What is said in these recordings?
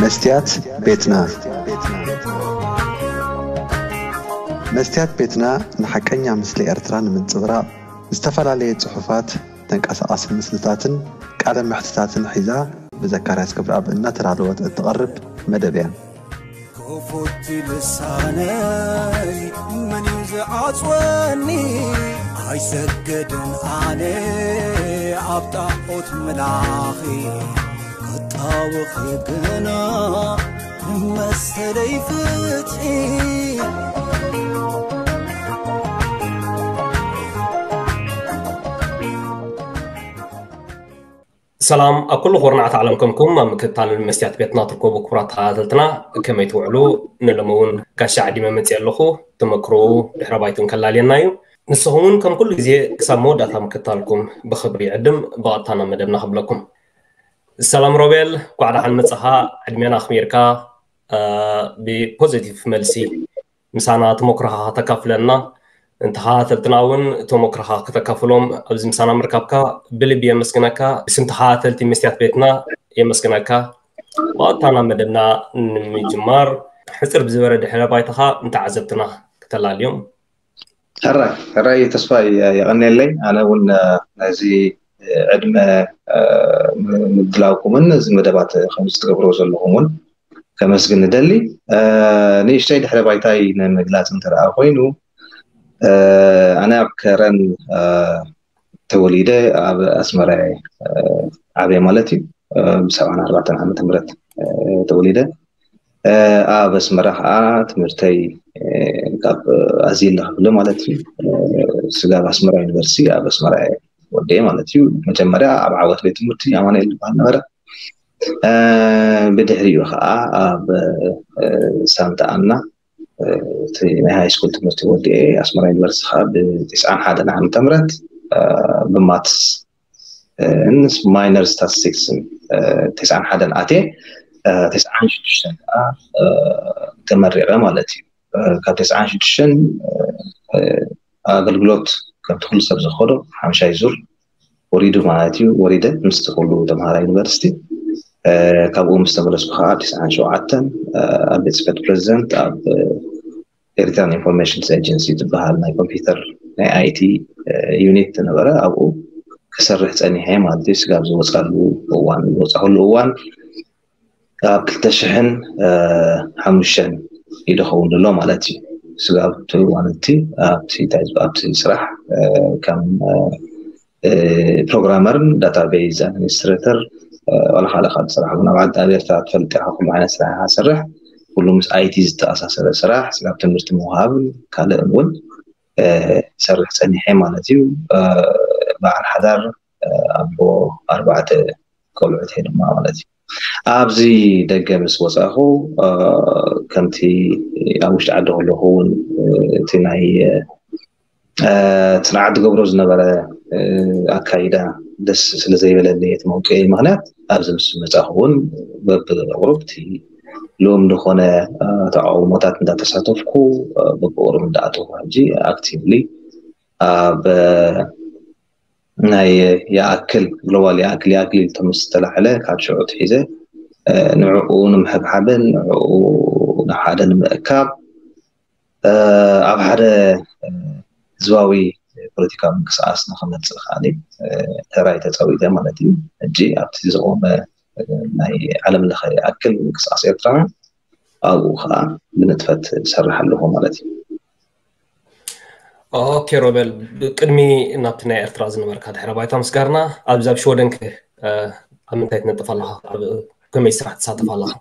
መስትያት ቤትና። መስትያት ቤትና ንሓቀኛ ምስሊ ኤርትራ ንምንጽብራቕ ዝተፈላለየ ጽሑፋት፣ ተንቀሳቓሲ ምስልታትን ቃለ መሕትታትን ሒዛ ብዘካርያስ ገብረኣብ እናተዳለወት እትቐርብ መደብ እያ። ክፉት ልሳነይ መን እዩ ዝዓጽወኒ? ኣይሰግድን ኣነ ኣብ ጣዖት ምላኺ፣ ክጣወኺ ግና መሰለይ ፍትሒ። ሰላም ኣብ ኩሉ ኩርናዓት ዓለም ከምኩም ኣብ ምክትታል መስትያት ቤትና ትርከቡ ክቡራት ተኸታተልትና፣ ከመይ ትውዕሉ? ንሎሚ እውን ጋሻ ዓዲመ መፅእ ኣለኹ። ተመክሮኡ ድሕረ ባይቱን ከላልየና እዩ። ንስኹም እውን ከም ኩሉ ግዜ ክሳብ መወዳእታ ምክትታልኩም ብኽብሪ ይዕድም። ብቐጥታ ናብ መደብና ክብለኩም። ሰላም ሮቤል፣ ኳዕ ደሓን መጻኻ። ዕድሜና ኣኽቢርካ፣ እ፣ ብፖዚቲቭ መልሲ ምሳና ተመክሮኻ ከተካፍለና፣ ንተኸታተልትና እውን ተመክሮኻ ከተካፍሎም ኣብዚ ምሳና ምርካብካ ብልቢ የመስግነካ። ብስም ተኸታተልቲ መስትያት ቤትና የመስግነካ። ብቐጥታ ናብ መደብና ንምጅማር፣ ሕጽር ብዝበለ ድሕረ ባይታኻ ንተዓዘብትና ክተላልዮም። ሕራይ፣ ሕራይ ተስፋ የ-፣ የቐንየለይ። ኣነ እውን፣ እ፣ ነዚ ዕድመ፣ እ፣ ም-፣ ምድላውኩምን እዚ መደባት ከምዚ ትገብርዎ ዘለኹም እውን ከመስግን እደሊ። እ፣ ንእሽተይ ድሕረ ባይታይ ንምግላጽ እንተ ደኣ ኮይኑ፣ እ፣ ኣነ ኣብ ከረን፣ እ፣ ተወሊደ ኣብ ኣስመራ እየ፣ እ፣ ዓብየ ማለት እዩ። እ፣ ብ ሰብዓን ኣርባዕተን ዓመተ ምህረት፣ እ፣ ተወሊደ። እ፣ ኣብ ኣስመራ ኸዓ ትምህርተይ፣ እ፣ ካብ ኣዝየለ ክብሎ ማለት እዩ። እ፣ ስጋብ ኣስመራ ዩኒቨርሲቲ ኣብ ኣስመራ እየ ወዲኤ ማለት እዩ። መጀመርያ ኣብ ዓወት ቤት ትምህርቲ ኣማኑኤል ዝበሃል ነበረ። እ፣ ብድሕሪኡ ኸዓ ኣብ፣ እ፣ ሳንታ ኣና፣ እ፣ እቲ ናይ ሃይ ስኩል ትምህርቲ ወዲኤ ኣስመራ ዩኒቨርሲቲ ኸዓ ብ-፣ ዓሰርተ ሓደ ዓመተ ምህረት፣ እ፣ ብማትስ፣ እ፣ ምስ ማይነር ስታቲስቲክስን፣ እ፣ ዓሰርተ ሓደ ኣትየ፣ እ፣ ዓሰርተ ሽዱሽተ ከዓ፣ እ፣ ተመሪቐ ማለት እዩ። እ፣ ካብ ዓሰርተ ሽዱሽተ፣ እ፣ ኣገልግሎት ከምቲ ኩሉ ሰብ ዝኸዶ ሓምሻይ ዙር ወሪዱ ማለት እዩ። ወሪደ ምስቲ ኩሉ ተምሃራይ ዩኒቨርሲቲ፣ እ፣ ካብኡ ምስ ተመለስኩ ከዓ ዓሰርተ ሸውዓተ፣ እ፣ ኣብ ቤት ጽሕፈት ፕሬዚደንት ኣብ፣ እ፣ ኤሪትራን ኢንፎርሜሽንስ ኤጀንሲ ትበሃል ናይ ኮምፒውተር ናይ ኣይቲ፣ እ፣ ዩኒት ነበረ። ኣብኡ ክሰርሕ ጸኒሐ ማለት እዩ። ስጋብ ዝወጻሉ እዋን፣ ዝወጻኹሉ እዋን ኣብ ክልተ ሽሕን ሓሙሽተን እዩ ዝኸውን ዘሎ ማለት እዩ። ስጋብ እቲ እዋን እቲ ኣብቲ፣ ኣብቲ ስራሕ፣ እ፣ ከም፣ እ፣ ፕሮግራመርን ዳታቤዝ ኣድሚኒስትሬተር፣ እ፣ ዋላ ካልእ ካልእ ስራሕ እውን ኣብ ዓዲ፣ ኣብ ኤርትራ ትፈልጥ ኢኻ፣ ኩሉ ዓይነት ስራሕ ኢኻ ትሰርሕ። ኩሉ ምስ ኣይቲ ዝተኣሳሰረ ስራሕ፣ ስጋብ ትምህርቲ ምውሃብን ካልእን እውን፣ እ፣ ይሰርሕ ጸኒሐ ማለት እዩ። እ፣ በዓል ሓዳር፣ እ፣ ኣቦ ኣርባዕተ ቆልዑት እየ ድማ ማለት እዩ። ኣብዚ ደገ ምስ ወጻኹ፣ እ፣ ከምቲ ኣብ ውሽጢ ዓዲ ከለኹ እውን፣ እ፣ እቲ ናይ፣ እ፣ እቲ ንዓዲ ገብሮ ዝነበረ፣ እ፣ ኣካይዳ ደስ ስለ ዘይበለኒ፣ እቲ መውጽኢ ምኽንያት ኣብዚ ምስ መጻኹ እውን በብቕሩብ እቲ ልኡም ዝኾነ፣ እ፣ ተቃውሞታት እንዳተሳተፍኩ፣ እ፣ በብቕሩብ እንዳኣተኹ ሕጂ ኣክቲቭሊ ኣብ፣ እ፣ ናይ ይኣክል፣ ግሎባል ይኣክል፣ ይኣክል ኢሉ ምስ ዝተላዕለ ካብ ሽዑ ኣትሒዘ፣ እ፣ ንዕኡ ንምሕብሓብን ንዕኡ ናብ ሓደ ንምእካብ፣ እ፣ ኣብ ሓደ፣ እ፣ ህዝባዊ ፖለቲካዊ ምንቅስቓስ ንኽመጽእ ከኣ፣ እ፣ ተራይ ተጻዊተ ማለት እዩ። ሕጂ ኣብቲ ዝቖመ፣ እ፣ ናይ ዓለም ለኸ ይኣክል ምንቅስቓስ ኤርትራውያን ኣብኡ ከኣ ብንጥፈት እሰርሕ ኣለኹ ማለት እዩ። ኦኬ ሮቤል፣ ብቅድሚ ናብቲ ናይ ኤርትራ ዝነበርካ ድሕረ ባይታ ምስጋርና፣ ኣብዚ ኣብ ሽወደን ከ፣ እ፣ ኣብ ምንታይ ትነጥፍ ኣለኻ? ኣብ ከመይ ስራሕ ትሳተፍ ኣለኻ?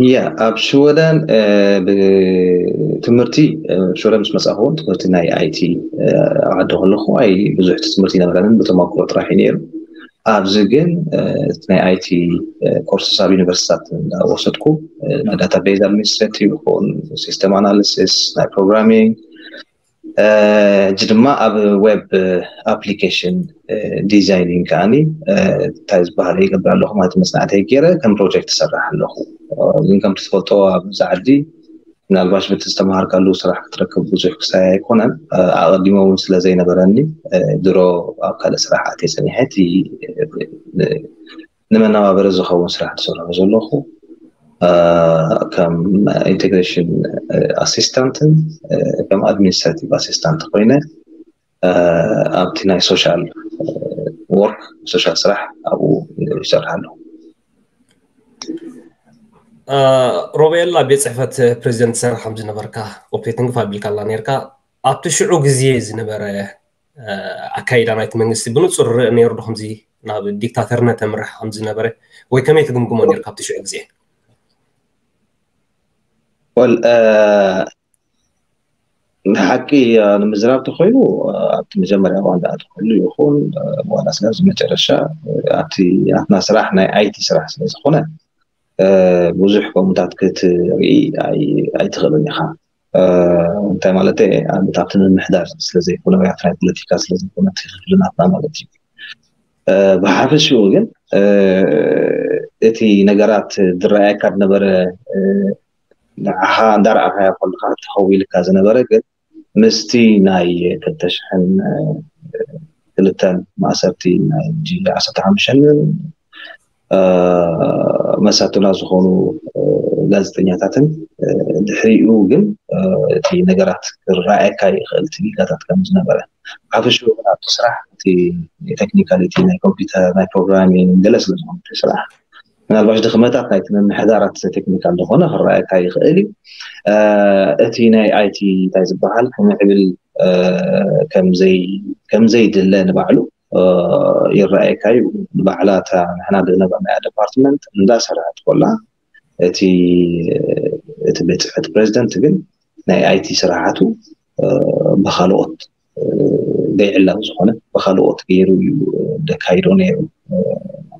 ያ፣ ኣብ ሽወደን፣ እ፣ ብትምህርቲ፣ እ፣ ሽወደን ምስ መጻኹ እውን ትምህርቲ ናይ ኣይቲ፣ እ፣ ኣብ ዓዲ ከለኹ ኣይ ብዙሕ ትምህርቲ ይነበረንን ብተመክሮ ጥራሕ እዩ ነይሩ። ኣብዚ ግን፣ እ፣ ናይ ኣይቲ፣ እ፣ ኮርስስ ኣብ ዩኒቨርሲታት እንዳወሰድኩ፣ እ፣ ናይ ዳታቤዝ ኣድሚኒስትሬቲቭ ይኹን ሲስተም ኣናሊሲስ፣ ናይ ፕሮግራሚንግ፣ እ፣ ሕጂ ድማ ኣብ ዌብ ኣፕሊኬሽን፣ እ፣ ዲዛይኒንግ ከኣኒ፣ እ፣ እንታይ ዝበሃል ይገብር ኣለኹ ማለት መጽናዕተይ ገይረ ከም ፕሮጀክት እሰርሕ ኣለኹ። እ፣ ግን ከምቲ ትፈልጦ ኣብዚ ዓዲ ምናልባሽ በቲ ዝተምሃርካሉ ስራሕ ክትረክብ ብዙሕ ክሳይ ኣይኮነን። እ፣ ኣቐዲሞ እውን ስለ ዘይነበረኒ፣ እ፣ ድሮ ኣብ ካልእ ስራሕ ኣትየ ጸኒሐ እቲ፣ እ፣ ን-፣ ንመነባበሪ ዝኸውን ስራሕ ዝሰርሖ ዘለኹ። ከም ኢንቴግሬሽን ኣሲስታንትን ከም ኣድሚኒስትራቲቭ ኣሲስታንት ኮይነ ኣብቲ ናይ ሶሻል ወርክ፣ ሶሻል ስራሕ ኣብኡ ይሰርሕ ኣለኹ። ሮቤል፣ ኣብ ቤት ፅሕፈት ፕሬዚደንት ትሰርሕ ከም ዝነበርካ ኦፕዴት ንግፍ ኣቢልካላ ነርካ። ኣብቲ ሽዑ ግዜ ዝነበረ ኣካይዳ ናይቲ መንግስቲ ብንፁር ርእ ነይሩ ዶ ከምዚ ናብ ዲክታተርነት ተምርሕ ከም ዝነበረ? ወይ ከመይ ትግምግሞ ነርካ ኣብቲ ሽዑ ግዜ? ወል ንሓቂ ንምዝራብ ተኮይኑ ኣብቲ መጀመርያ እዋን ዝኣተኩሉ ይኹን ዋላ ስለ ኣብዚ መጨረሻ ኣብቲ ኣትና ስራሕ ናይ ኣይቲ ስራሕ ስለ ዝኾነ ብዙሕ ከምኡታት ክትርኢ ኣይትኽእልን ኢኻ። እንታይ ማለት ኣብቲ ምምሕዳር ስለዘይኮነ ወይ ኣብቲ ናይ ፖለቲካ ስለዘይኮነ እቲ ክፍሊ ናትና ማለት እዩ። ብሓፈሽኡ ግን እቲ ነገራት ዝረኣየካ ዝነበረ ንዓኻ እንዳረኣኻዮ ከለካ ተኸዊልካ ዝነበረ ግን ምስቲ ናይ ክልተ ሽሕን ክልተን ማእሰርቲ ናይ ጂ ዓሰርተ ሓሙሽተን መሳቱና ዝኾኑ ጋዜጠኛታትን ድሕሪኡ ግን እቲ ነገራት ክረኣየካ ይኽእል እቲ ጌጋታት ከም ዝነበረ ሓፈሽኡ ግን ኣብቲ ስራሕ እቲ ቴክኒካሊቲ ናይ ኮምፒውተር ናይ ፕሮግራሚንግ ገለ ስለ ዝኾነ እቲ ስራሕ ምናልባሽ ድኽመታት ናይቲ ምምሕዳራት ቴክኒካል ዝኾነ ክረኣየካ ይኽእል እዩ። እቲ ናይ ኣይቲ እንታይ ዝበሃል ክምዕብል ከምዘይድለ ንባዕሉ ይረኣየካ እዩ። ንባዕላ እታ ንሕና ዝነበርናያ ዲፓርትመንት እንዳሰርሐት ኮላ እቲ እቲ ቤት ፅሕፈት ፕሬዚደንት ግን ናይ ኣይቲ ስራሓቱ ብካልኦት ዘይዕላዊ ዝኾነ ብካልኦት ገይሩ እዩ ደካይዶ ነይሩ።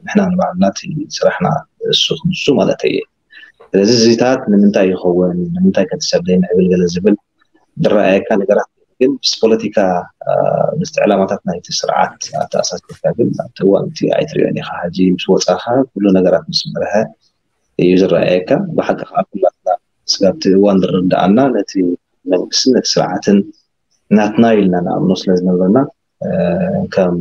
ንሕና ንባዕልና እቲ ስራሕና እሱ ክንሱ ማለት እየ። ስለዚ እዚታት ንምንታይ ይኸውን ንምንታይ ከትሰብ ዘይምዕብል ገለ ዝብል ዝረኣየካ ነገራት ግን ምስ ፖለቲካ ምስቲ ዕላማታት ናይቲ ስርዓት ኣተኣሳሲርካ ግን ኣብቲ እዋን እቲ ኣይትሪኦን ኢኻ። ሕጂ ምስ ወፃኻ ኩሉ ነገራት ምስ በርሀ እዩ ዝረኣየካ። ብሓቂ ከዓ ኩላትና ስጋብቲ እዋን ዝርዳኣና ነቲ መንግስትን ነቲ ስርዓትን ናትና ኢልና ንኣምኖ ስለ ዝነበርና ከም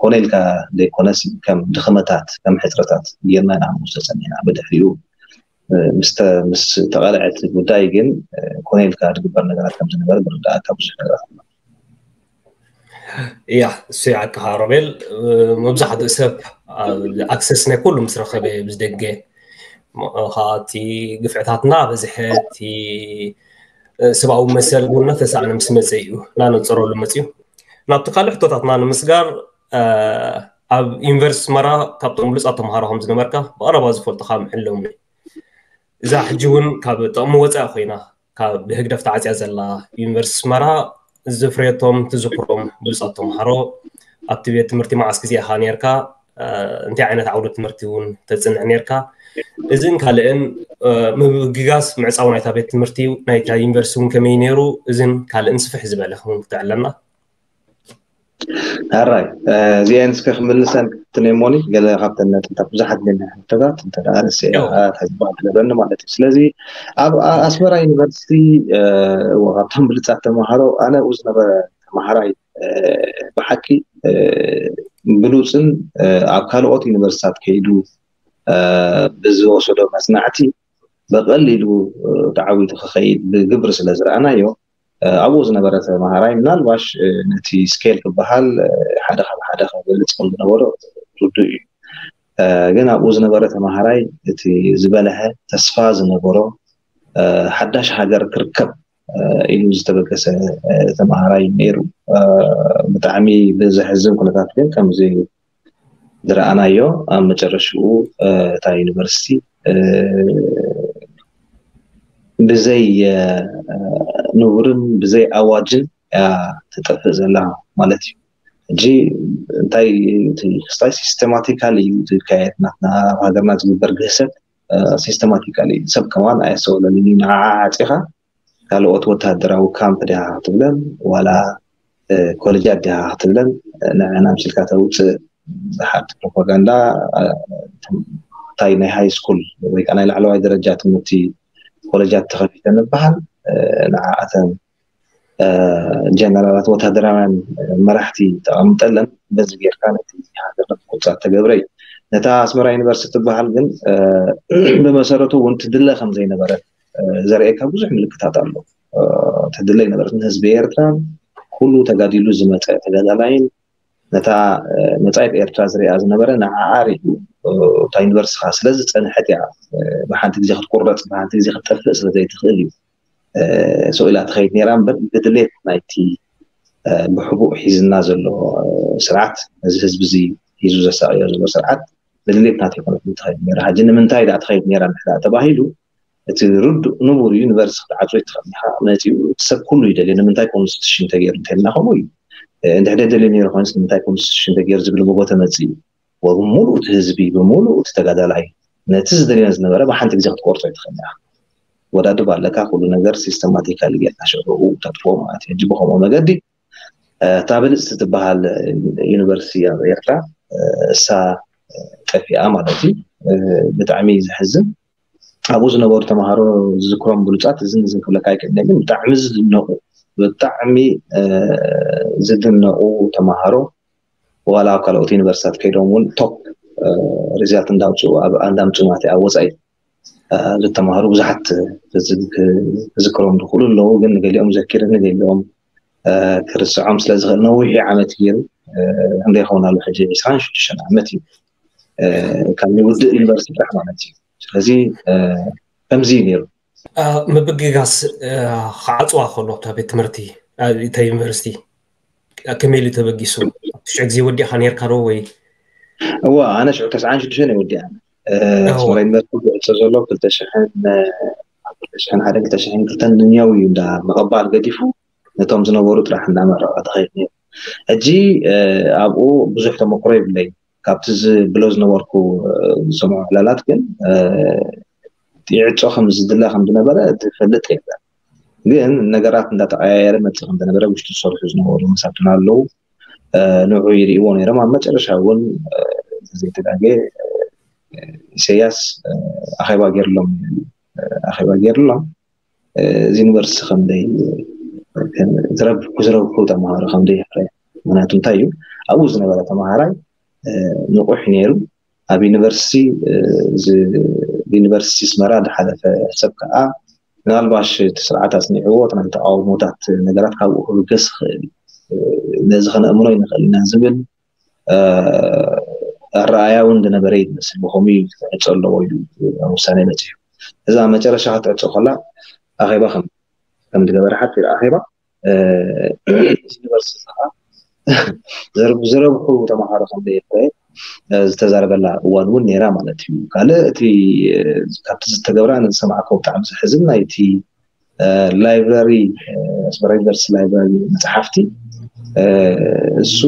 ኮነ ኢልካ ዘይኮነስ ከም ድኽመታት ከም ሕፅረታት ጌርና ንኣምኖ ስለፀኒሕና ብድሕሪኡ ምስ ተቐልዐት ጉዳይ ግን ኮነ ኢልካ ዝግበር ነገራት ከም ዝነበረ ዝርዳእካ ብዙሕ ነገራት ኣሎ። እያ እሱ ይዓቅኻ ሮቤል። መብዛሕትኡ ሰብ ኣክሰስ ናይ ኩሉ ምስ ረኸበ ብዝደገ ከዓቲ ግፍዕታትና በዝሐ እቲ ሰብኣዊ መሰል እውን እናተሳእነ ምስ መፀ እዩ እናነፀረሉ መፅዩ። ናብቲ ካልእ ሕቶታትና ንምስጋር ኣብ ዩኒቨርሲቲ ኣስመራ ካብቶም ብሉፃት ተምሃሮ ከም ዝነበርካ ብቐረባ ዝፈልጡካ ምሕለውኒ። እዛ ሕጂ እውን ካብ ጥቕሚ ወፃኢ ኮይና ካብ ብህግደፍ ተዓፅያ ዘላ ዩኒቨርሲቲ ኣስመራ ዝፍረየቶም ትዝክሮም ብሉፃት ተምሃሮ ኣብቲ ቤት ትምህርቲ መዓስ ግዜ ኢኻ ነርካ? እንታይ ዓይነት ዓውዲ ትምህርቲ እውን ተፅንዕ ነርካ? እዚን ካልእን ምብግጋስ ምዕፃው ናይታ ቤት ትምህርቲ ናይታ ዩኒቨርሲቲ እውን ከመይ ነይሩ? እዚን ካልእን ስፍሕ ዝበለ ክተዕለና። ኣራይ እዚአን እስከ ክምልሰን ክትንሞኒ ገለ ካብተን ነጥብታት ብዙሓት ግን ሕቶታት እንተ ደኣ ርእሰ ኣትሕዝባ ትገብረኒ ማለት እዩ። ስለዚ ኣብ ኣስመራ ዩኒቨርሲቲ እዎ ካብቶም ብልፃት ተምሃሮ ኣነ ኣብኡ ዝነበረ ተምሃራይ ብሓቂ ብሉፅን ኣብ ካልኦት ዩኒቨርሲታት ከይዱ ብዝወሰዶ መፅናዕቲ ብቐሊሉ ተዓዊቱ ክኸይድ ብግብሪ ስለ ዝረኣናዮ ኣብኡ ዝነበረ ተምሃራይ ምናልባሽ ነቲ ስኬል ክበሃል ሓደ ካብ ሓደ ክገልፅ ከም ዝነበሮ ርዱእ እዩ። ግን ኣብኡ ዝነበረ ተምሃራይ እቲ ዝበለሀ ተስፋ ዝነበሮ ሓዳሽ ሃገር ክርከብ ኢሉ ዝተበገሰ ተምሃራይ ነይሩ። ብጣዕሚ ብዘሕዝን ኩነታት ግን ከምዚ ዝረኣናዮ ኣብ መጨረሽኡ እታ ዩኒቨርሲቲ ብዘይ ንቡርን ብዘይ ኣዋጅን እያ ትጠፍእ ዘላ ማለት እዩ። ሕጂ እንታይ ክስታይ ሲስተማቲካል እዩ ዝካየድ ናትና ኣብ ሃገርና ዝግበር ግህሰት ሲስተማቲካል እዩ። ሰብ ከማን ኣየስተውዕለሉን እዩ። ንዓ ዓፂኻ ካልኦት ወታደራዊ ካምፕ ዲኻ ክትብለን ዋላ ኮለጃት ዲኻ ክትብለን ንዕና ምሲልካ ተውፅእ ዝሓት ፕሮፓጋንዳ እንታይ ናይ ሃይ ስኩል ወይ ከዓ ናይ ላዕለዋይ ደረጃ ትምህርቲ ኮለጃት ተኸፊተ ምበሃል ንዓኣተን ጀነራላት ወታደራውያን መራሕቲ ተቐምጠለን በዚ ጌርካ ነቲ ሃገር ቁፃ ተገብረ እዩ። ነታ ኣስመራ ዩኒቨርሲቲ ትበሃል ግን ብመሰረቱ እውን ትድለ ከም ዘይነበረ ዘርእየካ ብዙሕ ምልክታት ኣሎ። ትድለ ኣይነበረትን። ህዝቢ ኤርትራ ኩሉ ተጋዲሉ ዝመፀ ተጋዳላይን ነታ መጻኢት ኤርትራ ዝሪኣ ዝነበረ ንዓኣ ሪኡ እታ ዩኒቨርሲቲ ከዓ ስለዝፀንሐት እያ ብሓንቲ ግዜ ክትቁረፅ ብሓንቲ ግዜ ክትጠፍእ ስለዘይትኽእል እዩ ስቕ ኢላ ትኸይድ ነይራ እምበር ብድሌት ናይቲ ብሕቡእ ሒዝና ዘሎ ስርዓት ነዚ ህዝቢ እዚ ሒዙ ዘሳቅዮ ዘሎ ስርዓት ብድሌት ናት ይኮነት ትኸይድ ነይራ። ሕጂ ንምንታይ ዳ ትኸይድ ነይራ እንድሕር ተባሂሉ እቲ ርዱእ ንቡር ዩኒቨርሲቲ ክትዓፅዎ ይትኽእል ኢኻ። መፂኡ እቲ ሰብ ኩሉ ይደልዮ ንምንታይ ኮንስቲቱሽን ተገይሩ እንተልና ከምኡ እዩ። እንድሕር ደልዮ ነይሩ ኮይንስ ንምንታይ ኮንስቲቱሽን ተገይሩ ዝብል ምጎ ተመፅእ እዩ። ወብምሉእ እቲ ህዝቢ ብምሉእ እቲ ተጋዳላይ ነቲ ዝደልዮ ዝነበረ ብሓንቲ ግዜ ክትቆርፆ ይትኽእል ኢኻ። ወዳድብ ኣለካ ኩሉ ነገር ሲስተማቲካሊ ጌርካ ሽዑ ተጥፍኦ ማለት እዩ። ሕጂ ብከምኡ መገዲ እታ ብልፅቲ ትበሃል ዩኒቨርሲቲ ኣብ ኤርትራ እሳ ጠፊኣ ማለት እዩ። ብጣዕሚ ዘሕዝን ኣብኡ ዝነበሩ ተምሃሮ ዝዝክሮም ብሉፃት እዝን እዝን ክብለካ ኣይክእልን ግን ብጣዕሚ ዝድነቁ ብጣዕሚ ዝድነቁ ተምሃሮ ዋላ ኣብ ካልኦት ዩኒቨርሲታት ከይዶም እውን ቶፕ ሪዛልት እንዳምፅኡ ኣብ እንዳምፅኡ ማለት ኣብ ወፃኢ ዝተምሃሩ ብዙሓት ክዝክሮም ዝኽእሉ ኣለዉ ግን ንገሊኦም ዘኪርኒ ገሊኦም ክርስዖም ስለ ዝኽእል ነዊሕ ዓመት ገይሩ ክንደይ ይኸውን ኣሎ ሕጂ ዕስራን ሽዱሽተን ዓመት እዩ ካብ ውድእ ዩኒቨርሲቲ ጥራሕ ማለት እዩ ስለዚ ከምዚ እዩ ነይሩ ምብግጋስ ክዓፅዋ ከሎ እታ ቤት ትምህርቲ እታ ዩኒቨርሲቲ ከመይ ኢሉ ተበጊሱ ኣብቲ ሽዑ ግዜ ወዲእካ ነርካ ዶ ወይ እዋ ኣነ ሽዑ ተስዓን ሽዱሽተን እየ ወዲኣ ኣስመራ ዩኒቨርሲቲ ዝዕፆ ዘሎ ክልተ ሽሕን ክልተ ሽሕን ሓደ ክልተ ሽሕን ክልተን ንኛው እዩ እንዳ ምቕባል ገዲፉ ነቶም ዝነበሩ ጥራሕ እንዳመረቐ ተኸይድ ነይሩ ሕጂ ኣብኡ ብዙሕ ተመክሮ ይብለይ ካብቲ ዝብሎ ዝነበርኩ ዝሰምዖ ዕላላት ግን ይዕፆ ከም ዝድለ ከም ዝነበረ ዝፈልጥ የለን ግን ነገራት እንዳተቀያየረ መፅእ ከም ዝነበረ ውሽጢ ዝሰርሑ ዝነበሩ መሳቱን ኣለዉ ንዑ ይርእዎ ነይሮም ኣብ መጨረሻ እውን ዘይተጋገ ኢሰያስ ኣኼባ ገይርሎም ኣኼባ ገይርሎም እዚ ዩኒቨርሲቲ ከምደይ ዝረብሑ ዝረብሑ ተምሃሮ ከምደይ ይፍረ ምክንያቱ እንታይ እዩ ኣብኡ ዝነበረ ተምሃራይ ንቑሕ ነይሩ ኣብ ዩኒቨርሲቲ ዩኒቨርሲቲ ስመራ ዝሓለፈ ሰብ ከዓ ምናልባሽ እቲ ስርዓት ኣፅኒዕዎ ናይ ተቃውሞታት ነገራት ካብኡ ክብገስ ይኽእል ነዚ ከነእምኖ ይንኽእል ኢና ዝብል ኣረኣያ እውን ዝነበረ ይመስል ብከምኡ እዩ ክትዕፆ ኣለዎ ኢሉ ውሳነ መፂኡ እዛ መጨረሻ ክትዕፆ ከላ ኣኼባ ከም ከም ዝገበረ ሓፂር ኣኼባ ዩኒቨርሲቲ ከዓ ዝረብሑ ተምሃሮ ከም ዘይፍረ ዝተዛረበላ እዋን እውን ነይራ ማለት እዩ ካልእ እቲ ካብቲ ዝተገብራ ንዝሰማዕኮ ብጣዕሚ ዝሕዝን ናይቲ ላይብራሪ ኣስመራ ዩኒቨርሲቲ ላይብራሪ መፅሓፍቲ እሱ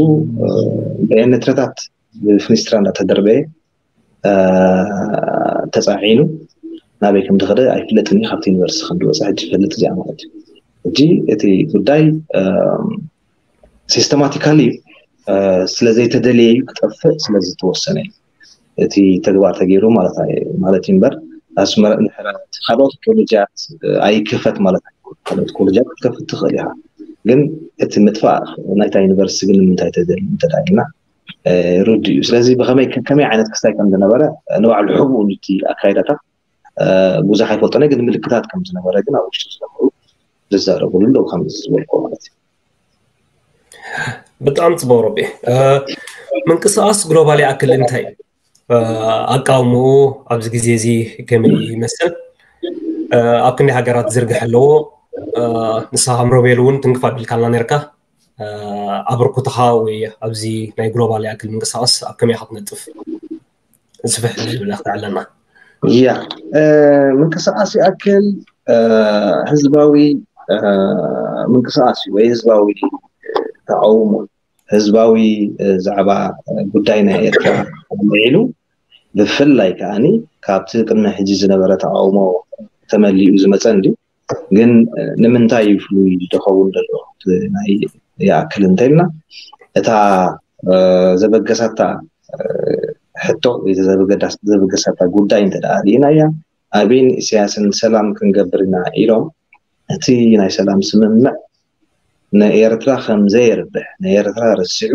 ብኤነትረታት ብፍኒስትራ እንዳተደርበየ ተፃዒኑ ናበይ ከም ዝኸደ ኣይፍለጥን እዩ ካብቲ ዩኒቨርሲቲ ከም ዝወፀ ሕጂ ይፈልጥ እዚኣ ማለት እዩ ሕጂ እቲ ጉዳይ ሲስተማቲካሊ ስለዘይተደለየ እዩ ክጠፍእ ስለዝተወሰነ እዩ እቲ ተግባር ተገይሩ ማለት ማለት እዩ እምበር ኣስመራ ካልኦት ኮሌጃት ኣይክፈት ማለት ካልኦት ኮሌጃት ክትከፍት ትኽእል ኢኻ ግን እቲ ምጥፋእ ናይታ ዩኒቨርሲቲ ግን ንምንታይ ተደሊ እንተዳልና ርዱ እዩ ስለዚ ብከመይ ከመይ ዓይነት ክስታይ ከም ዝነበረ ንባዕሉ ሕቡኡ እቲ ኣካይዳታት ብዙሕ ኣይፈልጦነ ግን ምልክታት ከም ዝነበረ ግን ኣብ ውሽጢ ዝነበሩ ዝዛረብሉ ኣለዉ ከም ዝበልኮ ማለት እዩ ብጣዕሚ ፅቡቅ ረቢ ምንቅስቃስ ግሎባል ይኣክል እንታይ ኣቃውምኡ ኣብዚ ግዜ እዚ ከመይ ይመስል ኣብ ክንዲ ሃገራት ዝርግሕ ኣለዎ ንስኻ ከም ሮቤል እውን ትንክፍ ኣቢልካልና ነርካ ኣበርኩትኻ ወይ ኣብዚ ናይ ግሎባል ይኣክል ምንቅስቃስ ኣብ ከመይ ክትነጥፍ ስፍሕ ዝብል ክትዕለና ያ ምንቅስቃስ ይኣክል ህዝባዊ ምንቅስቃስ እዩ ወይ ህዝባዊ ተቃውሞ ህዝባዊ ዛዕባ ጉዳይ ናይ ኤርትራ ልዒሉ ብፍላይ ከዓኒ ካብቲ ቅድሚ ሕጂ ዝነበረ ተቃውሞ ተመሊኡ ዝመፀ እንዲ ግን ንምንታይ እዩ ፍሉይ ዝደኸውን ዘሎ ናይ ይኣክል እንተልና እታ ዘበገሳታ ሕቶ ዘበገሳታ ጉዳይ እንተ ርኢናያ ኣቢን ኢሳያስን ሰላም ክንገብር ኢና ኢሎም እቲ ናይ ሰላም ስምምዕ ንኤርትራ ከም ዘየርብሕ ንኤርትራ ረሲዑ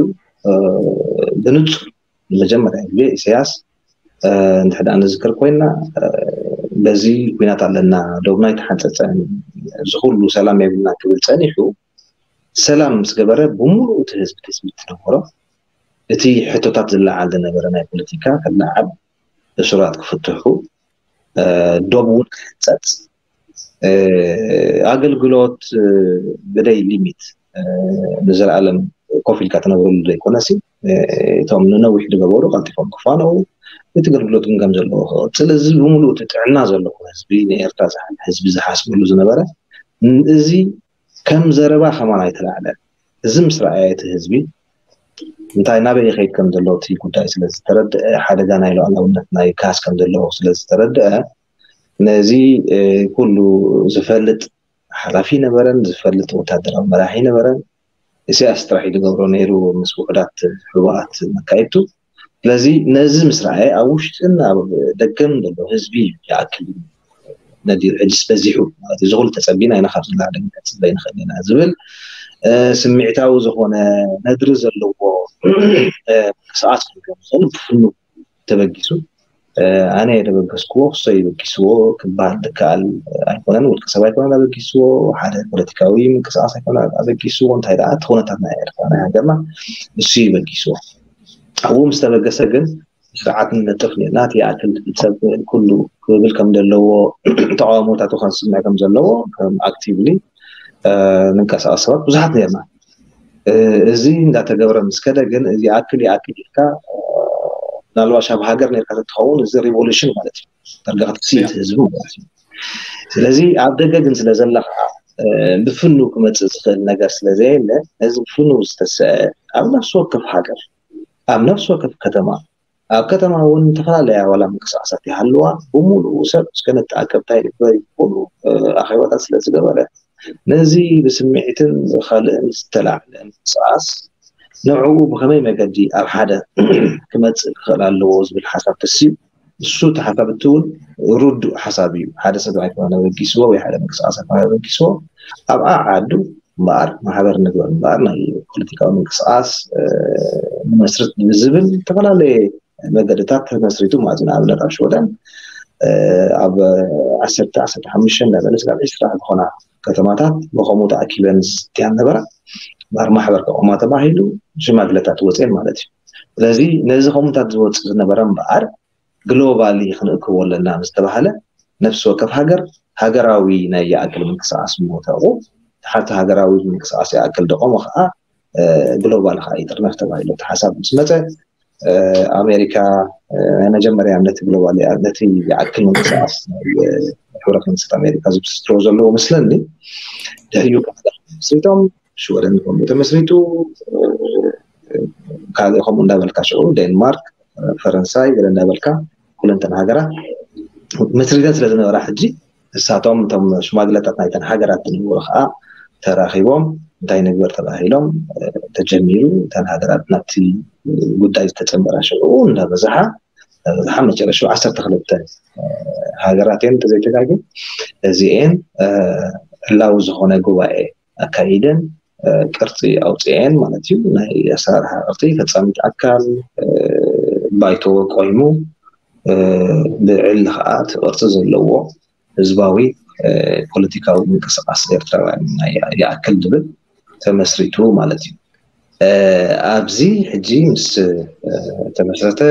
ብንጹር ንመጀመርያ ግዜ ኢሳያስ እንድሕር ደኣ ንዝክር ኮይና፣ በዚ ኩናት ኣለና፣ ዶብና ኣይተሓንፀፀን፣ እዚ ኩሉ ሰላም የብልና ክብል ፀኒሑ፣ ሰላም ምስ ገበረ ብምሉእ እቲ ህዝቢ ትፅቢት ዝነበሮ፣ እቲ ሕቶታት ዝለዓል ዝነበረ ናይ ፖለቲካ ክለዓል፣ እሱራት ክፍትሑ፣ ዶብ እውን ክሕንፀፅ፣ ኣገልግሎት ብደይ ሊሚት ንዘለኣለም ኮፍ ኢልካ ትነብረሉ ዘይኮነሲ፣ እቶም ንነዊሕ ዝገበሩ ቀልጢፎም ክፋነው፣ እቲ ኣገልግሎት ግን ከም ዘለዎ ክቐፅል፣ እዚ ብምሉእ እቲ ጥዕና ዘለዎ ህዝቢ፣ ንኤርትራ ዝሓ- ህዝቢ ዝሓስበሉ ዝነበረ፣ እዚ ከም ዘረባ ከማን ኣይተላዕለን። እዚ ምስ ረኣየ እቲ ህዝቢ እንታይ ናበይ ይኸይድ ከም ዘሎ እቲ ጉዳይ ስለ ዝተረድአ፣ ሓደጋ ናይ ሉዓላውነት ናይ ካስ ከም ዘለዎ ስለ ዝተረድአ፣ ነዚ ኩሉ ዝፈልጥ ሓላፊ ነበረን፣ ዝፈልጥ ወታደራዊ መራሒ ነበረን። ኢሳያስ ጥራሕ እዩ ዝገብሮ ነይሩ ምስ ውሑዳት ሕቡኣት መካይድቱ። ስለዚ ነዚ ምስ ረኣየ ኣብ ውሽጥን ኣብ ደገን ዘሎ ህዝቢ ይኣክል እዩ ነዲሩ፣ ሕጅስ በዚሑ ማለት እዩ። እዚ ኩሉ ተጸቢና ኢና ካብዚ ንላዕሊ ክንቀጽል ዘይንኽእል ኢና ዝብል ስምዒታዊ ዝኾነ ነድሪ ዘለዎ ምንቅስቃስ ክገብር ዝኽእል ብፍኑ ተበጊሱ፣ ኣነ እየ ደበገስክዎ፣ ክሶ ይበጊስዎ ክበሃል ዝከኣል ኣይኮነን። ውልቀ ሰብ ኣይኮነን ኣበጊስዎ፣ ሓደ ፖለቲካዊ ምንቅስቃስ ኣይኮነን ኣበጊስዎ። እንታይ ደኣ እቲ ኩነታት ናይ ኤርትራ ናይ ሃገርና እሱ ይበጊስዎ። ኣብኡ ምስ ተበገሰ ግን ስርዓት ንነጥፍ ነርና። እቲ ይኣክል ሰብ ኩሉ ክብል ከም ዘለዎ፣ ተቃውሞታቱ ከስምዕ ከም ዘለዎ ከም ኣክቲቭሊ ንንቀሳቀስ ሰባት ብዙሓት ነርና። እዚ እንዳተገብረ ምስ ከደ ግን እዚ ይኣክል ይኣክል ኢልካ፣ ምናልባሽ ኣብ ሃገር ነርካ ተትኸውን እዚ ሪቮሉሽን ማለት እዩ። ዳርጋ ክትስኢት ህዝቢ ማለት እዩ። ስለዚ ኣብ ደገ ግን ስለ ዘላ ከዓ ብፍኑ ክመፅእ ዝኽእል ነገር ስለ ዘየለ፣ ነዚ ብፍኑ ዝተሰአ ኣብ ነፍሲ ወከፍ ሃገር፣ ኣብ ነፍሲ ወከፍ ከተማ፣ ኣብ ከተማ እውን ዝተፈላለያ ዋላ ምንቅስቃሳት ይሃልዋ፣ ብምሉኡ ሰብ እስከ ንተኣከብ እንታይ ንግበር ይብሉ ኣኼባታት ስለ ዝገበረ፣ ነዚ ብስምዒትን ብካልእን ዝተላዕለ ምንቅስቃስ ንዕኡ ብኸመይ መገዲ ኣብ ሓደ ክመፅእ ክኽእል ኣለዎ ዝብል ሓሳብ ተሲኡ፣ እሱ እቲ ሓሳብ እቲ እውን ርዱእ ሓሳብ እዩ። ሓደ ሰብ ኣይኮነን ኣበጊስዎ ወይ ሓደ ምንቅስቃስ ኣይኮነን ኣበጊስዎ። ኣብ ዓዓዱ እምበኣር ማሕበር ንግበር እምበኣር ናይ ፖለቲካዊ ምንቅስቃስ ንመስርት ብዝብል ዝተፈላለየ መገድታት ተመስሪቱ ማለት እዩ። ንኣብነት ኣብ ሽወደን ኣብ ዓሰርተ ዓሰርተ ሓሙሽተ እንዳበለ ስጋብ ዒስራ ዝኾና ከተማታት ብኸምኡ ተኣኪበን ዝስትያን ነበራ። እምበኣር ማሕበር ከቆማ ተባሂሉ ሽማግለታት ወፅኤን ማለት እዩ። ስለዚ ነዚ ከምኡታት ዝወፅእ ዝነበረ እምበኣር ግሎባሊ ክንእክቦ ኣለና ዝተባሃለ ነፍሲ ወከፍ ሃገር ሃገራዊ ናይ ይኣክል ምንቅስቃስ ምወተቑ ሓቲ ሃገራዊ ምንቅስቃስ ይኣክል ደቆሞ ከዓ ግሎባል ከዓ ይጥርነፍ ተባሂሉ እቲ ሓሳብ ምስ መፀ ኣሜሪካ ናይ መጀመርያ ነቲ ግሎባል ነቲ ይኣክል ምንቅስቃስ ናይ ሕብረት መንግስታት ኣሜሪካ ዝብስትሮ ዘለዎ መስለኒ ድሕሪኡ መስሪቶም ሽወደን ከምኡ ተመስሪቱ ካልእ ከምኡ እንዳበልካ ሽዑ ዴንማርክ ፈረንሳይ ገለ እንዳበልካ ኩለንተን ሃገራት መስሪተን ስለ ዝነበራ ሕጂ ንሳቶም እቶም ሽማግለታት ናይተን ሃገራት ዝነበሩ ከዓ ተራኺቦም እንታይ ንግበር ተባሂሎም ተጀሚሩ እተን ሃገራት ናብቲ ጉዳይ ዝተፀንበራ ሽዑ እንዳበዝሓ እንዳበዝሓ መጨረሽኡ ዓሰርተ ክልተ ሃገራት እየን እንተዘይተጋግየ እዚኤን ዕላዊ ዝኾነ ጉባኤ ኣካይደን ቅርፂ ኣውፅኤን ማለት እዩ። ናይ ኣሰራርሓ ቅርፂ ፈፃሚት ኣካል ባይቶ ቆይሙ ልዕሊ ከዓ እቲ ቅርፂ ዘለዎ ህዝባዊ ፖለቲካዊ ምንቅስቃስ ኤርትራውያን ይኣክል ዝብል ተመስሪቱ ማለት እዩ። ኣብዚ ሕጂ ምስ ተመስረተ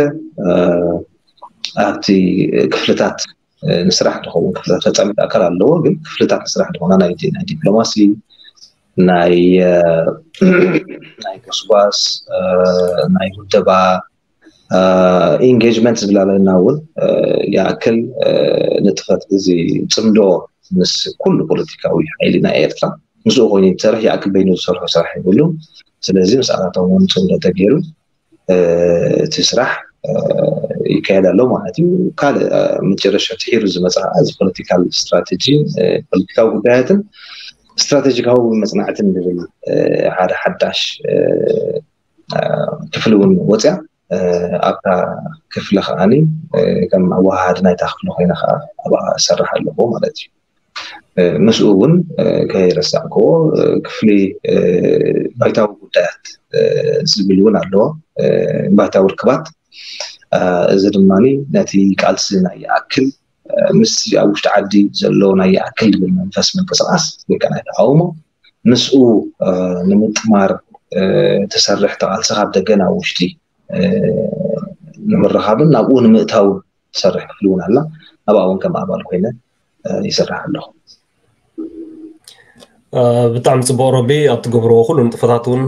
ኣብቲ ክፍልታት ንስራሕ ዝኸውን ክፍልታት ፈፃሚት ኣካል ኣለዎ። ግን ክፍልታት ንስራሕ ዝኾና ናይ ዲፕሎማሲ፣ ናይ ናይ ጎስጓስ፣ ናይ ውደባ ኢንጌጅመንት ዝብላለና እውን ይኣክል ንጥፈት እዚ ፅምዶ ምስ ኩሉ ፖለቲካዊ ሓይሊ ናይ ኤርትራ ምስኡ ኮይኑ ዝሰርሕ ይኣክል በይኑ ዝሰርሖ ስራሕ የብሉን። ስለዚ ምስኣታቶም እውን ፅምዶ ተገይሩ እቲ ስራሕ ይካየድ ኣሎ ማለት እዩ። ካልእ መጨረሻ ትሒሩ ዝመፅእ ከዓ እዚ ፖለቲካል ስትራቴጂ ፖለቲካዊ ጉዳያትን ስትራቴጂካዊ መፅናዕትን ዝብል ሓደ ሓዳሽ ክፍሊ እውን ወፅያ ኣብታ ክፍሊ ከዓኒ ከም ኣወሃሃዲ ናይታ ክፍሊ ኮይነ ከዓ ኣብኣ እሰርሕ ኣለኹ ማለት እዩ። ምስኡ እውን ከይረሳዕክዎ ክፍሊ ባይታዊ ጉዳያት ዝብል እውን ኣለዎ። ባይታዊ ርክባት እዚ ድማ ነቲ ቃልሲ ናይ ይኣክል ምስ ኣብ ውሽጢ ዓዲ ዘሎ ናይ ይኣክል ዝብል መንፈስ ምንቅስቃስ ወይ ከዓ ናይ ተቃውሞ ምስኡ ንምጥማር ትሰርሕ ተቃልሲ ካብ ደገ ናብ ውሽጢ ንምርኻብን ናብኡ ንምእታው ትሰርሕ ክፍሊ እውን ኣላ። ኣብኣ እውን ከም ኣባል ኮይነ ይሰርሕ ኣለኹ። ብጣዕሚ ፅቡቅ ሮቢ፣ ኣብ ትገብርዎ ኩሉ ንጥፈታት እውን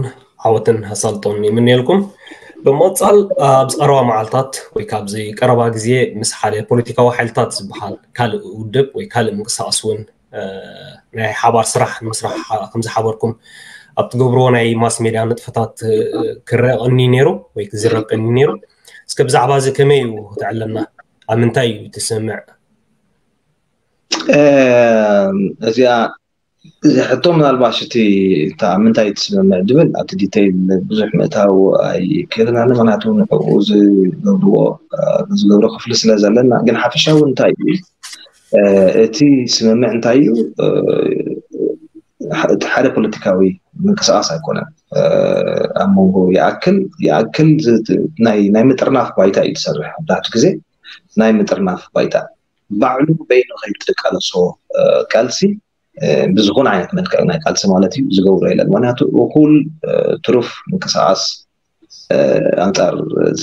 ዓወትን ኣሳልጦን ይምንየልኩም። ብምቕፃል ኣብዚ ቀረባ መዓልታት ወይ ካብዚ ቀረባ ግዜ ምስ ሓደ ፖለቲካዊ ሓይልታት ዝበሃል ካልእ ውድብ ወይ ካልእ ምንቅስቃስ እውን ናይ ሓባር ስራሕ ንምስራሕ ከምዝሓበርኩም ኣብ ትገብርዎ ናይ ማስ ሜድያ ንጥፈታት ክረአ ቀኒ ነይሩ ወይ ክዝረብ ቀኒ ነይሩ። እስከ ብዛዕባ እዚ ከመይ እዩ ክትዕለና? ኣብ ምንታይ እዩ ትስምዕ? እዚኣ እዚ ሕቶ ምናልባሽ እቲ እታ ምንታይ ትስምምዕ ድብል ኣብቲ ዲተይል ብዙሕ ምእታው ኣይክእልን ኣነ፣ ምክንያቱ ንዕኡ ዝገብርዎ ዝገብሮ ክፍሊ ስለ ዘለና፣ ግን ሓፈሻዊ እንታይ እዩ እቲ ስምምዕ እንታይ እዩ? እቲ ሓደ ፖለቲካዊ ምንቅስቃስ ኣይኮነን። ኣብ መንጎ ይኣክል ይኣክል ናይ ምጥርናፍ ባይታ እዩ ትሰርሕ። ኣብዛሕቱ ግዜ ናይ ምጥርናፍ ባይታ ባዕሉ በይኑ ከይትቃለሶ ቃልሲ ብዝኾነ ዓይነት መልክዕ ናይ ቃልሲ ማለት እዩ ዝገብሮ የለን። ምክንያቱ እኩል ትሩፍ ምንቅስቃስ ኣንፃር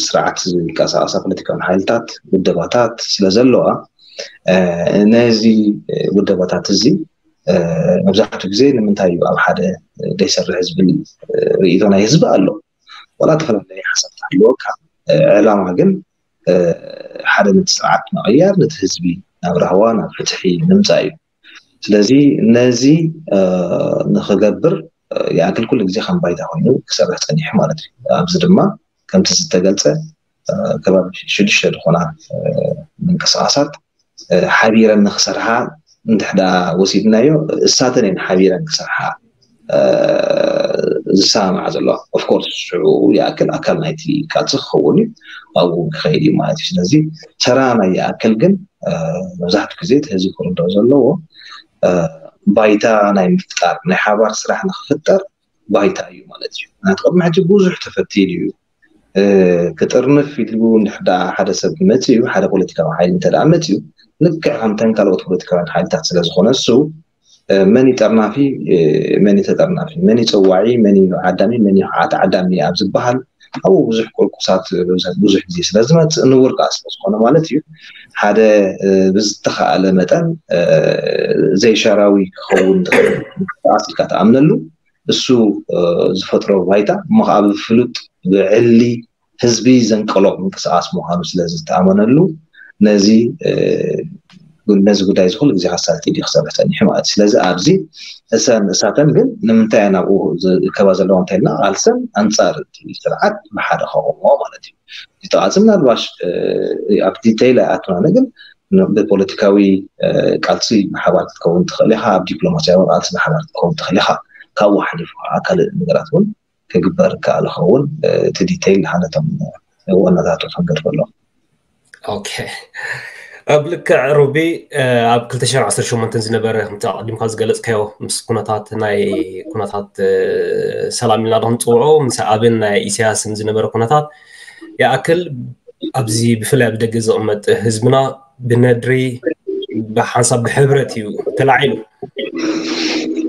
ስርዓት ዝንቀሳቀሳ ፖለቲካዊ ሓይልታት ውደባታት ስለ ዘለዋ ነዚ ውደባታት እዚ መብዛሕትኡ ግዜ ንምንታይ እዩ ኣብ ሓደ ዘይሰርሕ ዝብል ርእይቶ ናይ ህዝቢ ኣሎ። ዋላ ተፈላለየ ሓሳብ ኣለወካ ዕላማ ግን ሓደ ነቲ ስርዓት ምቕያር ነቲ ህዝቢ ናብ ራህዋ ናብ ፍትሒ ምምፃእ እዩ። ስለዚ ነዚ ንክገብር ይኣክል ኩሉ ግዜ ከም ባይታ ኮይኑ ክሰርሕ ፀኒሑ ማለት እዩ። ኣብዚ ድማ ከምቲ ዝተገልፀ ከባቢ ሽዱሽተ ዝኾና ምንቅስቃሳት ሓቢረን ንክሰርሓ እንድሕዳ ወሲድናዮ እሳተን እየን ሓቢረን ክሰርሓ ዝሰማማዓ ዘለዋ። ኦፍኮርስ ሽዑ ይኣክል ኣካል ናይቲ ቃልሲ ክኸውን እዩ ኣብኡ ክኸይድ እዩ ማለት እዩ። ስለዚ ተራ ናይ ይኣክል ግን መብዛሕትኡ ግዜ እቲ ህዝቢ ክርድኦ ዘለዎ ባይታ ናይ ምፍጣር ናይ ሓባር ስራሕ ንክፍጠር ባይታ እዩ ማለት እዩ። ምክንያቱ ቅድሚ ሕጂ ብዙሕ ተፈቲኑ እዩ። ክጥርንፍ ኢሉ እንድሕዳ ሓደ ሰብ መፅዩ ሓደ ፖለቲካዊ ሓይሊ እንተ ደኣ መፅዩ ልክዕ ከምተን ካልኦት ፖለቲካውያን ሓይልታት ስለ ዝኾነ እሱ መን እዩ ጠርናፊ፣ መን እዩ ተጠርናፊ፣ መን እዩ ፀዋዒ፣ መን እዩ ዓዳሚ፣ መን እዩ ከዓ ተዓዳሚ ኣብ ዝበሃል ኣብኡ ብዙሕ ቁርቁሳት ብዙሕ ግዜ ስለ ዝመፅእ ንቡር ከዓ ስለ ዝኾነ ማለት እዩ ሓደ ብዝተኸኣለ መጠን ዘይሻራዊ ክኸውን ዝኽእል ምንቅስቃስ ኢልካ ትኣምነሉ እሱ ዝፈጥሮ ባይታ እሞ ከዓ ብፍሉጥ ብዕሊ ህዝቢ ዘንቀሎ ምንቅስቃስ ምዃኑ ስለ ዝተኣመነሉ ነዚ ነዚ ጉዳይ እዚ ኩሉ ግዜ ከሳልጥ ድዩ ክሰርሕ ፀኒሑ ማለት እዩ። ስለዚ ኣብዚ እሰን እሳተን ግን ንምንታይ እየን ኣብኡ ዝእከባ ዘለዋ እንታይ ኢልና ቃልሰን ኣንፃር እቲ ስርዓት ብሓደ ከቆምዎ ማለት እዩ። እዚ ተቃልሲ ምናልባሽ ኣብ ዲተይል ኣይኣትናነ ግን ብፖለቲካዊ ቃልሲ ብሓባር ክትከውን ትኽእል ኢኻ፣ ኣብ ዲፕሎማሲያዊ ቃልሲ ብሓባር ክትከውን ትኽእል ኢኻ። ካብኡ ሓሊፉ ከዓ ካልእ ነገራት እውን ክግበር ከኣለ ኸውን እቲ ዲተይል ሓነቶም ወነታቱ ክንገድፈሎም። ኦኬ ኣብ ልክዕ ሩቢ ኣብ ክልተ ሽሕን ዓሰርተ ሸሞንተን ዝነበረ ከምቲ ኣቐዲምካ ዝገለፅካዮ ምስ ኩነታት ናይ ኩነታት ሰላም ኢልና ዶ ክንፅውዖ ምስ ኣብን ናይ ኢሳያስን ዝነበረ ኩነታት ይኣክል ኣብዚ ብፍላይ ኣብ ደገ ዝቕመጥ ህዝብና ብነድሪ ብሓንሳብ ብሕብረት እዩ ተላዒሉ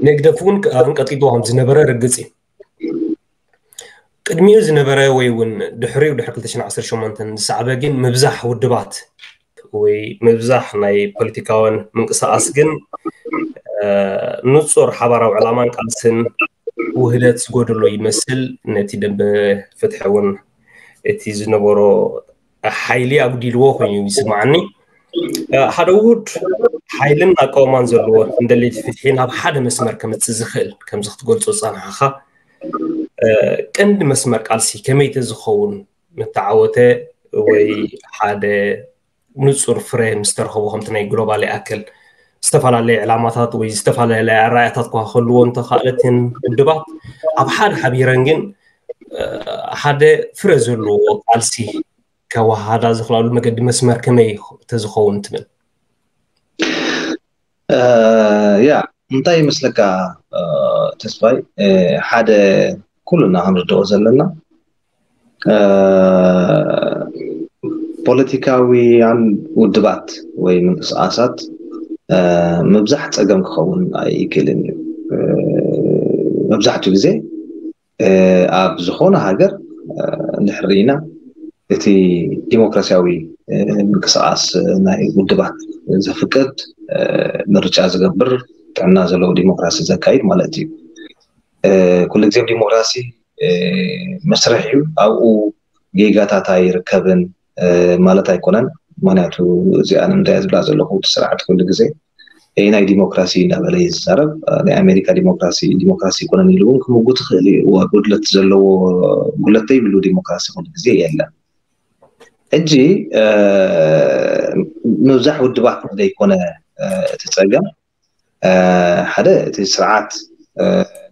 ንግደፍ እውን ኣንቀጥቂጥዎ ከም ዝነበረ ርግፅ እዩ ቅድሚኡ ዝነበረ ወይ እውን ድሕሪኡ ድሕሪ ክልተ ሽሕን ዓሰርተ ሸሞንተን ዝሰዓበ ግን ምብዛሕ ውድባት ወይ ምብዛሕ ናይ ፖለቲካውን ምንቅስቃስ ግን ንፁር ሓባራዊ ዕላማን ቃልስን ውህደት ዝጎደሎ ይመስል ነቲ ደንበ ፍትሒ እውን እቲ ዝነበሮ ሓይሊ ኣጉዲልዎ ኮይኑ ይስማዓኒ ሓደ ውሁድ ሓይልን ኣቃውማን ዘለዎ እንደለይቲ ፍትሒ ናብ ሓደ መስመር ከምፅእ ዝኽእል ከምዚ ክትገልፆ ዝፀናሓኻ ቀንዲ መስመር ቃልሲ ከመይ ተዝኸውን ምተዓወተ ወይ ሓደ ንፁር ፍረ ምስተረኸቦ ከምቲ ናይ ግሎባል ይኣክል ዝተፈላለየ ዕላማታት ወይ ዝተፈላለየ ኣረኣያታት ኳ ከልዎ እንተኻእለትን ውድባት ኣብ ሓደ ሓቢረን ግን ሓደ ፍረ ዘለዎ ቃልሲ ከወሃዳ ዝኽላሉ መገዲ መስመር ከመይ ተዝኸውን ትብል? ያ እንታይ ይመስለካ ተስፋይ ሓደ ኩሉና ክንርድኦ ዘለና ፖለቲካውያን ውድባት ወይ ምንቅስቃሳት ምብዛሕ ፀገም ክኸውን ኣይክእልን እዩ። መብዛሕትኡ ግዜ ኣብ ዝኾነ ሃገር እንድሕር ርኢና እቲ ዲሞክራሲያዊ ምንቅስቃስ ናይ ውድባት ዘፍቅድ ምርጫ ዝገብር ጥዕና ዘለዎ ዲሞክራሲ ዘካይድ ማለት እዩ። ኩሉ ግዜ ዲሞክራሲ መስርሕ እዩ። ኣብኡ ጌጋታት ኣይርከብን ማለት ኣይኮነን። ምክንያቱ እዚኣ ንምንታይ ዝብላ ዘለኹ እቲ ስርዓት ኩሉ ግዜ ናይ ዲሞክራሲ እናበለ እዩ ዝዛረብ። ናይ ኣሜሪካ ዲሞክራሲ ዲሞክራሲ ይኮነን ኢሉ እውን ክምጉት ይኽእል እዩ። ጉድለት ዘለዎ ጉድለት ዘይብሉ ዲሞክራሲ ኩሉ ግዜ የለን። ሕጂ ምብዛሕ ውድባት ዘይኮነ እቲ ፀገም ሓደ እቲ ስርዓት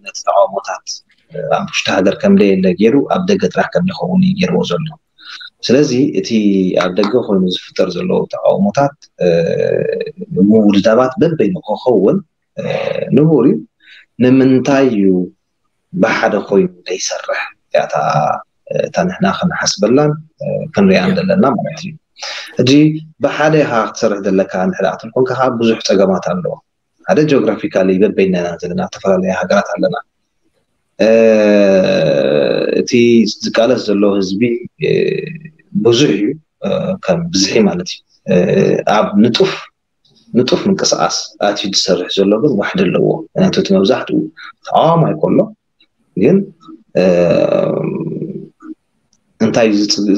ነቲ ተቃውሞታት ኣብ ውሽጢ ሃገር ከም ደየለ ገይሩ ኣብ ደገ ጥራሕ ከም ዝኸውን እዩ ገይርዎ ዘሎ። ስለዚ እቲ ኣብ ደገ ኮይኑ ዝፍጠር ዘሎ ተቃውሞታት ምውድዳባት በበይኑ ክኸውን ንቡር እዩ። ንምንታይ እዩ ብሓደ ኮይኑ ዘይሰርሕ? ያታ እታ ንሕና ክንሓስበላን ክንሪኣን ዘለና ማለት እዩ። ሕጂ ብሓደ ኢኻ ክትሰርሕ ዘለካ እንድሕር ክትብል ኮንካ ከዓ ብዙሕ ፀገማት ኣለዎ። ሓደ ጂኦግራፊካሊ በበይንና ዘለና ዝተፈላለያ ሃገራት ኣለና። እቲ ዝቃለስ ዘሎ ህዝቢ ብዙሕ እዩ። ከም ብዝሒ ማለት እዩ። ኣብ ንጡፍ ንጡፍ ምንቅስቃስ ኣትዩ ዝሰርሕ ዘሎ ግን ዋሕዲ ኣለዎ። ምክንያቱ እቲ መብዛሕትኡ ተቃዋማይ ከሎ ግን እንታይ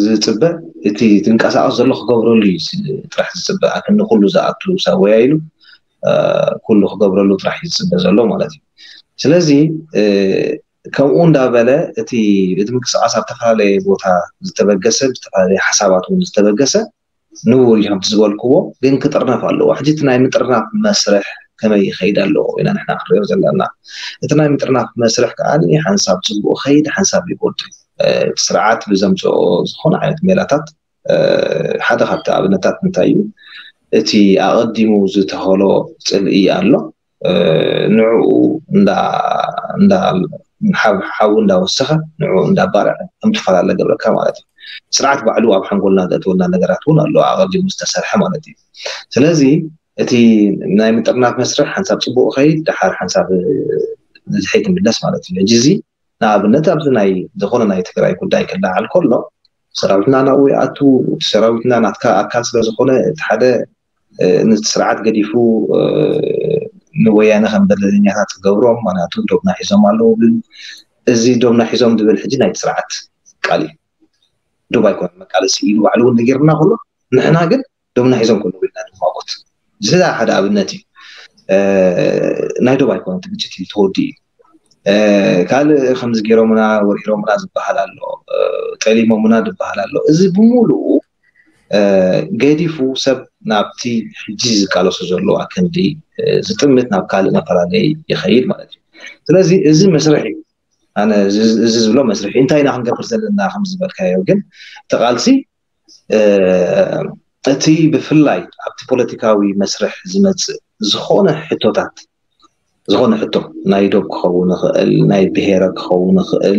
ዝፅበ? እቲ ዝንቀሳቀስ ዘሎ ክገብረሉ እዩ ጥራሕ ዝፅበ። ኣክን ንኩሉ ዝኣቱ ሰብ ወያ ኢሉ ኩሉ ክገብረሉ ጥራሕ እዩ ዝፅበ ዘሎ ማለት እዩ። ስለዚ ከምኡ እንዳበለ እቲ እቲ ምንቅስቃስ ኣብ ዝተፈላለየ ቦታ ዝተበገሰ ብዝተፈላለየ ሓሳባት እውን ዝተበገሰ ንቡር እዩ ከምቲ ዝበልክዎ፣ ግን ክጥርነፍ ኣለዎ። ሕጂ እቲ ናይ ምጥርናፍ መስርሕ ከመይ ይኸይድ ኣለዎ ኢና ንሕና ክንሪኦ ዘለና። እቲ ናይ ምጥርናፍ መስርሕ ከዓ ሓንሳብ ፅቡቅ ይኸይድ፣ ሓንሳብ ይጎድል። እቲ ስርዓት ብዘምፅኦ ዝኾነ ዓይነት ሜላታት ሓደ ካብቲ ኣብነታት እንታይ እዩ? እቲ ኣቐዲሙ ዝተኸሎ ፅልኢ ኣሎ። ንዕኡ እንዳ እንዳ ሓው እንዳወሰኸ ንዕኡ እንዳባርዐ ከም ትፈላለ ገብረካ ማለት እዩ። ስርዓት ባዕሉ ኣብ ሓንጎልና ዘእትወልና ነገራት እውን ኣሎ ኣቐዲሙ ዝተሰርሐ ማለት እዩ። ስለዚ እቲ ናይ ምጥርናፍ መስርሕ ሓንሳብ ፅቡቅ ከይድ ድሓር ሓንሳብ ንድሕሪት ይምለስ ማለት እዩ። ሕጂ እዚ ንኣብነት ኣብዚ ናይ ዝኾነ ናይ ትግራይ ጉዳይ ክለዓል ከሎ ሰራዊትና ናብኡ ይኣቱ። እቲ ሰራዊትና ናትካ ኣካል ስለ ዝኾነ እቲ ሓደ ነቲ ስርዓት ገዲፉ ንወያነ ከም በደለኛታት ክገብሮም፣ ምክንያቱ ዶብና ሒዞም ኣለዉ ብል። እዚ ዶብና ሒዞም ዝብል ሕጂ ናይቲ ስርዓት ቃል እዩ። ዶብ ኣይኮነን መቃለሲ ኢሉ ባዕሉ እውን ነጊርና ከሎ ንሕና ግን ዶብና ሒዞም ከለዉ ኢልና ንማጎት። እዚ ሓደ ኣብነት እዩ። ናይ ዶብ ኣይኮነን እቲ ግጭት እዩ ተወዲኡ እዩ። ካልእ ከምዚ ገይሮምና ወሪሮምና ዝበሃል ኣሎ፣ ጠሊሞምና ዝበሃል ኣሎ። እዚ ብምሉኡ ገዲፉ ሰብ ናብቲ ሕጂ ዝቃለሶ ዘሎ ኣክንዲ ዝጥምት ናብ ካልእ መፈላለይ ይኸይድ ማለት እዩ። ስለዚ እዚ መስርሕ እዩ። ኣነ እዚ ዝብሎ መስርሕ እዩ። እንታይ ኢና ክንገብር ዘለና ከም ዝበልካዮ ግን እቲ ቃልሲ እቲ ብፍላይ ኣብቲ ፖለቲካዊ መስርሕ ዝመፅእ ዝኾነ ሕቶታት ዝኾነ ሕቶ ናይ ዶብ ክኸውን ይኽእል፣ ናይ ብሄረ ክኸውን ይኽእል፣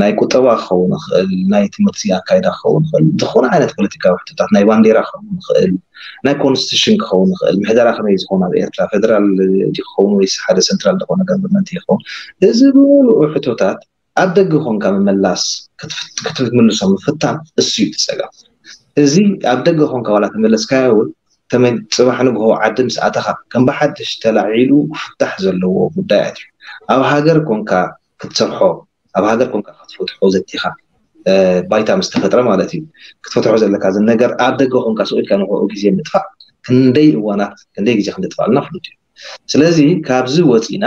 ናይ ቁጠባ ክኸውን ይኽእል፣ ናይ ትምህርቲ ኣካይዳ ክኸውን ይኽእል፣ ዝኾነ ዓይነት ፖለቲካዊ ሕቶታት ናይ ባንዴራ ክኸውን ይኽእል፣ ናይ ኮንስቲቱሽን ክኸውን ይኽእል፣ ምሕደራ ከመይ ዝኾን ኣብ ኤርትራ ፌደራል ክኸውን ወይስ ሓደ ሰንትራል ዝኾነ ገቨርንመንት ይኸውን፣ እዚ ብምሉኡ ሕቶታት ኣብ ደገ ኮንካ ምምላስ ክትምልሶ ምፍታን እሱ እዩ እቲ ፀገም። እዚ ኣብ ደገ ኮንካ ዋላ ተመለስካዮ እውን ተመ- ፅባሕ ንግሆ ዓዲ ምስ ኣተኻ ከም ብሓድሽ ተላዒሉ ክፍታሕ ዘለዎ ጉዳያት እዩ። ኣብ ሃገር ኮንካ ክትሰርሖ ኣብ ሃገር ኮንካ ክትፈትሖ ዘቲኻ ባይታ ምስ ተፈጥረ ማለት እዩ ክትፈትሖ ዘለካ እዚ ነገር ኣብ ደገ ኮንካ ስቕ ኢልካ ንክኡ ግዜ ምጥፋእ ክንደይ እዋናት ክንደይ ግዜ ክንደጥፋልና ፍሉጥ እዩ። ስለዚ ካብዚ ወፂና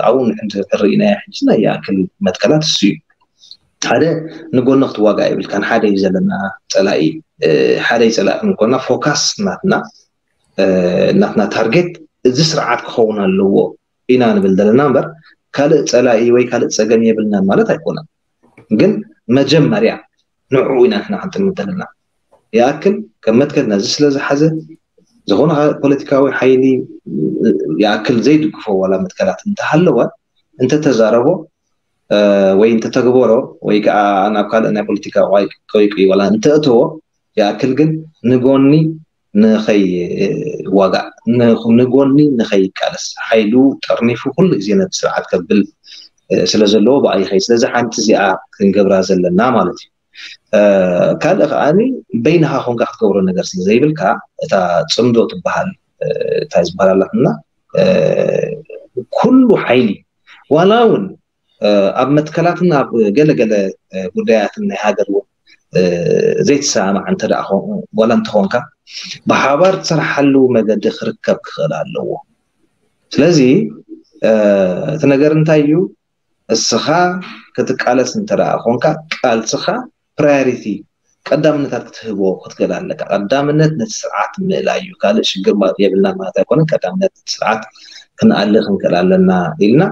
ኣብኡ ንሕንርኢናዮ ሕጂ ናይ ይኣክል መትከላት እሱ እዩ። ሓደ ንጎኒ ክትዋጋእ የብልካን። ሓደ እዩ ዘለና ፀላኢ። ሓደ እዩ ፀላኢ ክንኮና ፎካስ ናትና ናትና ታርጌት እዚ ስርዓት ክኸውን ኣለዎ ኢና ንብል ዘለና እምበር ካልእ ፀላኢ ወይ ካልእ ፀገም የብልናን ማለት ኣይኮነን። ግን መጀመርያ ንዕኡ ኢና ንሕና ክንጥምት ዘለና። ይኣክል ከም መትከል ነዚ ስለ ዝሓዘ ዝኾነ ፖለቲካዊ ሓይሊ ይኣክል ዘይድግፎ ዋላ መትከላት እንተሃለወ እንተተዛረቦ ወይ እንተተግበሮ ወይ ከዓ ናብ ካልእ ናይ ፖለቲካ ቀይቂ ዋላ እንተእተዎ ይኣክል ግን ንጎኒ ንኸይዋጋእ፣ ንጎኒ ንኸይቃለስ፣ ሓይሉ ጠርኒፉ ኩሉ ግዜ ነቲ ስርዓት ከብል ስለ ዘለዎ ብኣ ይኸይድ። ስለዚ ሓንቲ እዚኣ ክንገብራ ዘለና ማለት እዩ። ካልእ ከዓኒ በይንኻ ኮንካ ክትገብሮ ነገር ስለ ዘይብልካ፣ እታ ፅምዶ ትበሃል እንታይ ዝበሃል ኣላትና፣ ኩሉ ሓይሊ ዋላ እውን ኣብ መትከላትን ኣብ ገለገለ ጉዳያትን ናይ ሃገር እውን ዘይትሰማማዕ እንተ ደኣ ዋላ እንተኾንካ፣ ብሓባር ትሰርሓሉ መገዲ ክርከብ ክኽእል ኣለዎ። ስለዚ እቲ ነገር እንታይ እዩ? እስኻ ክትቃለስ እንተ ደኣ ኮንካ፣ ቃልስኻ ፕራዮሪቲ ቀዳምነታት ክትህቦ ክትክእል ኣለካ። ቀዳምነት ነቲ ስርዓት ምእላይ እዩ። ካልእ ሽግር የብልና ማለት ኣይኮነን። ቀዳምነት ነቲ ስርዓት ክንኣሊ ክንክእል ኣለና ኢልና፣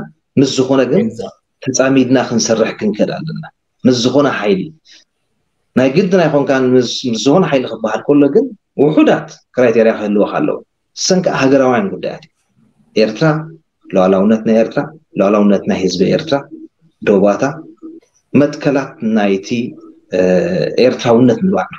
ምስ ዝኾነ ግን ተፃሚድና ክንሰርሕ ክንክእል ኣለና። ምስ ዝኾነ ሓይሊ ናይ ግድን ኣይኮንካን። ምስ ዝኾነ ሓይሊ ክበሃል ከሎ ግን ውሑዳት ክራይቴርያ ክህልወካ ኣለዎ። እሰን ከዓ ሃገራውያን ጉዳያት እዩ። ኤርትራ፣ ሉዓላውነት ናይ ኤርትራ፣ ሉዓላውነት ናይ ህዝቢ ኤርትራ፣ ዶባታ፣ መትከላት ናይቲ ኤርትራውነት ንባዕሉ።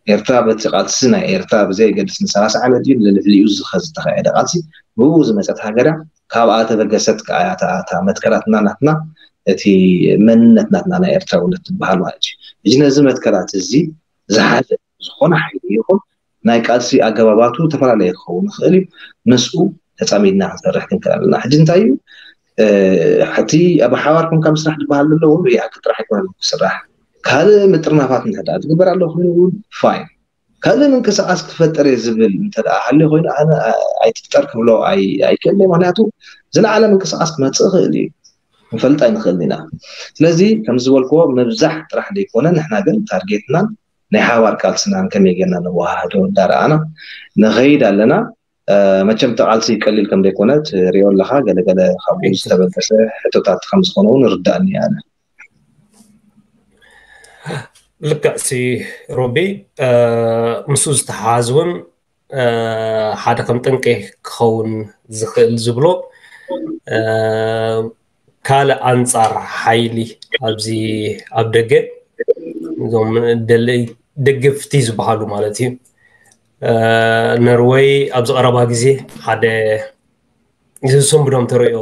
ኤርትራ በቲ ቃልሲ ናይ ኤርትራ ብዘየገድስ ንሰላሳ ዓመት እዩ ንልዕሊኡ ዝኸ ዝተኻየደ ቃልሲ ብኡ ዝመፀት ሃገር እያ። ካብኣ ተበገሰት ከዓ እታ መትከላትና ናትና፣ እቲ መንነት ናትና ናይ ኤርትራውነት ትበሃል ማለት እዩ። እዚ ነዚ መትከላት እዚ ዝሓዘ ዝኾነ ሓይሊ ይኹን ናይ ቃልሲ ኣገባባቱ ዝተፈላለየ ክኸውን ይኽእል እዩ። ምስኡ ተፃሚድና ክንሰርሕ ክንክእል ኣለና። ሕጂ እንታይ እዩ እቲ ኣብ ሓባር ኮንካ ምስራሕ ዝበሃል ዘሎ እውን ብሓቂ ጥራሕ ኣይኮነን ክስራሕ። ካልእ ምጥርናፋት እንተ ትግበር ኣሎ ኮይኑ እውን ፋይን። ካልእ ምንቅስቃስ ክፈጠር እየ ዝብል እንተ ሃልዩ ኮይኑ ኣነ ኣይትፍጠር ክብሎ ኣይክእልን። ምክንያቱ ዝለዓለ ምንቅስቃስ ክመፅእ ይኽእል እዩ። ክንፈልጥ ኣይንኽእልን ኢና። ስለዚ ከም ዝበልክዎ ምብዛሕ ጥራሕ ዘይኮነ ንሕና ግን ታርጌትናን ናይ ሓባር ቃልስናን ከመይ ጌርና ነወሃህዶ እንዳረኣና ንኸይድ ኣለና። መቸም እቲ ቃልሲ ቀሊል ከም ዘይኮነ ትሪኦ ኣለኻ። ገለገለ ካብኡ ዝተበገሰ ሕቶታት ከም ዝኾነ እውን ርዳእኒ ኣነ። ልክዕ ሲ ሮቢ፣ ምስኡ ዝተሓሓዝ እውን ሓደ ከም ጠንቂ ክኸውን ዝኽእል ዝብሎ ካልእ ኣንፃር ሓይሊ ኣብዚ ኣብ ደገ እዞም ደገፍቲ ዝበሃሉ ማለት እዩ። ነርወይ ኣብዚ ቀረባ ግዜ ሓደ ዝሰንብዶም ተርእዮ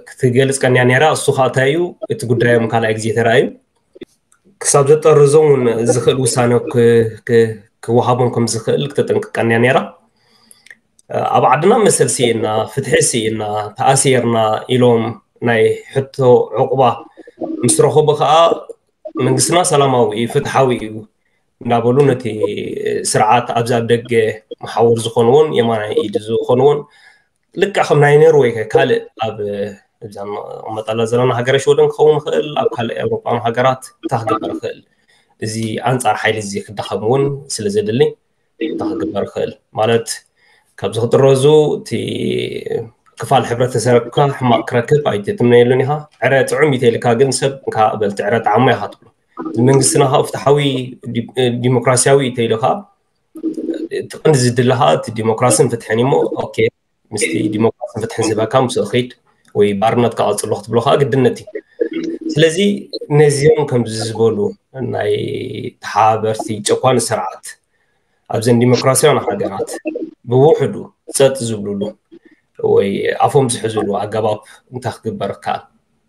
ክትገልፅ ቀንያ ነይራ። እሱ ከዓ እንታይ እዩ እቲ ጉዳዮም ካልኣይ ግዜ ተራእዩ ክሳብ ዘጠርዞም እውን ዝኽእል ውሳነ ክወሃቦም ከም ዝኽእል ክተጠንቅቀን እያ ነይራ። ኣብ ዓድና መሰል ስኢና፣ ፍትሒ ስኢና፣ ተኣሲርና ኢሎም ናይ ሕቶ ዕቑባ ምስ ረኸቡ ከዓ መንግስትና ሰላማዊ እዩ፣ ፍትሓዊ እዩ እንዳበሉ ነቲ ስርዓት ኣብዚ ኣብ ደገ መሓውር ዝኾንዎን የማናይ ኢድ ዝኾንዎን ልክዕ ከም ናይ ኖርወይ ካልእ ኣብ እዛ ንቕመጠላ ዘለና ሃገረ ሽወደን ክኸውን ይኽእል፣ ኣብ ካልእ ኤውሮጳን ሃገራት እንታይ ክግበር ይኽእል? እዚ ኣንጻር ሓይሊ እዚ ክዳኸም እውን ስለ ዘድሊ እንታይ ክግበር ይኽእል? ማለት ካብዚ ክጥረዙ እቲ ክፋል ሕብረተሰብካ ሕማቕ ክረክብ ኣይትትምነየሉን ኢኻ። ዕረ ጥዑም እዩ ተይልካ ግን ሰብ እንካ በልቲ ዕረ ጣዕሞ ኢኻ ትብሎ። መንግስትና ካብ ፍትሓዊ ዲሞክራሲያዊ እዩ ተይሉ ከዓ እቲ ቀንዲ ዝድለ ከዓ እቲ ዲሞክራስን ፍትሕን እሞ ኦኬ ምስቲ ዲሞክራስን ፍትሕን ዝህበካ ምስኡ ኺድ ወይ ባርነት ክቐፅሎ ክትብሎ ከዓ ግድነት እዩ። ስለዚ ነዚኦም ከምዚ ዝበሉ ናይ ተሓባበርቲ ጨቋኒ ስርዓት ኣብዘን ዲሞክራሲያውያን ሃገራት ብውሕዱ ፀጥ ዝብሉሉ ወይ ኣፎም ዝሕዝሉ ኣገባብ እንታይ ክግበር ይከኣል?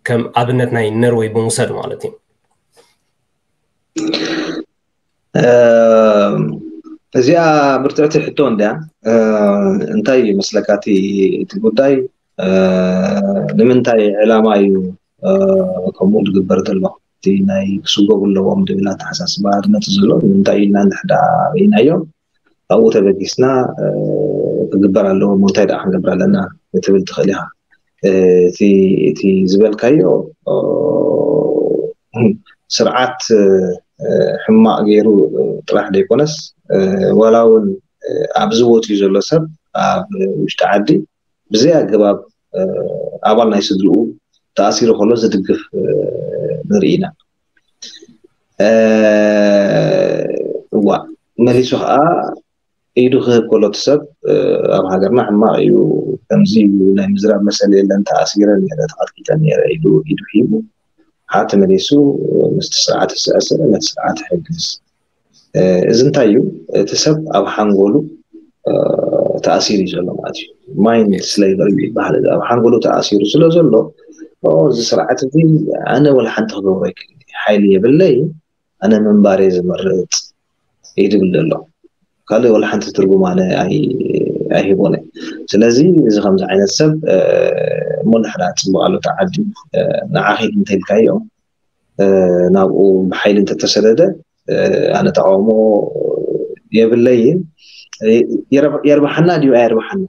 ከም ኣብነት ናይ ነርወይ ብምውሳድ ማለት እዩ። እዚኣ ብርትዕቲ ሕቶ እንድያ። እንታይ ይመስለካ እቲ ጉዳይ? ንምንታይ ዕላማ እዩ ከምኡ ዝግበር ዘሎ? እቲ ናይ ክስጎጉ ኣለዎም ዝብል ኣተሓሳስባ ዝመፅእ ዘሎ ንምንታይ ኢልና እንድሕዳ ርኢናዮ ኣብኡ ተበጊስና ክግበር ኣለዎ እንታይ ደኣ ክንገብር ኣለና ክትብል ትኽእል ኢኻ። እቲ ዝበልካዮ ስርዓት ሕማቕ ገይሩ ጥራሕ ዘይኮነስ ዋላ እውን ኣብዚ ወፅዩ ዘሎ ሰብ ኣብ ውሽጢ ዓዲ ብዘይ ኣገባብ ኣባል ናይ ስድርኡ ተኣሲሩ ከሎ ዝድግፍ ንርኢ ኢና። እዋ መሊሱ ከዓ ኢዱ ክህብ ከሎ እቲ ሰብ ኣብ ሃገርና ሕማቕ እዩ፣ ከምዚ እዩ፣ ናይ ምዝራብ መሰል የለን፣ ተኣሲረ ነይረ፣ ተቐጥቂጠ ነይረ ኢሉ ኢዱ ሂቡ ሓቲ መሊሱ ምስቲ ስርዓት ዝተኣሰረ ነቲ ስርዓት ይሕግዝ። እዚ እንታይ እዩ? እቲ ሰብ ኣብ ሓንጎሉ ተኣሲሩ እዩ ዘሎ ማለት እዩ። ማይንድ ስሌቨሪ ይበሃል። ኣብ ሓንጎሉ ተኣሲሩ ስለ ዘሎ፣ እዚ ስርዓት እዚ ኣነ ወላ ሓንቲ ክገብሮ ኣይክእል፣ ሓይሊ የብለይ፣ ኣነ ምንባር እየ ዝመርፅ እዩ ዝብል ዘሎ። ካልእ ወላ ሓንቲ ትርጉም ኣነ ኣይህቦን። ስለዚ እዚ ከምዚ ዓይነት ሰብ እሞ ንሕዳ ፅቡቅ ኣሎ ተዓዲ ንዓኺድ እንተልካዮ ናብኡ ብሓይሊ እንተተሰደደ ኣነ ተቃውሞ የብለይን። የርብሓና ድዩ ኣየርብሓና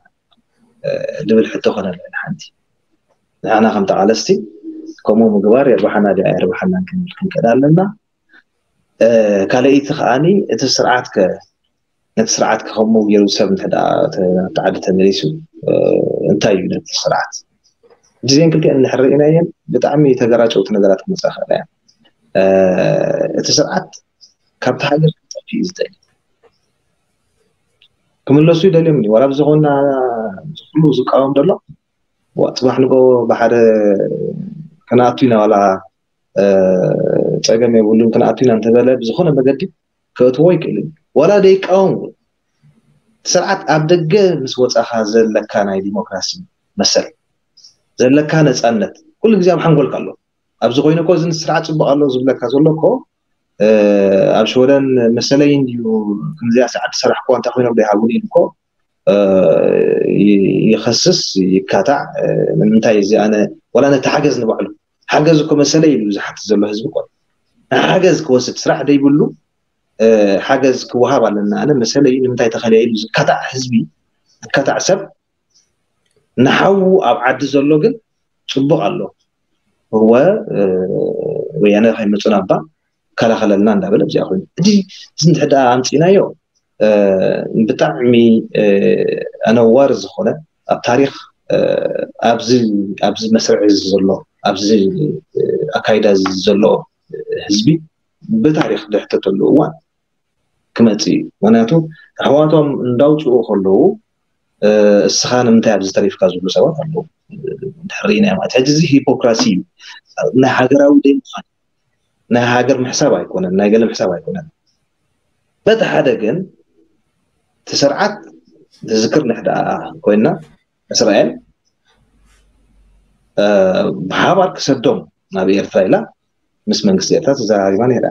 ድብል ሕቶ ኮነ ሓንቲ ንሕና ከም ተቃለስቲ ከምኡ ምግባር የርብሓና ድዩ ኣየርብሓናን ክንብል ክንክእል ኣለና። ካልኣይቲ ከዓኒ እቲ ስርዓት ከ ነቲ ስርዓት ከ ከምኡ ገይሩ ሰብ እንተ ተዓዲ ተመሊሱ እንታይ እዩ ነቲ ስርዓት? እዚአን ክልቲአን እንድሕር ርኢናየን ብጣዕሚ ተገራጨውቲ ነገራት ክመፃ ክእላ እያ። እቲ ስርዓት ካብቲ ሃገር ክጠፍእ እዩ ዝደሊ። ክምለሱ ይደልዮም እዩ ዋላ ብዝኾና ኩሉ ዝቃወም ዘሎ ጽባሕ ንጎ ብሓደ ክነኣቱ ኢና ዋላ ፀገም የብሉን ክነኣቱ ኢና እንተበለ ብዝኾነ መገዲ ከእትዎ ይክእል እዩ። ዋላ ደይቃወም እውን ስርዓት ኣብ ደገ ምስ ወፃኻ ዘለካ ናይ ዲሞክራሲ መሰል ዘለካ ነፃነት ኩሉ ግዜ ኣብ ሓንጎልካ ኣሎ። ኣብዚ ኮይኑ እኮ እዚ ስርዓት ፅቡቅ ኣሎ ዝብለካ ዘሎ እኮ ኣብ ሽወደን መሰለይ እንድዩ ከምዚኣ ሰዓት ዝሰራሕኩዋ እንታይ ኮይኖም ዘይሃቡኒ ኢሉ እኮ ይኸስስ ይካታዕ። ንምንታይ እዚ ኣነ ዋላ ነቲ ሓገዝ ንባዕሉ ሓገዝ እኮ መሰለይ ኢሉ ዝሓትት ዘሎ ህዝቢ እኮ ሓገዝ ክወስድ ስራሕ ደይብሉ ሓገዝ ክወሃብ ኣለና ኣነ መሰለይ ንምንታይ ተኸልያ ኢሉ ዝካታዕ ህዝቢ ዝካታዕ ሰብ ንሓዉ ኣብ ዓዲ ዘሎ ግን ፅቡቅ ኣሎ እወ ወያነ ከይመፁና እባ ከላኸለልና እንዳበለ ኣብዚኣ ኮይኑ እዚ እዚ እንድሕር ደኣ ኣምፂእናዮ ብጣዕሚ ኣነዋሪ ዝኾነ ኣብ ታሪክ ኣብዚ ኣብዚ መስርዕ እዚ ዘሎ ኣብዚ ኣካይዳ እዚ ዘሎ ህዝቢ ብታሪክ ድሕተተሉ እዋን ክመፅእ እዩ። ምክንያቱ ኣሕዋቶም እንዳውፅኡ ከለዉ እስኻ ንምንታይ ኣብዚ ተሪፍካ ዝብሉ ሰባት ኣለዉ። ድሕር ኢና ማለት ሕጂ እዚ ሂፖክራሲ እዩ። ናይ ሃገራዊ ደይ ምዃን ናይ ሃገር ምሕሳብ ኣይኮነን፣ ናይ ገለ ምሕሳብ ኣይኮነን። በቲ ሓደ ግን እቲ ስርዓት ዝዝክር ንሕዳ ኮይና እስራኤል ብሓባር ክሰዶም ናብ ኤርትራ ኢላ ምስ መንግስቲ ኤርትራ ተዘራሪባ ነይራ።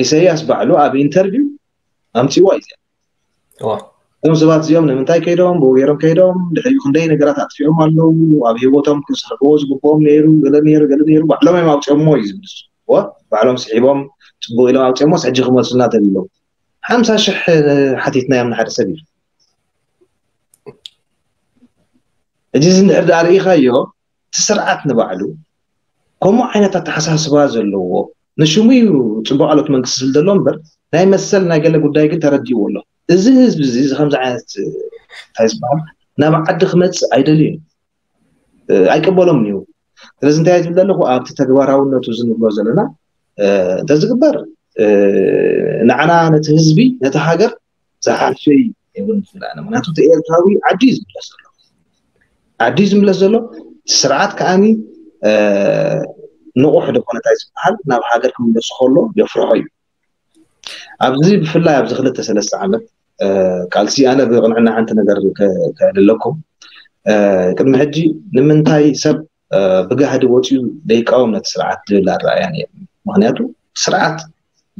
ኢሳያስ ባዕሉ ኣብ ኢንተርቪው ኣምፅዋ እዩ እዞም ሰባት እዚኦም ንምንታይ ከይዶም ብኡ ገይሮም ከይዶም ድሕሪኡ ክንደይ ነገራት ኣጥፊኦም ኣለዉ ኣብ ሂወቶም ክስርሕዎ ዝግብኦም ነይሩ ገለ ነይሩ ገለ ነይሩ ባዕሎም እዮም ኣውፅኦምዎ እዩ ዝብል ባዕሎም ስሒቦም ፅቡቅ ኢሎም ኣውፅኦምዎስ ሕጂ ክመልሱና ተቢሎም ሓምሳ ሽሕ ሓቲትናዮም ንሓደ ሰብ ኢሉ ሕጂ እዚ እንድሕር ደኣ ርኢኻዮ እቲ ስርዓት ንባዕሉ ከምኡ ዓይነት ኣተሓሳስባ ዘለዎ ንሽሙ እዩ ፅቡቅ ኣሎት መንግስቲ ዝብል ዘሎ እምበር ናይ መሰል ናይ ገለ ጉዳይ ግን ተረዲእዎ ኣሎ እዚ ህዝቢ እዚ እዚ ከምዚ ዓይነት እንታይ ዝበሃል ናብ ዓዲ ክመፅእ ኣይደልዩን ኣይቀበሎም እዩ ስለዚ እንታይ ዝብል ዘለኹ ኣብቲ ተግባራውነቱ ዝንብሎ ዘለና እንተዝግበር ንዓና ነቲ ህዝቢ ነቲ ሃገር ዝሓልፈ እዩ የብሉ ዝብላና ምክንያቱ እቲ ኤርትራዊ ዓዲ እዩ ዝምለስ ዘሎ ዓዲ እዩ ዝምለስ ዘሎ ስርዓት ከዓኒ ንቑሕ ዶ ኮነታይ ዝበሃል ናብ ሃገር ክምለሱ ከሎ የፍርሖ እዩ ኣብዚ ብፍላይ ኣብዚ ክልተ ሰለስተ ዓመት ቃልሲ ኣነ ብቕንዕና ሓንቲ ነገር ከዕልለኩም ቅድሚ ሕጂ ንምንታይ ሰብ ብጋህዲ ወፂኡ ደይቃወም ነቲ ስርዓት ዝብል ኣረኣያ ነይሩ ምክንያቱ ስርዓት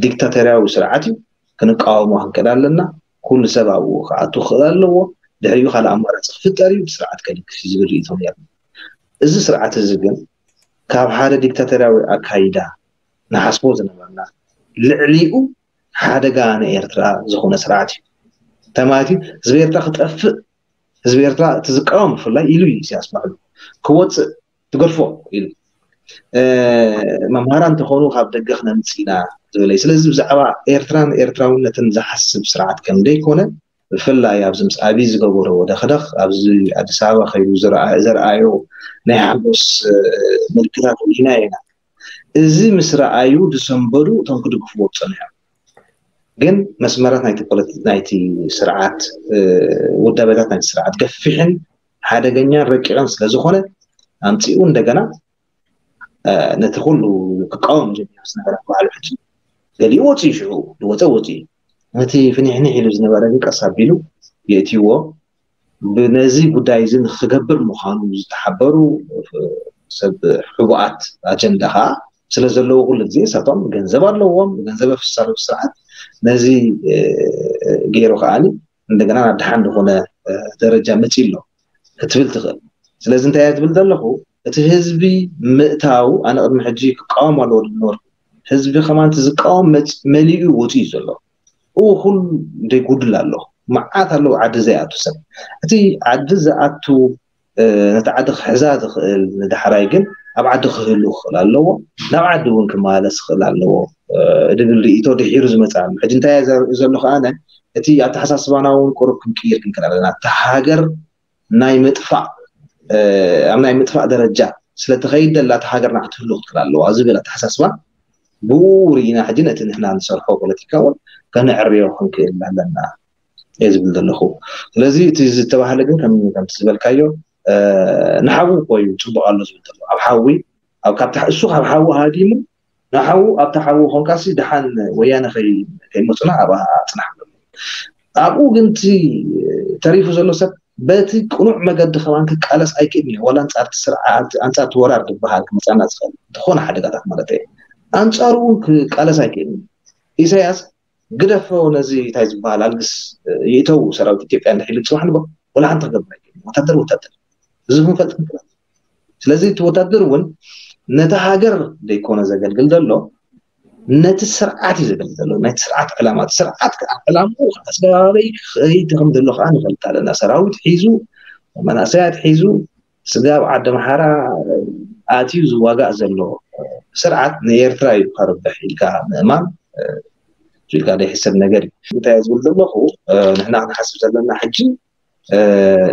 ዲክታተርያዊ ስርዓት እዩ ክንቃወሞ ክንክእል ኣለና ኩሉ ሰብ ኣብኡ ክኣቱ ክኽእል ኣለዎ ድሕሪኡ ካልእ ኣማራፂ ክፍጠር እዩ ስርዓት ከድግፍ ዝብል ርእቶ ነይሩ እዚ ስርዓት እዚ ግን ካብ ሓደ ዲክታተርያዊ ኣካይዳ ንሓስቦ ዝነበርና ልዕሊኡ ሓደጋ ንኤርትራ ዝኾነ ስርዓት እዩ ተማቲ ህዝቢ ኤርትራ ክጠፍእ ህዝቢ ኤርትራ እቲ ዝቃወም ብፍላይ ኢሉ እዩ ኢሳያስ ባዕሉ ክወፅእ ትገድፎ ኢሉ መምሃራን እንተኾኑ ካብ ደገ ክነምፅእ ኢና ዝበለ እዩ ስለዚ ብዛዕባ ኤርትራን ኤርትራውነትን ዝሓስብ ስርዓት ከም ደይኮነ ብፍላይ ኣብዚ ምስ ኣብይ ዝገበሮ ወደኽደኽ ኣብዚ ኣዲስ ኣበባ ከይዱ ዘርኣዮ ናይ ሓጎስ ምልክታት ርኢና ኢና እዚ ምስ ረኣዩ ዝሰንበዱ እቶም ክድግፍዎ ዝፀንሑ እዮም ግን መስመራት ናይቲ ፖለቲ ናይቲ ስርዓት ውዳበታት ናይቲ ስርዓት ገፊሕን ሓደገኛን ረቂቕን ስለ ዝኾነ ኣምፂኡ እንደገና ነቲ ኩሉ ክቃወም ጀሚሩ ዝነበረ በዓሉ ሕጂ ገሊኡ ወፂኡ፣ ሽዑ ዝወፀ ወፂኡ። ነቲ ፍኒሕኒሕ ኢሉ ዝነበረ ግን ቀስ ኣቢሉ የእትይዎ። ብነዚ ጉዳይ እዚ ንክገብር ምዃኑ ዝተሓበሩ ሰብ ሕቡኣት ኣጀንዳ ከዓ ስለ ዘለዉ፣ ኩሉ ግዜ እሳቶም ገንዘብ ኣለዎም፣ ገንዘብ ኣፍስሳሉ ስርዓት ነዚ ገይሩ ከዓኒ እንደገና ናብ ደሓን ዝኾነ ደረጃ መፂ ኣሎ ክትብል ትኽእል። ስለዚ እንታይ እያ ትብል ዘለኹ? እቲ ህዝቢ ምእታው ኣነ ቅድሚ ሕጂ ክቃወም ኣለዎ ዝነበርኩ፣ ህዝቢ ከማን እቲ ዝቃወም መሊኡ ወፂኡ ዘሎ። እው ኩሉ ዘይጉድል ኣሎ፣ መዓት ኣለዉ ዓዲ ዘይኣቱ ሰብ። እቲ ዓዲ ዝኣቱ ነቲ ዓዲ ክሕዛ ዝኽእል ንዳሕራይ ግን ኣብ ዓዲ ክህሉ ክኽእል ኣለዎ፣ ናብ ዓዲ እውን ክመላለስ ክኽእል ኣለዎ ድብል ርኢቶ ድሒሩ ዝመፅእ ኣሎ። ሕጂ እንታይ ዘርኢ ዘሎ ከዓነ እቲ ኣተሓሳስባና እውን ቁሩብ ክንቅይር ክንክእል ኣለና። እታ ሃገር ናይ ምጥፋእ ኣብ ናይ ምጥፋእ ደረጃ ስለተኸይድ ደላ እታ ሃገርና ክትህሉ ክትክእል ኣለዋ ዝብል ኣተሓሳስባ ብኡ ርኢና ሕጂ ነቲ ንሕና ንሰርሖ ፖለቲካ እውን ከነዕርዮ ክንክእል ኣለና እየ ዝብል ዘለኹ። ስለዚ እቲ ዝተባህለ ግን ከምቲ ዝበልካዮ ንሓዊ እኮ እዩ ፅቡቅ ኣሎ ዝብል ዘሎ። ኣብ ሓዊ እሱ ካብ ሓዊ ሃዲሙ ንሓዉ ኣብቲ ሓዉ ኮንካሲ ደሓን ወያነ ከይመፁና ኣብኣ ፅናሕ። ኣብኡ ግን እቲ ተሪፉ ዘሎ ሰብ በቲ ቅኑዕ መገዲ ከማን ክቃለስ ኣይክእልን እዩ። ዋላ ኣንፃር እቲ ስርዓት ኣንፃር እቲ ወራር ዝበሃል ክመፃና ዝኽእል ዝኾነ ሓደጋታት ማለት እየ ኣንፃሩ እውን ክቃለስ ኣይክእልን እዩ። ኢሳያስ ግደፎ ነዚ እንታይ ዝበሃል ኣልግስ ይእተው ሰራዊት ኢትዮጵያ እንድሕር ኢሉ ፅባሕ ንግሆ ወላ ሓንቲ ክገብር ኣይክእልን። ወታደር ወታደር እዚ ክንፈልጥ ንክእል። ስለዚ እቲ ወታደር እውን ነቲ ሃገር ዘይኮነ ዘገልግል ዘሎ ነቲ ስርዓት እዩ ዘገልግል ዘሎ። ናይቲ ስርዓት ዕላማ እቲ ስርዓት ከዓ ዕላምኡ ከዓ ስጋበይ ክኸይድ ከም ዘሎ ከዓ ንፈልጥ ኣለና። ሰራዊት ሒዙ መናእሰያት ሒዙ ስጋብ ዓዲ ኣምሓራ ኣትዩ ዝዋጋእ ዘሎ ስርዓት ንኤርትራ እዩ ከርብሕ ኢልካ ምእማን ኢልካ ዘይሕሰብ ነገር እዩ። እንታይ ዝብል ዘለኹ ንሕና ክንሓስብ ዘለና ሕጂ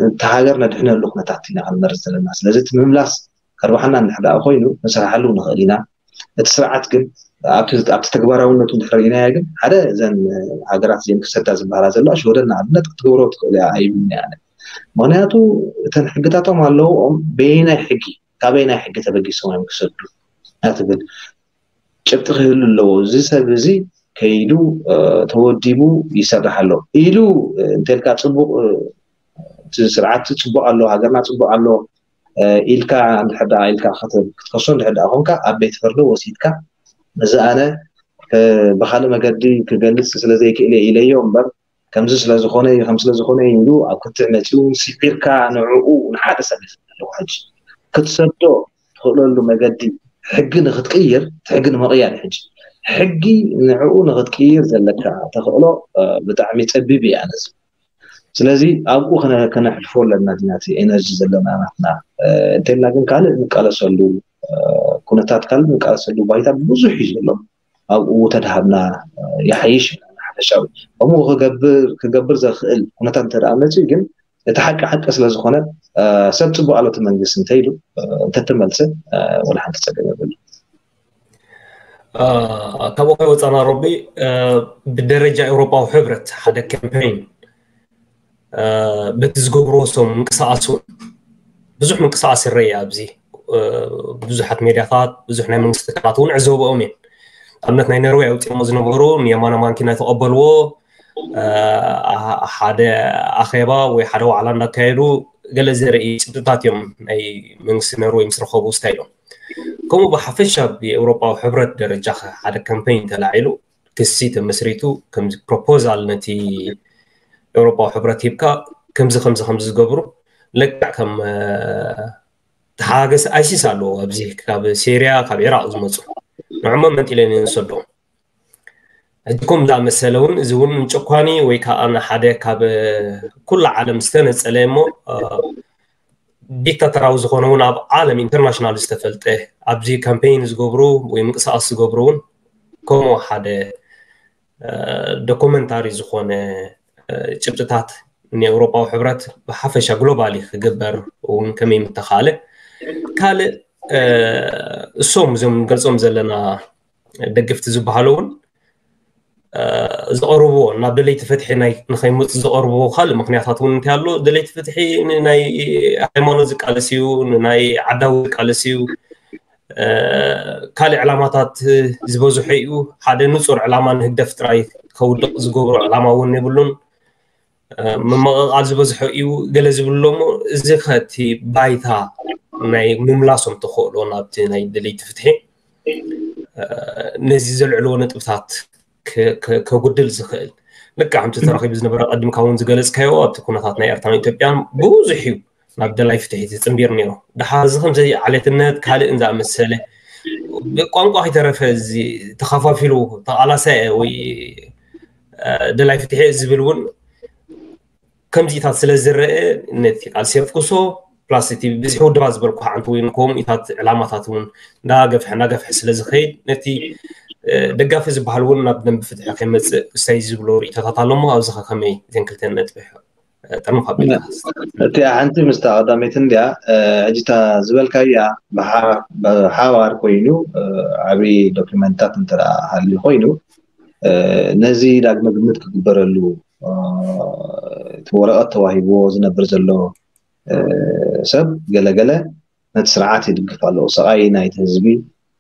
እቲ ሃገር ነድሕነሉ ኩነታት ኢና ክንመርፅ ዘለና። ስለዚ እቲ ምምላስ ከርባሓና እንድሕር ደኣ ኮይኑ ንስራሓሉ ንኽእል ኢና። እቲ ስርዓት ግን ኣብቲ ተግባራውነቱ እንድሕር ርኢናዮ ግን ሓደ እዘን ሃገራት እዚን ክሰዳ ዝበሃላ ዘለዋ ሽወደን ንኣብነት ክትገብሮ ትኽእል እያ ኣይብልን እያ ኣነ። ምክንያቱ እተን ሕግታቶም ኣለውኦም በየናይ ሕጊ ካበየናይ ሕጊ ተበጊሶም እዮም ክሰዱ እያ ትብል። ጭብጢ ክህሉ ኣለዎ። እዚ ሰብ እዚ ከይዱ ተወዲቡ ይሰርሕ ኣሎ ኢሉ እንተልካ ፅቡቅ እቲ ስርዓት ፅቡቅ ኣሎ ሃገርና ፅቡቅ ኣሎ ኢልካ እንድሕር ደኣ ኢልካ ክትከሶ እንድሕር ደኣ ኮንካ ኣብ ቤት ፍርዲ ወሲድካ እዚ ኣነ ብካልእ መገዲ ክገልፅ ስለዘይክእል እየ ኢለዮ እምበር ከምዚ ስለዝኾነ እዩ ከም ስለዝኾነ እዩ ኢሉ ኣብ ክትዕ መፂኡ ስዒርካ ንዕኡ ንሓደ ሰብ ይኽእል ኣለዎ ሕጂ ክትሰዶ ትኽእለሉ መገዲ ሕጊ ንክትቅይር እቲ ሕጊ ንምቕያር እዩ ሕጂ ሕጊ ንዕኡ ንክትቅይር ዘለካ ተኽእሎ ብጣዕሚ ፀቢብ እዩ ኣነዚ ስለዚ ኣብኡ ከነሕልፎ ኣለና ዲና እቲ ኤነርጂ ዘለና ናትና እንተልና ግን ካልእ ንቃለሰሉ ኩነታት ካልእ ንቃለሰሉ ባይታ ብዙሕ እዩ ዘሎ ኣብኡ ተድሃብና ይሓይሽ ሓፈሻዊ ከምኡ ክገብር ክገብር ዘኽእል ኩነታት እንተ ደኣ መፅኡ ግን እቲ ሓቂ ሓቂ ስለ ዝኾነ ሰብ ፅቡቅ ኣሎ እቲ መንግስቲ እንተ ኢሉ እንተተመልሰ ወላ ሓንቲ ፀገም የብሉ ካብ ወፃና ሮቢ ብደረጃ ኤውሮፓዊ ሕብረት ሓደ ካምፔይን በቲ ዝገብርዎ ሰው ምንቅስቃስ እውን ብዙሕ ምንቅስቃስ ይረአ ኣብዚ ብዙሓት ሜድያታት ብዙሕ ናይ መንግስቲ ትካላት እውን ዕዘበኦም እየን ኣብነት ናይ ነርወይ ኣውፅሞ ዝነበሩ ንየማነ ማንኪና ተቐበልዎ ሓደ ኣኼባ ወይ ሓደ ዋዕላ እንዳካየዱ ገለ ዘርኢ ጭብጥታት እዮም ናይ መንግስቲ ነርወይ ምስ ረኸቡ ስታይሎም ከምኡ ብሓፈሻ ብኤውሮጳዊ ሕብረት ደረጃ ሓደ ካምፔይን ተላዒሉ ክሲ ተመስሪቱ ከምዚ ፕሮፖዛል ነቲ ኤውሮጳዊ ሕብረት ሂብካ ከምዚ ከምዚ ከምዚ ዝገብሩ ለክዕ ከም ተሓጋገሲ ኣይሲስ ኣለዎ ኣብዚ ካብ ሴርያ ካብ ኢራቅ ዝመፁ ንዕሞ መንጢለን ንሰዶም ሕጂ ከም ዝኣመሰለ እውን እዚ እውን ጨኳኒ ወይ ከዓ ሓደ ካብ ኩሉ ዓለም ዝተነፀለ እሞ ዲክታተራዊ ዝኾነ እውን ኣብ ዓለም ኢንተርናሽናል ዝተፈልጠ ኣብዚ ካምፔይን ዝገብሩ ወይ ምንቅስቃስ ዝገብሩ እውን ከምኡ ሓደ ዶኩመንታሪ ዝኾነ ጭብጥታት ንኤውሮፓዊ ሕብረት ብሓፈሻ ግሎባሊ ክግበር እውን ከመይ ምተኻለ ካልእ እሶም እዞም ንገልፆም ዘለና ደገፍቲ ዝበሃሉ እውን ዝቐርብዎ ናብ ደለይቲ ፍትሒ ንኸይመፁ ዝቐርብዎ ካልእ ምክንያታት እውን እንታይ ኣሎ ደለይቲ ፍትሒ ንናይ ሃይማኖት ዝቃለስ እዩ ንናይ ዓዳዊ ዝቃለስ እዩ ካልእ ዕላማታት ዝበዝሖ እዩ። ሓደ ንጹር ዕላማ ንህግደፍ ጥራይ ከውድቕ ዝገብሮ ዕላማ እውን የብሉን። ምምቕቓል ዝበዝሖ እዩ ገለ ዝብሉ ኣለዉ። እዚ ከ እቲ ባይታ ናይ ምምላሶም ተኽእሎ ናብቲ ናይ ደለይቲ ፍትሒ ነዚ ዘልዕልዎ ነጥብታት ከጉድል ዝኽእል፣ ልክዕ ከምቲ ተረኺቡ ዝነበረ ቀዲምካ እውን ዝገለጽካዮ ኣብቲ ኩነታት ናይ ኤርትራን ኢትዮጵያን ብዙሕ እዩ ናብ ደላይ ፍትሒ ዝጽንቢር ነይሩ። ድሓር እዚ ከምዚ ዓሌትነት ካልእን ዝኣመሰለ ብቋንቋ ከይተረፈ እዚ ተኸፋፊሉ ተቓላሳየ ወይ ደላይ ፍትሒ ዝብል እውን ከምዚታት ስለ ዝረአ ነቲ ቃልሲ የፍኩሶ ፕላስ እቲ ብዝሒ ውድባ ዝበልኩ ሓንቲ ወይ ከምኡታት ዕላማታት እውን እንዳገፍሐ እንዳገፍሐ ስለ ዝኸይድ ነቲ ደጋፊ ዝበሃል እውን ናብ ደንብ ፍትሒ ከይመፅእ እሳይ ዝብሎ ርእቶታት ኣሎ እሞ ኣብዚ ከ ከመይ ዘን ክልተን ነጥቢ ጠርንፍ ኣቢልካ እቲኣ ሓንቲ ምስታ ቀዳመይቲ እንድያ ሕጂታ ዝበልካያ ብሓባር ኮይኑ ዓብዪ ዶኪመንታት እንተ ሃልዩ ኮይኑ ነዚ ዳግመ ግምት ክግበረሉ እቲ ወረቐት ተዋሂብዎ ዝነብር ዘሎ ሰብ ገለገለ ነቲ ስርዓት ይድግፍ ኣለዎ። ሰቓይ ናይቲ ህዝቢ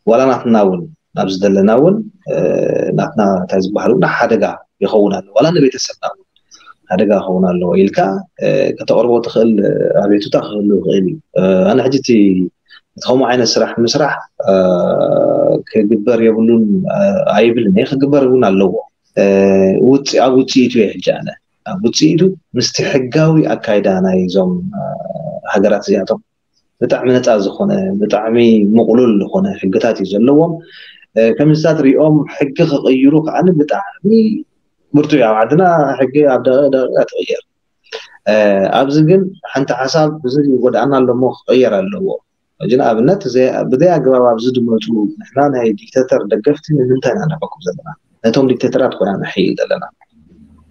ዋላ ናትና እውን ናብዚ ዘለና እውን ናትና እንታይ ዝበሃል እውን ሓደጋ ይኸውን ኣሎ ዋላ ንቤተሰብና እውን ሓደጋ ይኸውን ኣለዎ ኢልካ ከተቕርቦ ትኽእል ኣቤቱታ ክህሉ ይኽእል እዩ። ኣነ ሕጂ እቲ ከምኡ ዓይነት ስራሕ ምስራሕ ክግበር የብሉን ኣይብልን እየ። ክግበር እውን ኣለዎ። ውፅ ኣብ ውፅኢቱ እየ ሕጂ ኣነ ኣብ ውፅኢቱ ምስቲ ሕጋዊ ኣካይዳ ናይዞም ሃገራት እዚኣቶም ብጣዕሚ ነፃ ዝኾነ ብጣዕሚ ምቕሉል ዝኾነ ሕግታት እዩ ዘለዎም። ከምዚታት ሪኦም ሕጊ ክቕይሩ ከዓ ብጣዕሚ ብርቱ እዩ። ኣብ ዓድና ሕጊ ኣብ ደቂቕ ደቂቕ ትቕየር። ኣብዚ ግን ሓንቲ ሓሳብ እዚ ይጎድኣና ኣለሞ ክቕየር ኣለዎ። ሕጂ ንኣብነት ብዘይ ኣግባብ ኣብዚ ዝመፁ ንሕና ናይ ዲክተተር ደገፍቲ ንምንታይ ኢና ንሕኩም ዘለና? ነቶም ዲክተተራት ኮይና ንሕይል ዘለና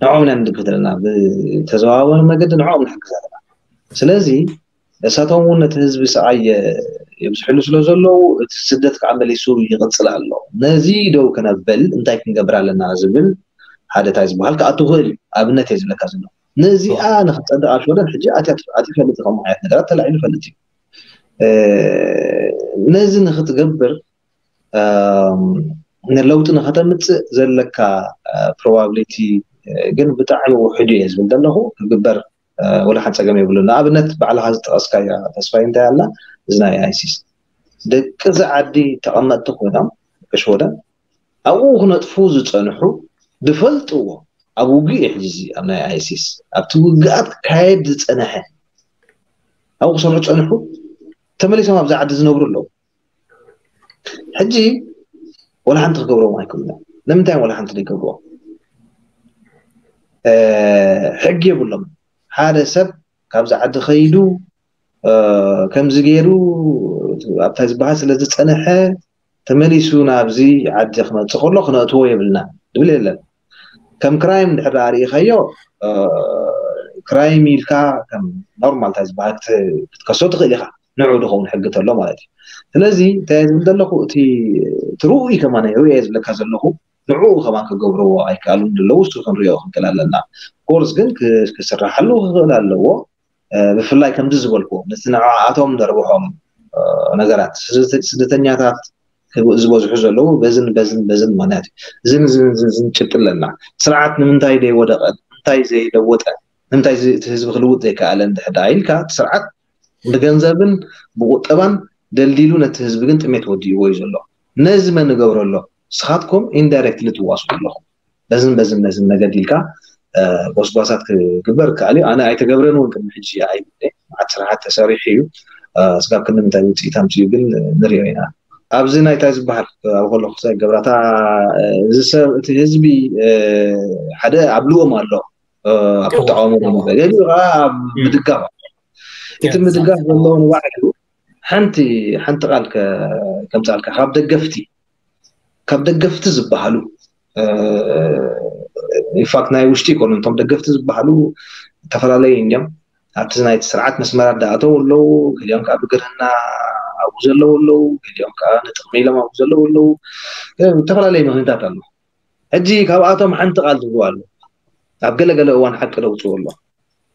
ንዕኦም ኢና ንድግፍ ዘለና። ብተዘዋወሪ መገዲ ንዕኦም ንሕግዝ ኣለና። ስለዚ እሳቶም እውን ነቲ ህዝቢ ሰዓይ የብዝሕሉ ስለ ዘለዉ እቲ ስደት ከዓ መሊሱ ይቕፅል ኣሎ። ነዚ ደው ክነብል እንታይ ክንገብር ኣለና ዝብል ሓደ ታይ ዝበሃል ክኣቱ ክእል እዩ። ኣብነት እየ ዝብለካ ዘሎ። ነዚኣ ንክትፀድቕ ኣብ ሽወደን ሕጂ ኣትያ ኣትዩ ፈልጥ ከምኡ ዓይነት ነገራት ተላዒሉ ፈልጥ እዩ። ነዚ ንክትገብር ንለውጢ ንከተምፅእ ዘለካ ፕሮባብሊቲ ግን ብጣዕሚ ውሕዱ እየ ዝብል ዘለኹ። ክግበር ወላ ሓንቲ ፀገም የብሉን። ንኣብነት ባዕልካ ዝጠቐስካያ ተስፋይ እንታይ ኣላ እዚ ናይ ኣይሲስ ደቂ እዚ ዓዲ ተቐመጥቲ ኮይኖም ደቂ ሽወደን ኣብኡ ክነጥፉ ዝፀንሑ ዝፈልጥዎ ኣብ ውግእ እዩ። ሕዚ ኣብ ናይ ኣይሲስ ኣብቲ ውግኣት ክካየድ ዝፀነሐ ኣብኡ ክሰርሑ ፀንሑ ተመሊሶም ኣብዚ ዓዲ ዝነብሩ ኣለዉ። ሕጂ ወላ ሓንቲ ክገብርዎም ኣይክእሉን። ንምንታይ ወላ ሓንቲ ዘይገብርዎ? ሕጊ የብሎም። ሓደ ሰብ ካብዚ ዓዲ ከይዱ ከምዚ ገይሩ ኣብታ ዝበሃል ስለ ዝፀነሐ ተመሊሱ ናብዚ ዓዲ ክመፅእ ከሎ ክነእትዎ የብልና ዝብል የለን። ከም ክራይም ድሕር ርኢኻዮ ክራይም ኢልካ ከም ኖርማል እንታይ ዝበሃል ክትከሶ ትኽእል ኢኻ። ንዑ ዝኸውን ሕጊ ተሎ ማለት እዩ። ስለዚ እንታይ ዝብል ዘለኹ እቲ ትርኡ ከማን ርየ ዝብለካ ዘለኹ ንዕኡ ከማን ክገብርዎ ኣይከኣሉን ዘለዉ እሱ ክንሪኦ ክንክእል ኣለና። ኮርስ ግን ክስራሓሉ ክኽእል ኣለዎ። ብፍላይ ከምዚ ዝበልኩ ነቲ ንዓኣቶም ዘርብሖም ነገራት ስደተኛታት ዝበዝሑ ዘለዉ በዝን በዝን በዝን ምክንያት እዩ። እዝን ዝን ጭብጢ ኣለና። ስርዓት ንምንታይ ዘይወደቐ ንምንታይ ዘይለወጠ ንምንታይ እቲ ህዝቢ ክልውጥ ዘይከኣለ እንድሕር ደኣ ኢልካ እቲ ስርዓት ብገንዘብን ብቁጠባን ደልዲሉ ነቲ ህዝቢ ግን ጥሜት ወዲእዎ እዩ ዘሎ። ነዚ መን ንገብሮ ኣሎ? ንስኻትኩም ኢንዳይሬክትሊ ትዋስኡ ኣለኹም። በዝን በዝን በዝን መገዲ ኢልካ ጎስጓሳት ክግበር ይከኣል እዩ። ኣነ ኣይተገብረን እውን ቅድሚ ሕጂ ኣይብል። መዓት ስራሓት ተሰሪሑ እዩ። ስጋብ ክንዲ ምንታይ ውፅኢት ኣምፅኡ ግን ንሪኦ ኢና። ኣብዚ ናይ እንታይ ዝበሃል ኣብ ከለኩ ክሳይ ገብራታ እዚ ሰብ እቲ ህዝቢ ሓደ ኣብ ልኦም ኣሎ ኣብ ተቃውሞ ገሊኡ ከዓ ኣብ ምድጋፍ ኣሎ። እቲ ምድጋፍ ዘለዎ ንባዕሉ ሓንቲ ሓንቲ ቃል ከምፃልካ ካብ ደገፍቲ ካብ ደገፍቲ ዝበሃሉ ኢንፋክት ናይ ውሽጢ ይኮኑ እቶም ደገፍቲ ዝበሃሉ ዝተፈላለዩ እንዲም ኣብቲ ናይቲ ስርዓት መስመራት ዳኣተው ኣለዉ ገሊኦም ከዓ ብግርህና ኣብኡ ዘለዉ ኣለዉ ገሊኦም ከዓ ንጥቅሚ ኢሎም ኣብኡ ዘለዉ ኣለዉ ዝተፈላለዩ ምክንታት ኣሎ ሕጂ ካብኣቶም ሓንቲ ቃል ትብሉ ኣሎ ኣብ ገለገለ እዋን ሓቂ ደውፅኡ ኣሎ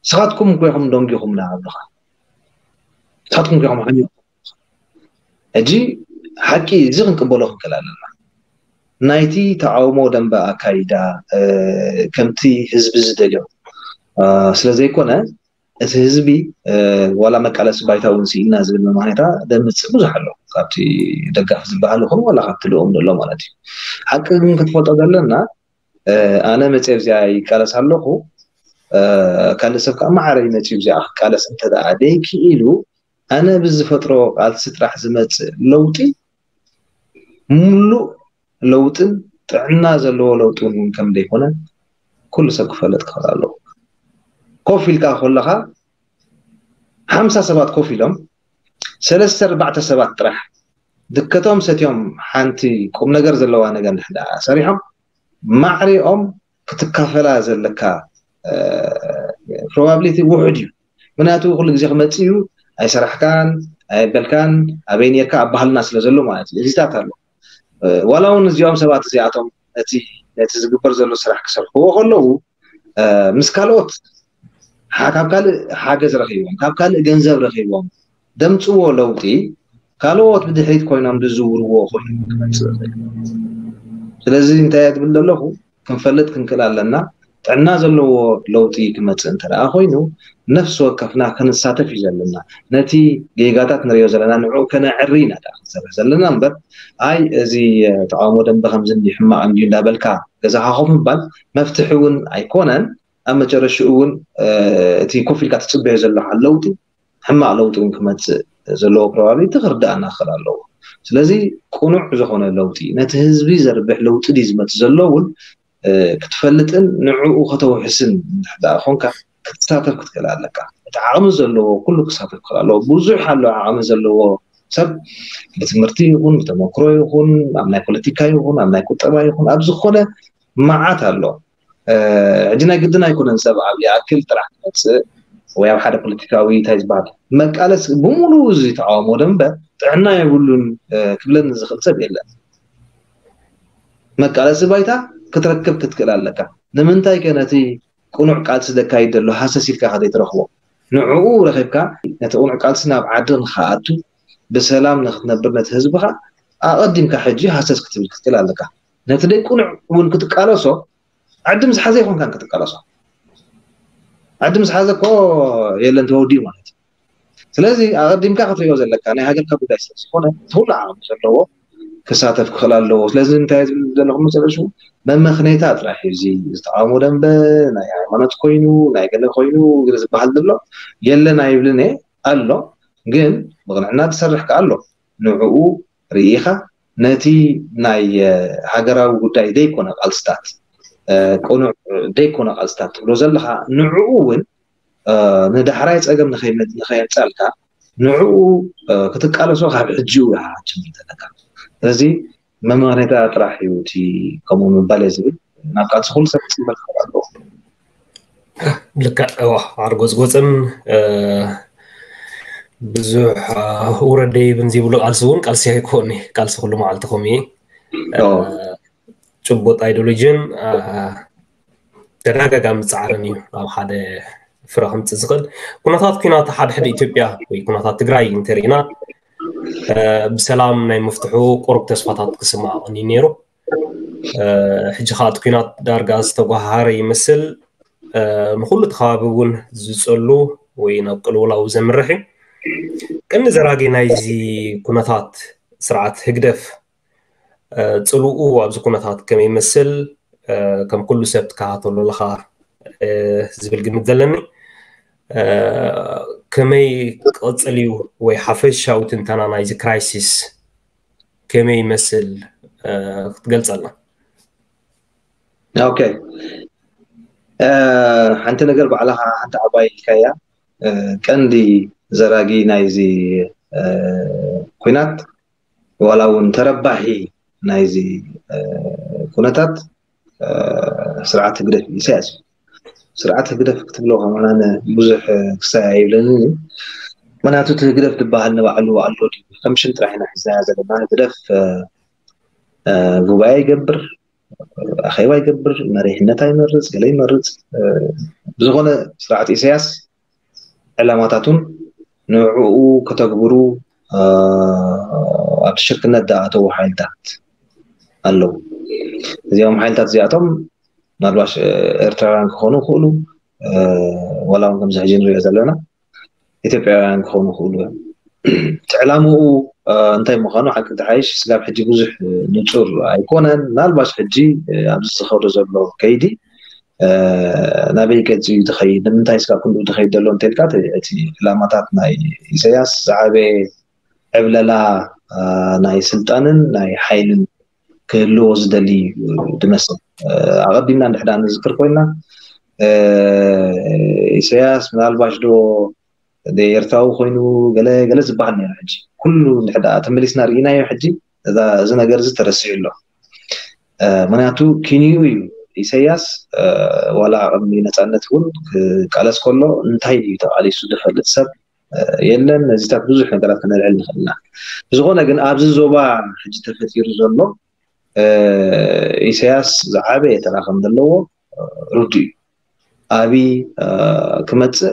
ስኻትኩም ኮይኹም ደንጊኹምና ኣብልኻ ስኻትኩም ኮይኹም ሓሚኹም ሕጂ ሓቂ እዚ ክንቅበሎ ክንክእል ኣለና። ናይቲ ተቃውሞ ደንበ ኣካይዳ ከምቲ ህዝቢ ዝደልዮ ስለ ዘይኮነ፣ እቲ ህዝቢ ዋላ መቃለሲ ባይታ እውን ስኢና ዝብል መማኔታ ደምፅእ ብዙሕ ኣሎ። ካብቲ ደጋፊ ዝበሃል ይኹን ዋላ ካብቲ ልኡም ዘሎ ማለት እዩ። ሓቂ ግን ክትፈልጦ ዘለና፣ ኣነ መፅየ ኣብዚኣ ይቃለስ ኣለኹ፣ ካልእ ሰብ ከዓ ማዕረ ይመፅዩ ኣብዚኣ ክቃለስ እንተደኣ ደይክኢሉ፣ ኣነ ብዝፈጥሮ ቃልሲ ጥራሕ ዝመፅእ ለውጢ ሙሉእ ለውጥን ጥዕና ዘለዎ ለውጢ እውን ከም ዘይኮነ ኩሉ ሰብ ክፈልጥ ክኽእል ኣለዎ። ኮፍ ኢልካ ከለኻ ሓምሳ ሰባት ኮፍ ኢሎም ሰለስተ ኣርባዕተ ሰባት ጥራሕ ድከቶም ሰትዮም ሓንቲ ቁም ነገር ዘለዋ ነገር እንድሕር ደኣ ሰሪሖም ማዕሪኦም ክትካፈላ ዘለካ ፕሮባብሊቲ ውሑድ እዩ። ምክንያቱ ኩሉ ግዜ ክመፅእ እዩ፣ ኣይሰራሕካን ኣየበልካን ኣበይ ነርካ ኣብ ባህልና ስለ ዘሎ ማለት እዩ። እዚታት ኣሎ ዋላ እውን እዚኦም ሰባት እዚኣቶም ነቲ ነቲ ዝግበር ዘሎ ስራሕ ክሰርሕዎ ከለዉ ምስ ካልኦት ካብ ካልእ ሓገዝ ረኺቦም ካብ ካልእ ገንዘብ ረኺቦም ደምፅዎ ለውጢ ካልኦት ብድሕሪት ኮይኖም ዝዝውርዎ ኮይኑ ክመፅእ ይኽእል። ስለዚ እንታይ እየ ዝብል ዘለኹ፣ ክንፈልጥ ክንክእል ኣለና። ጥዕና ዘለዎ ለውጢ ክመፅእ እንተ ደኣ ኮይኑ ነፍሲ ወከፍና ክንሳተፍ እዩ ዘለና። ነቲ ጌጋታት ንሪኦ ዘለና ንዕኡ ከነዕሪ ኢና ደኣ ክንሰርሕ ዘለና እምበር ኣይ እዚ ተቃውሞ ደንበ ከምዚ እንዲ ሕማቕ እንድዩ እንዳበልካ ገዛኻ ኮፍ ምባል መፍትሒ እውን ኣይኮነን። ኣብ መጨረሽኡ እውን እቲ ኮፍ ኢልካ ትፅበዮ ዘለኻ ለውጢ ሕማቕ ለውጢ እውን ክመፅእ ዘለዎ ፕሮባብሊቲ ክርዳእና ክኽእል ኣለዎ። ስለዚ ቅኑዕ ዝኾነ ለውጢ ነቲ ህዝቢ ዘርብሕ ለውጢ ድዩ ዝመፅእ ዘሎ እውን ክትፈልጥን ንዕኡ ከተውሕስን እንድሕር ደኣ ኮንካ ክትሳተፍ ክትክእል ኣለካ። እቲ ዓቕሚ ዘለዎ ኩሉ ክሳተፍ ክኽእል ኣለዎ። ብዙሕ ኣሎ ዓቕሚ ዘለዎ ሰብ ብትምህርቲ ይኹን ብተመክሮ ይኹን ኣብ ናይ ፖለቲካ ይኹን ኣብ ናይ ቁጠባ ይኹን ኣብ ዝኾነ መዓት ኣሎ። ሕጂ ናይ ግድን ኣይኮነን ሰብ ኣብ ይኣክል ጥራሕ ክመፅእ ወይ ኣብ ሓደ ፖለቲካዊ እንታይ ዝበሃል መቃለስ ብሙሉ እዚ ተቃውሞ ደንበ ጥዕና የብሉን ክብለኒ ዝኽእል ሰብ የለን። መቃለሲ ባይታ ክትረክብ ክትክእል ኣለካ። ንምንታይ ከ ነቲ ቅኑዕ ቃልሲ ዘካይድ ዘሎ ሃሰስ ኢልካ ከዘይትረኽቦ ንዕኡ ረኺብካ ነቲ ቅኑዕ ቃልሲ ናብ ዓዲ ንክኣቱ ብሰላም ንክትነብር ነቲ ህዝብኻ ኣቐዲምካ ሕጂ ሃሰስ ክትብል ክትክእል ኣለካ። ነቲ ደይ ቅኑዕ እውን ክትቃለሶ ዓዲ ምስ ሓዘ ይኮንካን ክትቃለሶ። ዓዲ ምስ ሓዘ እኮ የለን ተወዲኡ ማለት እዩ። ስለዚ ኣቐዲምካ ክትሪኦ ዘለካ ናይ ሃገርካ ጉዳይ ስለ ዝኾነ እቲ ኩሉ ዓቕሚ ዘለዎ ክሳተፍ ክኽእል ኣለዎ። ስለዚ እንታይ ዝብል ዘለኹ መጨረሹ መመኽነይታ ጥራሕ እዩ። እዚ ዝተቃውሞ ደንበ ናይ ሃይማኖት ኮይኑ ናይ ገለ ኮይኑ ግለ ዝበሃል ዘሎ የለን ኣይብልን እየ ኣሎ። ግን ብቕንዕና ዝሰርሕ ከኣ ኣሎ። ንዕኡ ርኢኻ ነቲ ናይ ሃገራዊ ጉዳይ ዘይኮነ ቃልስታት ቅኑዕ ዘይኮነ ቃልስታት ትብሎ ዘለኻ ንዕኡ እውን ንዳሕራይ ፀገም ንኸየምፃልካ ንዕኡ ክትቃለሶ ካብ ሕጂኡ ኢኻ ክትጅምር ዘለካ። ስለዚ መመኽነይታ ጥራሕ እዩ እቲ ከምኡ ምባል እየ ዝብል። ናብ ቃልሲ ኩሉ ሰብ ክፅምበር ክኽእል ኣለዎ። ልክዕ እዋ ዓርጎፅጎፅን ብዙሕ ውረድ ደይብን ዘይብሉ ቃልሲ እውን ቃልሲ ኣይኮን። ቃልሲ ኩሉ መዓልቲ ከምኡ እዩ። ጭቡጥ ኣይዲዮሎጂን ተደጋጋሚ ፃዕርን እዩ ኣብ ሓደ ፍረ ከምፅእ ዝኽእል። ኩነታት ኩናት ሓድሕድ ኢትዮጵያ ወይ ኩነታት ትግራይ እንተሪእና ብሰላም ናይ ምፍትሑ ቁሩብ ተስፋታት ክስማዕ ቀንዩ ነይሩ። ሕጂ ከዓ እቲ ኩናት ዳርጋ ዝተጓሃረ ይመስል። ንኩሉ እቲ ከባቢ እውን ዝፀሉ ወይ ናብ ቅልውላው ዘምርሕ እዩ። ቀንዲ ዘራጊ ናይዚ ኩነታት ስርዓት ህግደፍ ፅልኡ ኣብዚ ኩነታት ከመይ ይመስል ከም ኩሉ ሰብ ትከታተሎ ኣለኻ ዝብል ግምት ዘለኒ። ከመይ ክቕፅል እዩ ወይ ሓፈሻዊ ትንተና ናይዚ ክራይሲስ ከመይ ይመስል ክትገልፀልና? ኦኬ፣ ሓንቲ ነገር ባዕልኻ ሓንቲ ዓባይ ኢልካያ። ቀንዲ ዘራጊ ናይዚ ኩናት ዋላ እውን ተረባሒ ናይዚ ኩነታት ስርዓት ህግደፍ ኢሳያስ እዩ። ስርዓት ህግደፍ ክትብሎ ከማን ብዙሕ ክሳይ ኣይብለንን እዩ። ምክንያቱ እቲ ህግደፍ ዝበሃል ንባዕሉ ኣሎ ድዩ? ከም ሽም ጥራሕ ኢና ሒዝናያ ዘለና። ህግደፍ ጉባኤ ይገብር፣ ኣኼባ ይገብር፣ መሪሕነት ኣይመርፅ፣ ገለ ይመርፅ። ብዝኾነ ስርዓት ኢሳያስ ዕላማታቱን ንዕኡ ከተግብሩ ኣብ ሽርክነት ዝኣተዉ ሓይልታት ኣለዉ። እዚኦም ሓይልታት እዚኣቶም ምናልባሽ ኤርትራውያን ክኾኑ ይኽእሉ፣ ዋላ እውን ከምዚ ሕጂ ንሪኦ ዘለና ኢትዮጵያውያን ክኾኑ ይኽእሉ እዮም። እቲ ዕላምኡ እንታይ ምዃኑ ሓቂ ተሓይሽ ስጋብ ሕጂ ብዙሕ ንጹር ኣይኮነን። ምናልባሽ ሕጂ ኣብዚ ዝኸዶ ዘሎ ከይዲ ናበይ ገጽ እዩ ዝኸይድ፣ ንምንታይ ስጋብ ክንድኡ ዝኸይድ ዘሎ እንተልካ እቲ ዕላማታት ናይ ኢሳያስ ዝዓበየ ዕብለላ ናይ ስልጣንን ናይ ሓይልን ክህልዎ ዝደሊ ድመስል። ኣቐዲምና እንድሕዳ ንዝክር ኮይና ኢሳያስ ምናልባሽ ዶ ኤርትራዊ ኮይኑ ገለ ገለ ዝበሃል ነይሩ። ሕጂ ኩሉ እንድሕዳ ተመሊስና ርኢናዮ ሕጂ እዚ ነገር እዚ ተረሲዑ ኣሎ። ምክንያቱ ኪንኡ እዩ። ኢሳያስ ዋላ ቅድሚ ነፃነት እውን ክቃለስ ከሎ እንታይ እዩ ተቃሊሱ ዝፈልጥ ሰብ የለን። ነዚታት ብዙሕ ነገራት ክነልዕል ንኽእል ኢና። ብዝኾነ ግን ኣብዚ ዞባ ሕጂ ተፈጢሩ ዘሎ ኢሳያስ ዝዓበየ ተራ ከም ዘለዎ ርዱእ እዩ። ኣብይ ክመፅእ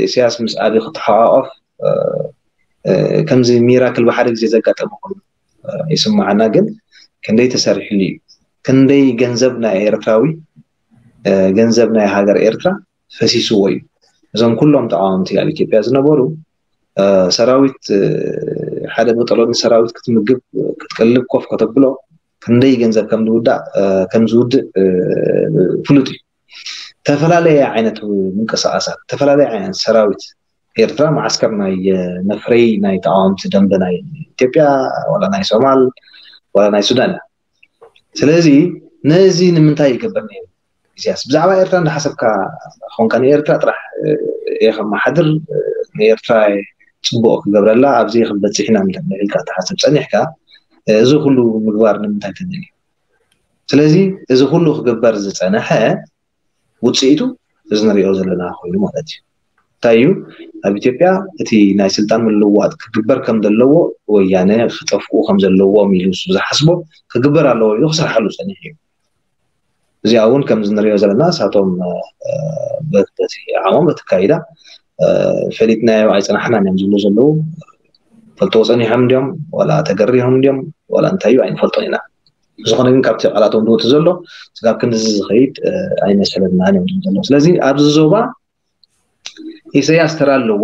ኢሳያስ ምስ ኣብይ ክተሓቋቆፍ ከምዚ ሚራክል ብሓደ ግዜ ዘጋጠመ ኮይኑ ይስማዓና። ግን ክንደይ ተሰሪሕሉ እዩ? ክንደይ ገንዘብ ናይ ኤርትራዊ ገንዘብ ናይ ሃገር ኤርትራ ፈሲስዎ እዩ። እዞም ኩሎም ተቃወምቲ ኣብ ኢትዮጵያ ዝነበሩ ሰራዊት ሓደ መጠሎኒ ሰራዊት ክትምግብ ክትቀልብ ኮፍ ከተብሎ ክንደይ ገንዘብ ከም ዝውዳእ ከም ዝውድእ ፍሉጥ እዩ። ተፈላለየ ዓይነት ምንቅስቃሳት ተፈላለየ ዓይነት ሰራዊት ኤርትራ መዓስከር ናይ መፍረይ ናይ ተቃወምቲ ደንበ ናይ ኢትዮጵያ ዋላ ናይ ሶማል ዋላ ናይ ሱዳን እያ። ስለዚ ነዚ ንምንታይ ይገብር ነይሩ? ኢሳያስ ብዛዕባ ኤርትራ እንዳሓሰብካ ኾንካ ንኤርትራ ጥራሕ እየ ከመሓድር ንኤርትራ ፅቡቅ ክገብረላ ኣብዚ ክንበፅሕ ኢና ኢልካ ትሓስብ ፀኒሕካ እዚ ኩሉ ምግባር ንምንታይ ተደልዩ? ስለዚ እዚ ኩሉ ክግበር ዝፀነሐ ውፅኢቱ እዚ ንሪኦ ዘለና ኮይኑ ማለት እዩ። እንታይ እዩ ኣብ ኢትዮጵያ እቲ ናይ ስልጣን ምልውዋጥ ክግበር ከም ዘለዎ ወያነ ክጠፍኡ ከም ዘለዎም ኢሉ ንሱ ዝሓስቦ ክግበር ኣለዎ ኢሉ ክሰርሓሉ ፀኒሑ እዩ። እዚኣ እውን ከምዚ ንሪኦ ዘለና ንሳቶም በቲ ዓሞም በቲ ኣካይዳ ፈሊጥናዮ ኣይፀናሕናን እዮም ዝብሉ ዘለዉ። ፈልጥዎ ፀኒሖም እንድዮም ዋላ ተገሪሆም እንድዮም ዋላ እንታይ እዩ ኣይንፈልጦን ኢና። ብዝኾነ ግን ካብቲ ቃላቶም ዝወፅእ ዘሎ ስጋብ ክንድዚ ዝኸይድ ኣይመሰለናን እዮም ዝብሉ ዘለዉ። ስለዚ ኣብዚ ዞባ ኢሳያስ ተራ ኣለዎ።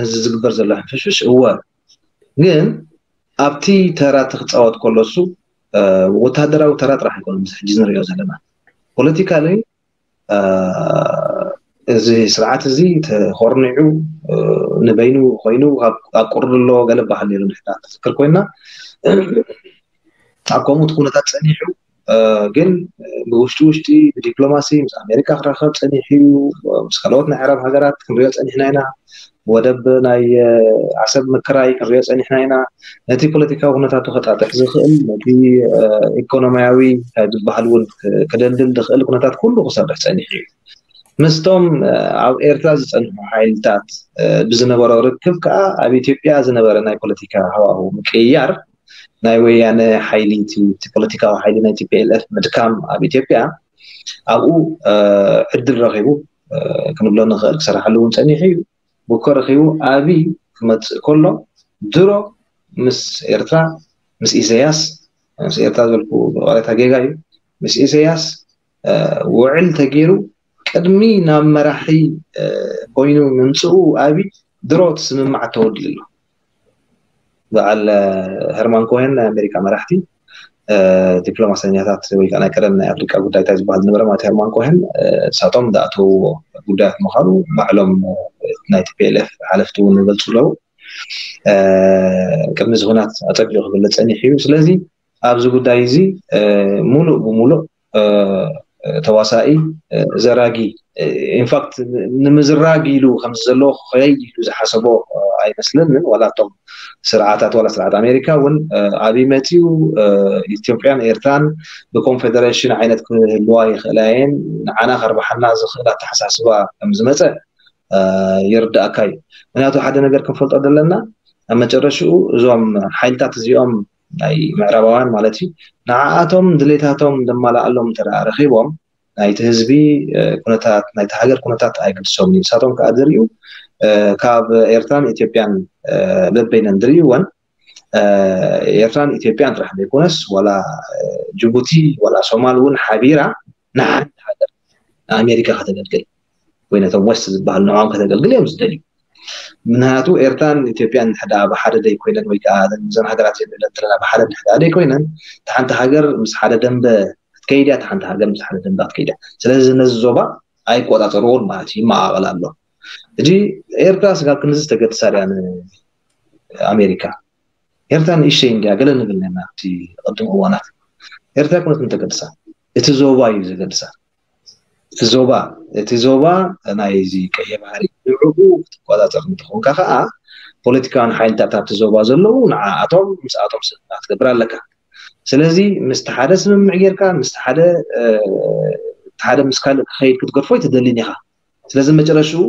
እዚ ዝግበር ዘሎ ሕንፍሽፍሽ እወ፣ ግን ኣብቲ ተራ እቲ ክፃወት ከሎ እሱ ወታደራዊ ተራ ጥራሕ ኣይኮነን። ምስ ሕጂ ንሪኦ ዘለና ፖለቲካሊ እዚ ስርዓት እዚ ተኾርኒዑ ንበይኑ ኮይኑ ኣቁርሎ ገለ በሃል ነይሩ ንሕና ትዝክር ኮይና ኣብ ከምኡ እቲ ኩነታት ፀኒሑ ግን ብውሽጢ ውሽጢ ብዲፕሎማሲ ምስ ኣሜሪካ ክራኸብ ፀኒሑ እዩ። ምስ ካልኦት ናይ ዓረብ ሃገራት ክንሪኦ ፀኒሕና ኢና። ወደብ ናይ ዓሰብ ምክራይ ክንሪኦ ፀኒሕና ኢና። ነቲ ፖለቲካዊ ኩነታቱ ከጣጥሕ ዝኽእል ነቲ ኢኮኖሚያዊ እንታይ ዝበሃል እውን ክደልድል ዝኽእል ኩነታት ኩሉ ክሰርሕ ፀኒሑ እዩ። ምስቶም ኣብ ኤርትራ ዝፀንሑ ሓይልታት ብዝነበሮ ርክብ ከዓ ኣብ ኢትዮጵያ ዝነበረ ናይ ፖለቲካ ሃዋሁ ምቅይያር ናይ ወያነ ሓይሊ እቲ ፖለቲካዊ ሓይሊ ናይ ቲ ፒ ኤል ኤፍ ምድካም ኣብ ኢትዮጵያ ኣብኡ ዕድል ረኺቡ ክንብሎ ንኽእል ክሰርሓሉ እውን ፀኒሑ እዩ። ብኮ ረኺቡ ኣብይ ክመፅእ ከሎ ድሮ ምስ ኤርትራ ምስ ኢሳያስ ምስ ኤርትራ ዝበልኩ ብቐሬታ ጌጋ እዩ ምስ ኢሳያስ ውዕል ተገይሩ ቅድሚ ናብ መራሒ ኮይኑ ምምፅኡ ኣብይ ድሮ እቲ ስምምዓት ተወዲኡ ኣሎ። በዓል ሄርማን ኮሄን ናይ ኣሜሪካ መራሕቲ ዲፕሎማሰኛታት ወይ ከዓ ናይ ቀደም ናይ ኣፍሪቃ ጉዳይታት ዝበሃል ዝነበረ ማለት ሄርማን ኮሄን ንሳቶም ዝኣተውዎ ጉዳያት ምዃኑ ባዕሎም ናይ ቲ ፒ ኤል ኤፍ ሓለፍቲ እውን ይገልፁ ኣለዉ። ቅድሚ እዚ ኩናት ኣፀቢቑ ክግለፅ ፀኒሑ እዩ። ስለዚ ኣብዚ ጉዳይ እዚ ሙሉእ ብሙሉእ ተዋሳኢ ዘራጊ ኢንፋክት ንምዝራግ ኢሉ ከምዚ ዘለዎ ክኸይድ ኢሉ ዝሓሰቦ ኣይመስለንን። ዋላ እቶም ስርዓታት ዋላ ስርዓት ኣሜሪካ እውን ኣብይ መፅዩ ኢትዮጵያን ኤርትራን ብኮንፌደሬሽን ዓይነት ክህልዋ ይኽእላ እየን ንዓና ከርብሓና ዝኽእል ኣተሓሳስባ ከም ዝመፀ ይርዳእካ እዩ። ምክንያቱ ሓደ ነገር ክንፈልጦ ዘለና ኣብ መጨረሽኡ እዞም ሓይልታት እዚኦም ናይ ምዕራባውያን ማለት እዩ ንዓኣቶም ድሌታቶም ዘማልኣሎም እንተ ረኺቦም ናይቲ ህዝቢ ኩነታት ናይቲ ሃገር ኩነታት ኣይግድሶምን እዩ። ንሳቶም ከዓ ዝርእዩ ካብ ኤርትራን ኢትዮጵያን በበይነን ዝርእይወን ኤርትራን ኢትዮጵያን ጥራሕ ዘይኮነስ ዋላ ጅቡቲ ዋላ ሶማል እውን ሓቢራ ንሓንቲ ሃገር ንኣሜሪካ ከተገልግል ወይ ነቶም ወስት ዝበሃል ንዕኦም ከተገልግል እዮም ዝደልዩ። ምክንያቱ ኤርትራን ኢትዮጵያን ሕዳ ብሓደ ደይ ኮይነን ወይ ከዓ ዘን ሃገራት ዘለን ዘለና ብሓደ ሕዳ ደይ ኮይነን፣ እታ ሓንቲ ሃገር ምስ ሓደ ደንበ ክትከይድ እያ፣ እታ ሓንቲ ሃገር ምስ ሓደ ደንበ ክትከይድ እያ። ስለዚ ነዚ ዞባ ኣይቆፃፀርዎን ማለት እዩ፣ ይመቃቐል ኣሎ። እጂ ኤርትራ ስጋብ ክንዚ ዝተገድሳ ድያ ንኣሜሪካ? ኤርትራ ንእሽተይ እንድያ ገለ ንብል ነና ኣብቲ ቅድም እዋናት። ኤርትራ ኩነት እንተገድሳ እቲ ዞባ እዩ ዘገድሳ። እቲ ዞባ እቲ ዞባ ናይዚ ቀይሕ ባሕሪ ንዕኡ ክትቆፃፀር እንትኾንካ ከዓ ፖለቲካውያን ሓይልታት ኣብቲ ዞባ ዘለዉ ንዓኣቶም ምስኣቶም ስምምዕ ክትገብር ኣለካ። ስለዚ ምስቲ ሓደ ስምምዕ ጌርካ ምስቲ ሓደ ሓደ ምስ ካልእ ክኸይድ ክትገድፎ ኣይትደልን ኢኻ። ስለዚ መጨረሽኡ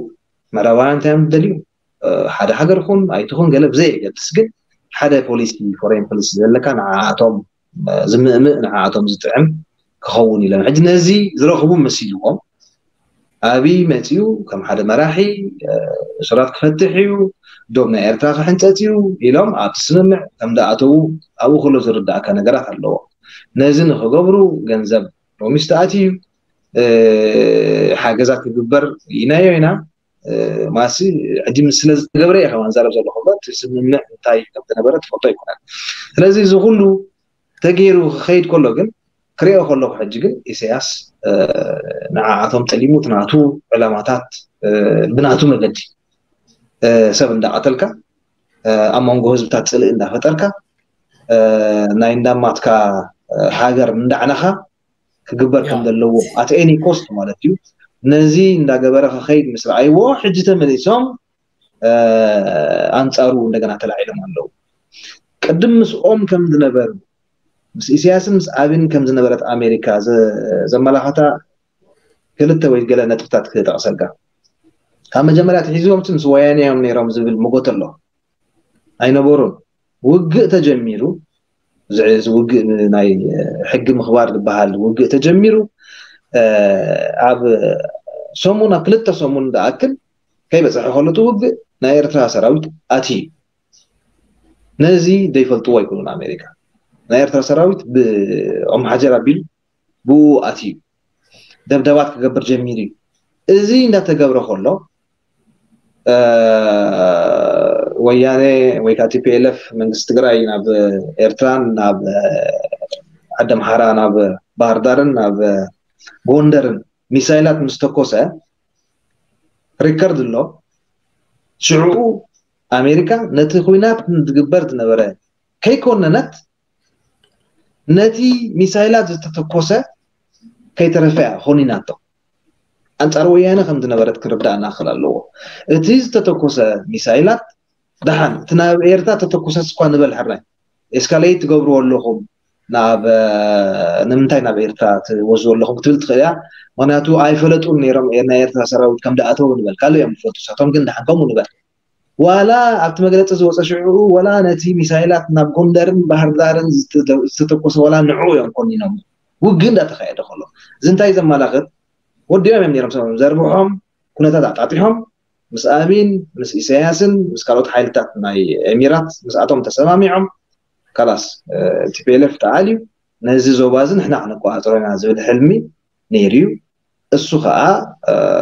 ምዕራባውያን እንታይ እዮም ዝደልዩ? ሓደ ሃገር ኹን ኣይትኹን ገለ ብዘየገድስ ግን ሓደ ፖሊሲ ፎሬን ፖሊሲ ዘለካ ንዓኣቶም ዝምእምእ ንዓኣቶም ዝጥዕም ክኸውን ኢሎም ሕጂ ነዚ ዝረኽቡ መሲልዎም ኣብይ መፅኡ ከም ሓደ መራሒ እሱራት ክፈትሕ እዩ፣ ዶብ ናይ ኤርትራ ክሕንፀፅ እዩ ኢሎም ኣብቲ ስምምዕ ከም ዝኣተዉ ኣብኡ ከሎ ዝርዳእካ ነገራት ኣለዎ። ነዚ ንክገብሩ ገንዘብ ሎሚ ዝተኣትዩ እዩ። ሓገዛት ክግበር ኢናዮ ኢና። ማሲ ሕጂ ምስ ስለ ዝተገብረ እየ ከማን ዛረብ ዘለኹ እምበር እቲ ስምምዕ እንታይ ከም ዝነበረ ትፈልጦ ኣይኮነን። ስለዚ እዚ ኩሉ ተገይሩ ክኸይድ ከሎ ግን ክሪኦ ከለኹ ሕጂ ግን ኢሳያስ ንዓኣቶም ጠሊሙ እቲ ናቱ ዕላማታት ብናቱ መገዲ ሰብ እንዳቐተልካ ኣብ መንጎ ህዝብታት ፅልእ እንዳፈጠርካ ናይ እንዳማትካ ሃገር እንዳዕነኻ ክግበር ከም ዘለዎ at any cost ማለት እዩ። ነዚ እንዳገበረ ክኸይድ ምስ ረኣይዎ ሕጂ ተመሊሶም ኣንፃሩ እንደገና ተላዒሎም ኣለዉ። ቅድም ምስኦም ከም ዝነበሩ ምስ ኢሳያስን ምስ ኣብን ከም ዝነበረት ኣሜሪካ ዘመላኸታ ክልተ ወይ ገለ ነጥብታት ክጠቕሰልካ። ካብ መጀመርያ ትሒዝዎም ምስ ወያነ እዮም ነይሮም ዝብል መጎት ኣሎ። ኣይነበሩን። ውግእ ተጀሚሩ፣ እዚ ውግእ ናይ ሕጊ ምኽባር ዝበሃል ውግእ ተጀሚሩ ኣብ ሰሙን ኣብ ክልተ ሰሙን ዝኣክል ከይበፅሐ ከሎ እቲ ውግእ ናይ ኤርትራ ሰራዊት ኣትዩ። ነዚ ዘይፈልጥዎ ኣይኮኑን ኣሜሪካ። ናይ ኤርትራ ሰራዊት ብኦም ሓጀር ኣቢሉ ብኡ ኣትዩ ደብደባት ክገብር ጀሚሩ እዩ። እዚ እንዳተገብረ ከሎ ወያነ ወይ ከዓ ቲ ፒ ኤል ኤፍ መንግስቲ ትግራይ ናብ ኤርትራን ናብ ዓዲ ኣምሓራ ናብ ባህር ዳርን ናብ ጎንደርን ሚሳይላት ምስ ተኮሰ ሪከርድ ኣሎ። ሽዑ ኣሜሪካ ነቲ ኩናት ዝግበር ዝነበረ ከይኮነነት ነቲ ሚሳይላት ዝተተኮሰ ከይተረፈ እያ ኮኒናቶ። ኣንጻር ወያነ ከም ዝነበረት ክርዳእና ክእል ኣለዎ። እቲ ዝተተኮሰ ሚሳይላት ደሓን እቲ ናብ ኤርትራ ተተኮሰስ እኳ ንበል ሕራይ ኤስካሌት ትገብርዎ ኣለኹም ናብ ንምንታይ ናብ ኤርትራ ትወስዱ ኣለኹም ክትብል ትኽእል እያ። ምክንያቱ ኣይፈለጡን ነይሮም ናይ ኤርትራ ሰራዊት ከም ደኣተው ንበል ካልእ እዮም ዝፈልጡ ሳቶም ግን ደሓን ከምኡ ንበል ዋላ ኣብቲ መግለፂ ዝወፀ ሽዑ ዋላ ነቲ ሚሳይላት ናብ ጎንደርን ባህርዳርን ዝተተኮሰ ዋላ ንዑ እዮም ኮኒኖም ውግእ እንዳተካየደ ከሎ እዚ እንታይ ዘመላኽት ወዲኦም እዮም ነይሮም ሰብም ዘርብሖም ኩነታት ኣጣጢሖም ምስ ኣቢን ምስ ኢሳያስን ምስ ካልኦት ሓይልታት ናይ ኤሚራት ምስኣቶም ተሰማሚዖም ካላስ ቲፒኤልኤፍ ተኣልዩ ነዚ ዞባ እዚ ንሕና ክንቆፃፀሮ ኢና ዝብል ሕልሚ ነይሩ እዩ። እሱ ከዓ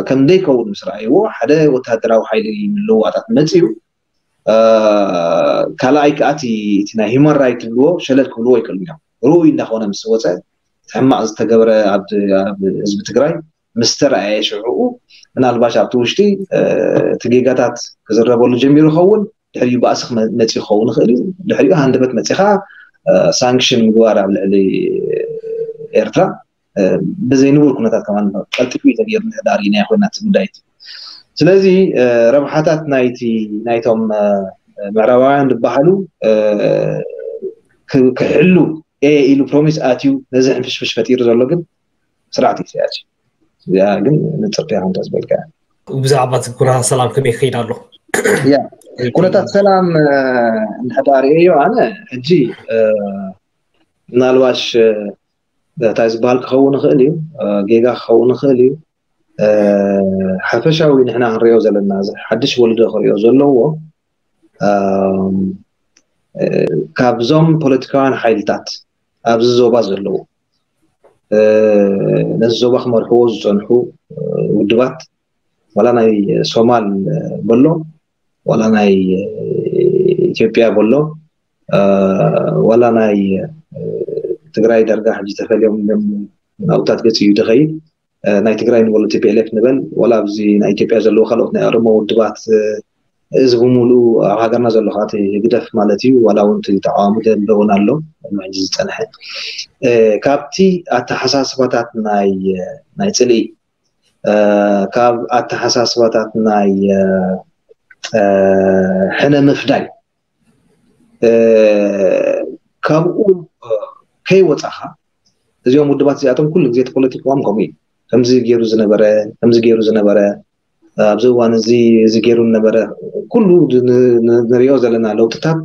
ከም ዘይከውን ምስ ረኣይዎ ሓደ ወታደራዊ ሓይሊ ምልውዋጣት መፅኡ ካልኣይ ከዓ እቲ ናይ ሂማን ራይት ትብልዎ ሸለል ክብልዎ ይክእሉ እዮም። ርኡይ እንዳኾነ ምስ ወፀ ሕማቕ ዝተገብረ ኣብ ህዝቢ ትግራይ ምስ ተረኣየ ሽዕኡ ምናልባሽ ኣብቲ ውሽጢ እቲ ጌጋታት ክዝረበሉ ጀሚሩ ይኸውን ድሕሪኡ ባእሲ መፂኡ ክኸውን ይኽእል እዩ። ድሕሪኡ ሃንደበት መፂኻ ሳንክሽን ምግባር ኣብ ልዕሊ ኤርትራ ብዘይ ንቡር ኩነታት ከማን ቀልጢፉ እዩ ተገይሩ እንድሕር ዳኣ ርኢናዮ ኮይና እቲ ጉዳይ እቲ ስለዚ ረብሓታት ናይቲ ናይቶም ምዕራባውያን ዝበሃሉ ክሕሉ እየ ኢሉ ፕሮሚስ ኣትዩ ነዚ ሕንፍሽፍሽ ፈጢሩ ዘሎ ግን ስርዓት ኢሳያስ እዩ። እዚኣ ግን ንፅርቲ ከምታ ዝበልካ ብዛዕባ እቲ ኩነታት ሰላም ከመይ ክኸይድ ኣሎ? ኩነታት ሰላም እንድሕር ርኤዮ ኣነ ሕጂ ምናልባሽ እንታይ ዝበሃል ክኸውን ይኽእል እዩ፣ ጌጋ ክኸውን ይኽእል እዩ። ሓፈሻዊ ንሕና ክንሪኦ ዘለና እዚ ሓድሽ ወልዶ ክሪኦ ዘለዎ ካብዞም ፖለቲካውያን ሓይልታት ኣብዚ ዞባ ዘለዉ ነዚ ዞባ ክመርሕዎ ዝፀንሑ ውድባት ዋላ ናይ ሶማል በሎ ዋላ ናይ ኢትዮጵያ በሎ ዋላ ናይ ትግራይ ዳርጋ ሕጂ ተፈልዮም ናብታት ገፂ እዩ ዝኸይድ ናይ ትግራይ ንበሎ ቲ ፒ ኤል ኤፍ ንበል ዋላ ኣብዚ ናይ ኢትዮጵያ ዘለዉ ካልኦት ናይ ኦሮሞ ውድባት እዚ ብምሉኡ ኣብ ሃገርና ዘሎ ከዓቲ ህግደፍ ማለት እዩ ዋላ እውን እቲ ተቃዋሚ ደንበ እውን ኣሎ ሕጂ ዝፀንሐ ካብቲ ኣተሓሳስባታት ናይ ናይ ፅልኢ ካብ ኣተሓሳስባታት ናይ ሕነ ምፍዳይ ካብኡ ከይወፃኻ እዚኦም ውድባት እዚኣቶም ኩሉ ግዜ ፖለቲካኦም ከምኡ እዩ ከምዚ ገይሩ ዝነበረ ከምዚ ገይሩ ዝነበረ ኣብዚ እዋን እዚ እዚ ገይሩ ነበረ ኩሉ ንሪኦ ዘለና ለውጥታት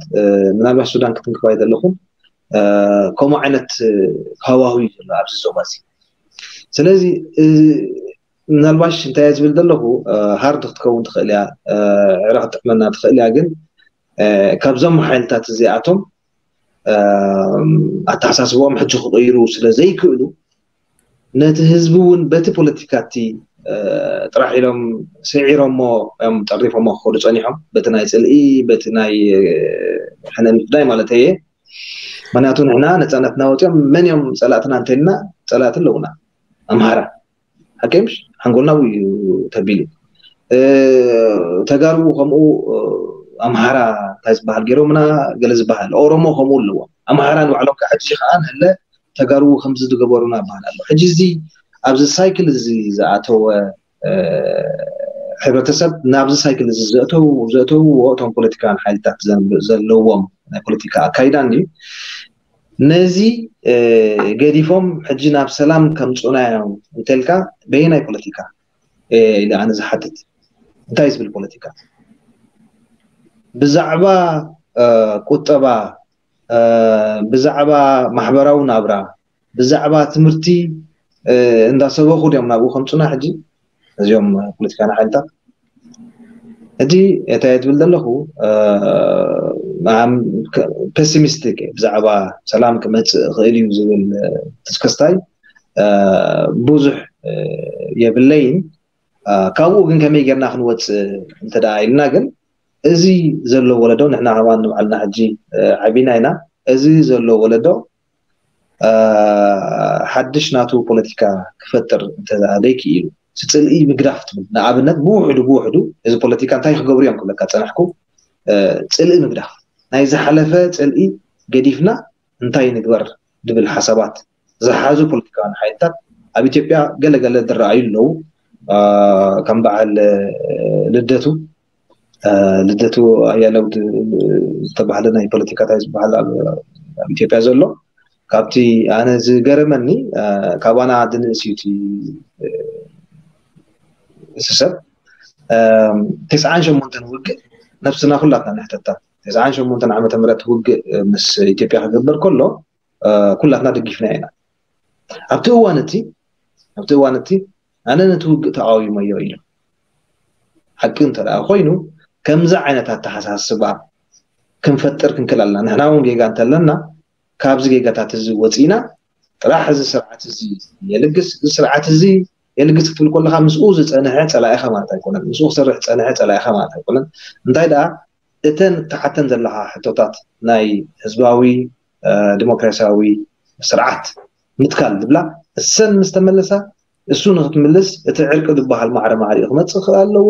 ምናልባት ሱዳን ክትንክፋይ ዘለኹም ከምኡ ዓይነት ሃዋሁ እዩ ዘሎ ኣብዚ ዞባ እዚ ስለዚ ምናልባሽ እንታይ ዝብል ዘለኹ ሃርድ ክትከውን ትኽእል እያ ዕረ ክትጥዕመና ትኽእል እያ ግን ካብዞም ሓይልታት እዚኣቶም ኣተሓሳስቦም ሕጂ ክቕይሩ ስለ ዘይክእሉ ነቲ ህዝቢ እውን በቲ ፖለቲካ እቲ ጥራሕ ኢሎም ስዒሮሞ እዮም ጠሪፎሞ ክኸዱ ፀኒሖም በቲ ናይ ፅልኢ በቲ ናይ ሕነ ምፍዳይ ማለት እየ ምክንያቱ ንሕና ነፃነትና ወፂኦም መን እዮም ፀላእትና እንተልና ፀላእቲ ኣለውና ኣምሃራ ሓቂ ምሽ ሓንጎልና እዩ ተቢሉ ተጋሩ ከምኡ ኣምሃራ እንታይ ዝበሃል ገይሮምና ገለ ዝበሃል ኦሮሞ ከምኡ ኣለዎም ኣምሃራ ንባዕሎም ከዓ ሕጂ ከዓ ንህለ ተጋሩ ከምዚ ዝገበሩና ይበሃል ኣሎ ሕጂ እዚ ኣብዚ ሳይክል እዚ ዝኣተወ ሕብረተሰብ ናብዚ ሳይክል እዚ ዘእተው ዘእተውዎ እቶም ፖለቲካውያን ሓይልታት ዘለዎም ናይ ፖለቲካ ኣካይዳ እንድዩ ነዚ ገዲፎም ሕጂ ናብ ሰላም ከምፁና እዮም እንተልካ በየናይ ፖለቲካ ኢለ ኣነ ዝሓትት እንታይ ዝብል ፖለቲካ ብዛዕባ ቁጠባ ብዛዕባ ማሕበራዊ ናብራ ብዛዕባ ትምህርቲ እንዳሰበኹ ድዮም ናብኡ ከምፁና ሕጂ እዚኦም ፖለቲካና ሓይልታት ሕጂ እንታይ ትብል ዘለኹ ፔሲሚስቲክ ብዛዕባ ሰላም ክመፅእ ይኽእል እዩ ዝብል ትስከስታይ ብዙሕ የብለይን ካብኡ ግን ከመይ ጌርና ክንወፅእ እንተ ኢልና ግን እዚ ዘሎ ወለዶ ንሕና ከማን ንባዕልና ሕጂ ዓቢና ኢና እዚ ዘሎ ወለዶ ሓድሽ ናቱ ፖለቲካ ክፈጥር እንተዘይ ክኢሉ እቲ ፅልኢ ምግዳፍ ትብል ንኣብነት ብውሕዱ ብውሕዱ እዚ ፖለቲካ እንታይ ክገብሩ እዮም ክብለካ ፀናሕኩ ፅልኢ ምግዳፍ ናይ ዝሓለፈ ፅልኢ ገዲፍና እንታይ ንግበር ዝብል ሓሳባት ዝሓዙ ፖለቲካውያን ሓይልታት ኣብ ኢትዮጵያ ገለገለ ዝረኣዩ ኣለዉ ከም በዓል ልደቱ ልደቱ ኣያለው ዝተባህለ ናይ ፖለቲካታይ ዝበሃል ኣብ ኢትዮጵያ ዘሎ ካብቲ ኣነ ዝገረመኒ ካባና ድንእስ እዩ እቲ ሰብ ተስዓን ሸሞንተን ውግእ ነብስና ኩላትና ንሕተታ ተስዓን ሸሞንተን ዓመተ ምህረት ውግእ ምስ ኢትዮጵያ ክግበር ከሎ ኩላትና ደጊፍና ኢና ኣብቲ እዋን እቲ ኣብቲ እዋን እቲ ኣነ ነቲ ውግእ ተቃዊመዮ ኢሉ ሓቂ እንተ ኮይኑ ከምዚ ዓይነት ኣተሓሳስባ ክንፈጥር ክንክእል ኣለና ንሕና እውን ጌጋ እንተለና ካብዚ ጌጋታት እዚ ወፂና ጥራሕ እዚ ስርዓት እዚ የልግስ እዚ ስርዓት እዚ የልግስ ክትብል ከለካ ምስኡ ዝፀንሐ ፀላኢካ ማለት ኣይኮነን ምስኡ ክሰርሕ ዝፀንሐ ፀላኢካ ማለት ኣይኮነን እንታይ ደኣ እተን እተሓተን ዘለካ ሕቶታት ናይ ህዝባዊ ዲሞክራሲያዊ ስርዓት ምትካል ዝብላ እሰን ምስ ተመለሳ እሱ ንክትምልስ እቲ ዕርቂ ዝበሃል ማዕረ ማዕሪኡ ክመፅእ ክእል ኣለዎ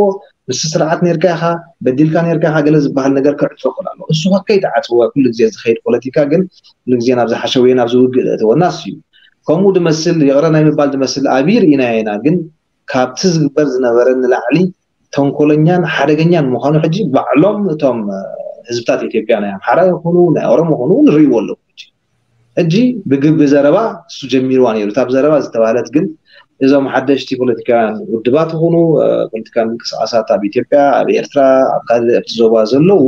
ምስ ስርዓት ነርካ ኢካ በዲልካ ነርካ ኢካ ገለ ዝበሃል ነገር ክዕፆ ክእል ኣለዎ እሱ ከይተዓፅወ ኩሉ ግዜ ዝከይድ ፖለቲካ ግን ኩሉ ግዜ ናብ ዝሓሸውየ ናብ ዝውግእ ዘእተወና እሱ እዩ ከምኡ ድመስል ይቕረ ናይ ምባል ድመስል ኣብይ ርኢናዮ ኢና ግን ካብቲ ዝግበር ዝነበረ ንላዕሊ ተንኮለኛን ሓደገኛን ምዃኑ ሕጂ ባዕሎም እቶም ህዝብታት ኢትዮጵያ ናይ ኣምሓራ ይኹኑ ናይ ኦሮሞ ይኹኑ ንርእይዎ ኣለዉ ሕጂ ሕጂ ብግቢ ዘረባ እሱ ጀሚርዋ ነይሩ እታብ ዘረባ ዝተባህለት ግን እዞም ሓደሽቲ ፖለቲካውያን ውድባት ይኹኑ ፖለቲካን ምንቅስቃሳት ኣብ ኢትዮጵያ ኣብ ኤርትራ ኣብ ካልእ ኣብቲ ዞባ ዘለዉ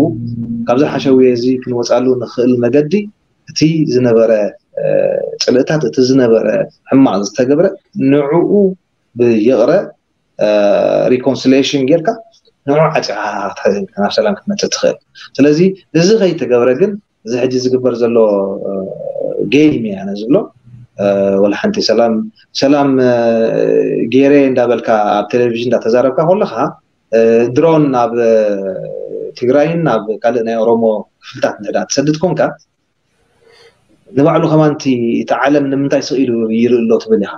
ካብዚ ሓሸውየ እዚ ክንወፃሉ ንኽእል መገዲ እቲ ዝነበረ ፅልእታት እቲ ዝነበረ ሕማቕ ዝተገብረ ንዕኡ ብይቕረ reconciliation ጌርካ ንዑ ዓፂኻ ናብ ሰላም ክትመፅእ ትኽእል ስለዚ እዚ ከይተገብረ ግን እዚ ሕጂ ዝግበር ዘሎ ጌም እየ ኣነ ዝብሎ። ወላ ሓንቲ ሰላም ሰላም ገይረ እንዳበልካ ኣብ ቴሌቪዥን እንዳተዛረብካ ከለኻ፣ ድሮን ናብ ትግራይን ናብ ካልእ ናይ ኦሮሞ ክፍልታት እንድሕዳ ትሰድድ ኮንካ፣ ንባዕሉ ከማን እቲ ዓለም ንምንታይ ስቕ ኢሉ ይርኢ ኣሎ ትብል ኢኻ።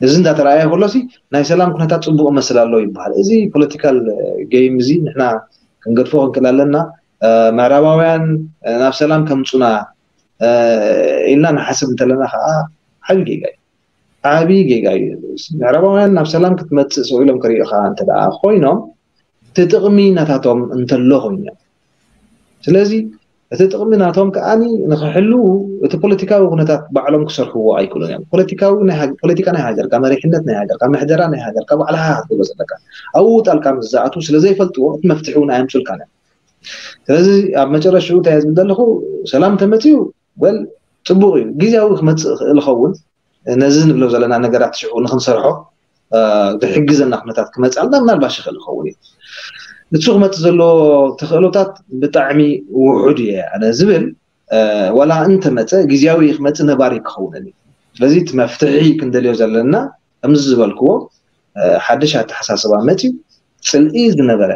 እዚ እንዳተረኣየ ከሎሲ ናይ ሰላም ኩነታት ፅቡቕ መስል ኣሎ ይበሃል። እዚ ፖለቲካል ጌም እዚ ንሕና ክንገድፎ ክንክእል ኣለና። ምዕራባውያን ናብ ሰላም ከምፁና ኢልና ንሓስብ እንተለና ከዓ ዓብዪ ጌጋ እዩ። ዓብዪ ጌጋ እዩ። ምዕራባውያን ናብ ሰላም ክትመፅእ ሰው ኢሎም ክሪእኻ እንተ ደኣ ኮይኖም እቲ ጥቕሚ ናታቶም እንተሎ ኮይኑ እዮም። ስለዚ እቲ ጥቕሚ ናቶም ከዓኒ ንኽሕልዉ እቲ ፖለቲካዊ ኩነታት ባዕሎም ክሰርሕዎ ኣይክእሉን እዮም። ፖለቲካዊ ናይ ሃገ- ፖለቲካ ናይ ሃገርካ፣ መሪሕነት ናይ ሃገርካ፣ ምሕደራ ናይ ሃገርካ ባዕልኻ ክትገብሮ ዘለካ ኣብኡ ጣልቃ ምስ ዝኣትዉ ስለ ዘይፈልጥዎ እቲ መፍትሒ እውን ኣየምፁልካን እዮም። ስለዚ ኣብ መጨረሽኡ እንታይ ዝብል ዘለኹ፣ ሰላም ተመፅዩ ወል ፅቡቕ እዩ፣ ግዜያዊ ክመፅእ ይኽእል ይኸውን። ነዚ ንብሎ ዘለና ነገራት ሽዑ ንክንሰርሖ ዝሕግዘና ኩነታት ክመፅኣልና ምናልባሽ ይኽእል ይኸውን እዩ። እሱ ክመፅእ ዘለዎ ተኽእሎታት ብጣዕሚ ውሑድ እየ ኣነ ዝብል፣ ዋላ እንተመፀ ግዜያዊ ክመፅእ ነባሪ ክኸውን እዩ። ስለዚ እቲ መፍትሒ ክንደልዮ ዘለና ከምዚ ዝበልክዎ ሓድሽ ኣተሓሳስባ መፅዩ ፅልኢ ዝነበረ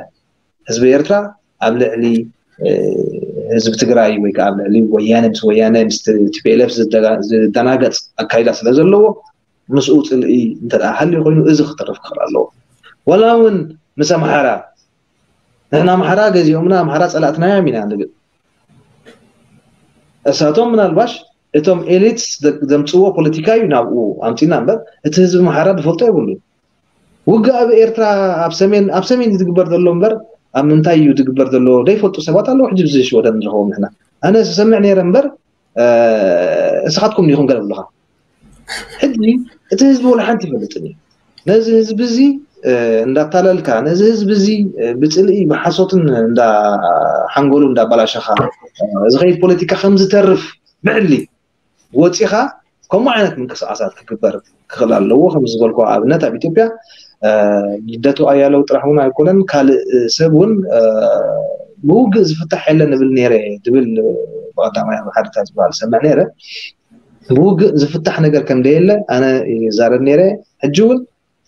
ህዝቢ ኤርትራ ኣብ ልዕሊ ህዝቢ ትግራይ ወይ ከዓ ኣብ ልዕሊ ወያነ ምስ ወያነ ምስ ቲፒኤልኤፍ ዝደናገፅ ኣካይዳ ስለ ዘለዎ ምስኡ ፅልኢ እንተ ሃልዩ ኮይኑ እዚ ክተርፍ ክኽእል ኣለዎ። ወላ እውን ምስ ኣምሓራ ንሕና ኣምሓራ ገዚኦምና ኣምሓራ ፀላእትና እዮም ኢና ንብል። እሳቶም ምናልባሽ እቶም ኤሊትስ ዘምፅዎ ፖለቲካ እዩ ናብኡ ኣምፂና እምበር እቲ ህዝቢ ኣምሓራ ዝፈልጦ የብሉ። ውግእ ኣብ ኤርትራ ኣብ ሰሜን ኣብ ሰሜን ዝግበር ዘሎ እምበር ኣብ ምንታይ እዩ ዝግበር ዘሎ ዘይፈልጡ ሰባት ኣለዉ። ሕጂ ብዚ ሽወደን ንረኸቦም ንሕና ኣነ ዝሰምዕ ነይረ እምበር እስኻትኩም ዲኹም ገለ ብልኻ። ሕጂ እቲ ህዝቢ ወላ ሓንቲ ይፈልጥን እዩ። ነዚ ህዝቢ እዚ እንዳታለልካ ነዚ ህዝቢ እዚ ብፅልኢ ብሓሶትን እንዳ ሓንጎሉ እንዳባላሸኻ ዝኸይድ ፖለቲካ ከም ዝተርፍ ብዕሊ ወፂኻ ከምኡ ዓይነት ምንቅስቃሳት ክግበር ክኽእል ኣለዎ። ከም ዝበልኩ ኣብነት ኣብ ኢትዮጵያ ልደቱ ኣያለው ጥራሕ እውን ኣይኮነን ካልእ ሰብ እውን ብውግእ ዝፍታሕ የለን እብል ነይረ ድብል ብቐዳማይ ኣብ ሓደታት ዝበሃል ሰምዕ ነይረ። ብውግእ ዝፍታሕ ነገር ከም ደየለ ኣነ ይዛረብ ነይረ። ሕጂ እውን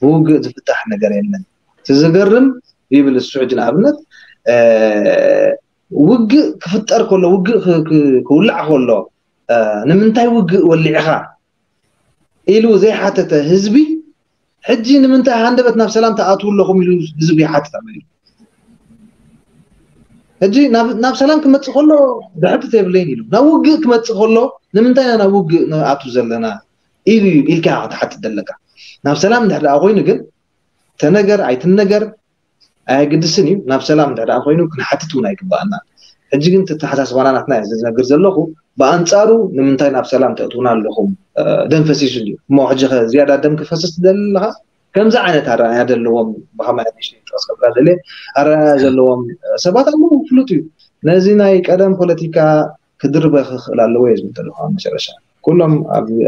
ብውግእ ዝፍታሕ ነገር የለን። እቲ ዝገርም ይብል እሱ ሕጂ ንኣብነት ውግእ ክፍጠር ከሎ ውግእ ክውላዕ ከሎ ንምንታይ ውግእ ወሊዕኻ ኢሉ ዘይሓተተ ህዝቢ ሕጂ ንምንታይ ሃንደበት ናብ ሰላም ትኣትዉ ኣለኹም ኢሉ ህዝቢ ይሓትት ኣሎ ኢሉ። ሕጂ ናብ ሰላም ክመፅእ ከሎ ዘሕትት የብለይን ኢሉ ናብ ውግእ ክመፅእ ከሎ ንምንታይ ኢና ናብ ውግእ ንኣቱ ዘለና ኢሉ ኢልካ ክትሓትት ዘለካ። ናብ ሰላም እንድሕር ደኣ ኮይኑ ግን ተነገር ኣይትነገር ኣየግድስን እዩ። ናብ ሰላም እንድሕር ደኣ ኮይኑ ክንሓትት እውን ኣይግባኣና። ሕጂ ግን ተተሓሳስባና ናትና እየ ዝነግር ዘለኹ። ብኣንፃሩ ንምንታይ ናብ ሰላም ተእትውና ኣለኹም ደም ፈሲሱ እዩ እሞ ሕጂ ከ ዝያዳ ደም ክፈስስ ትደሊ ኣለኻ? ከምዚ ዓይነት ኣረኣያ ዘለዎም ብኸማይ ኣዲሽን ጥቕስ ከብላ ደልየ ኣረኣያ ዘለዎም ሰባት ኣለዉ ፍሉጥ እዩ። ነዚ ናይ ቀደም ፖለቲካ ክድርበ ክኽእል ኣለዎ እየ ዝብል ዘለኹ። ኣብ መጨረሻ ኩሎም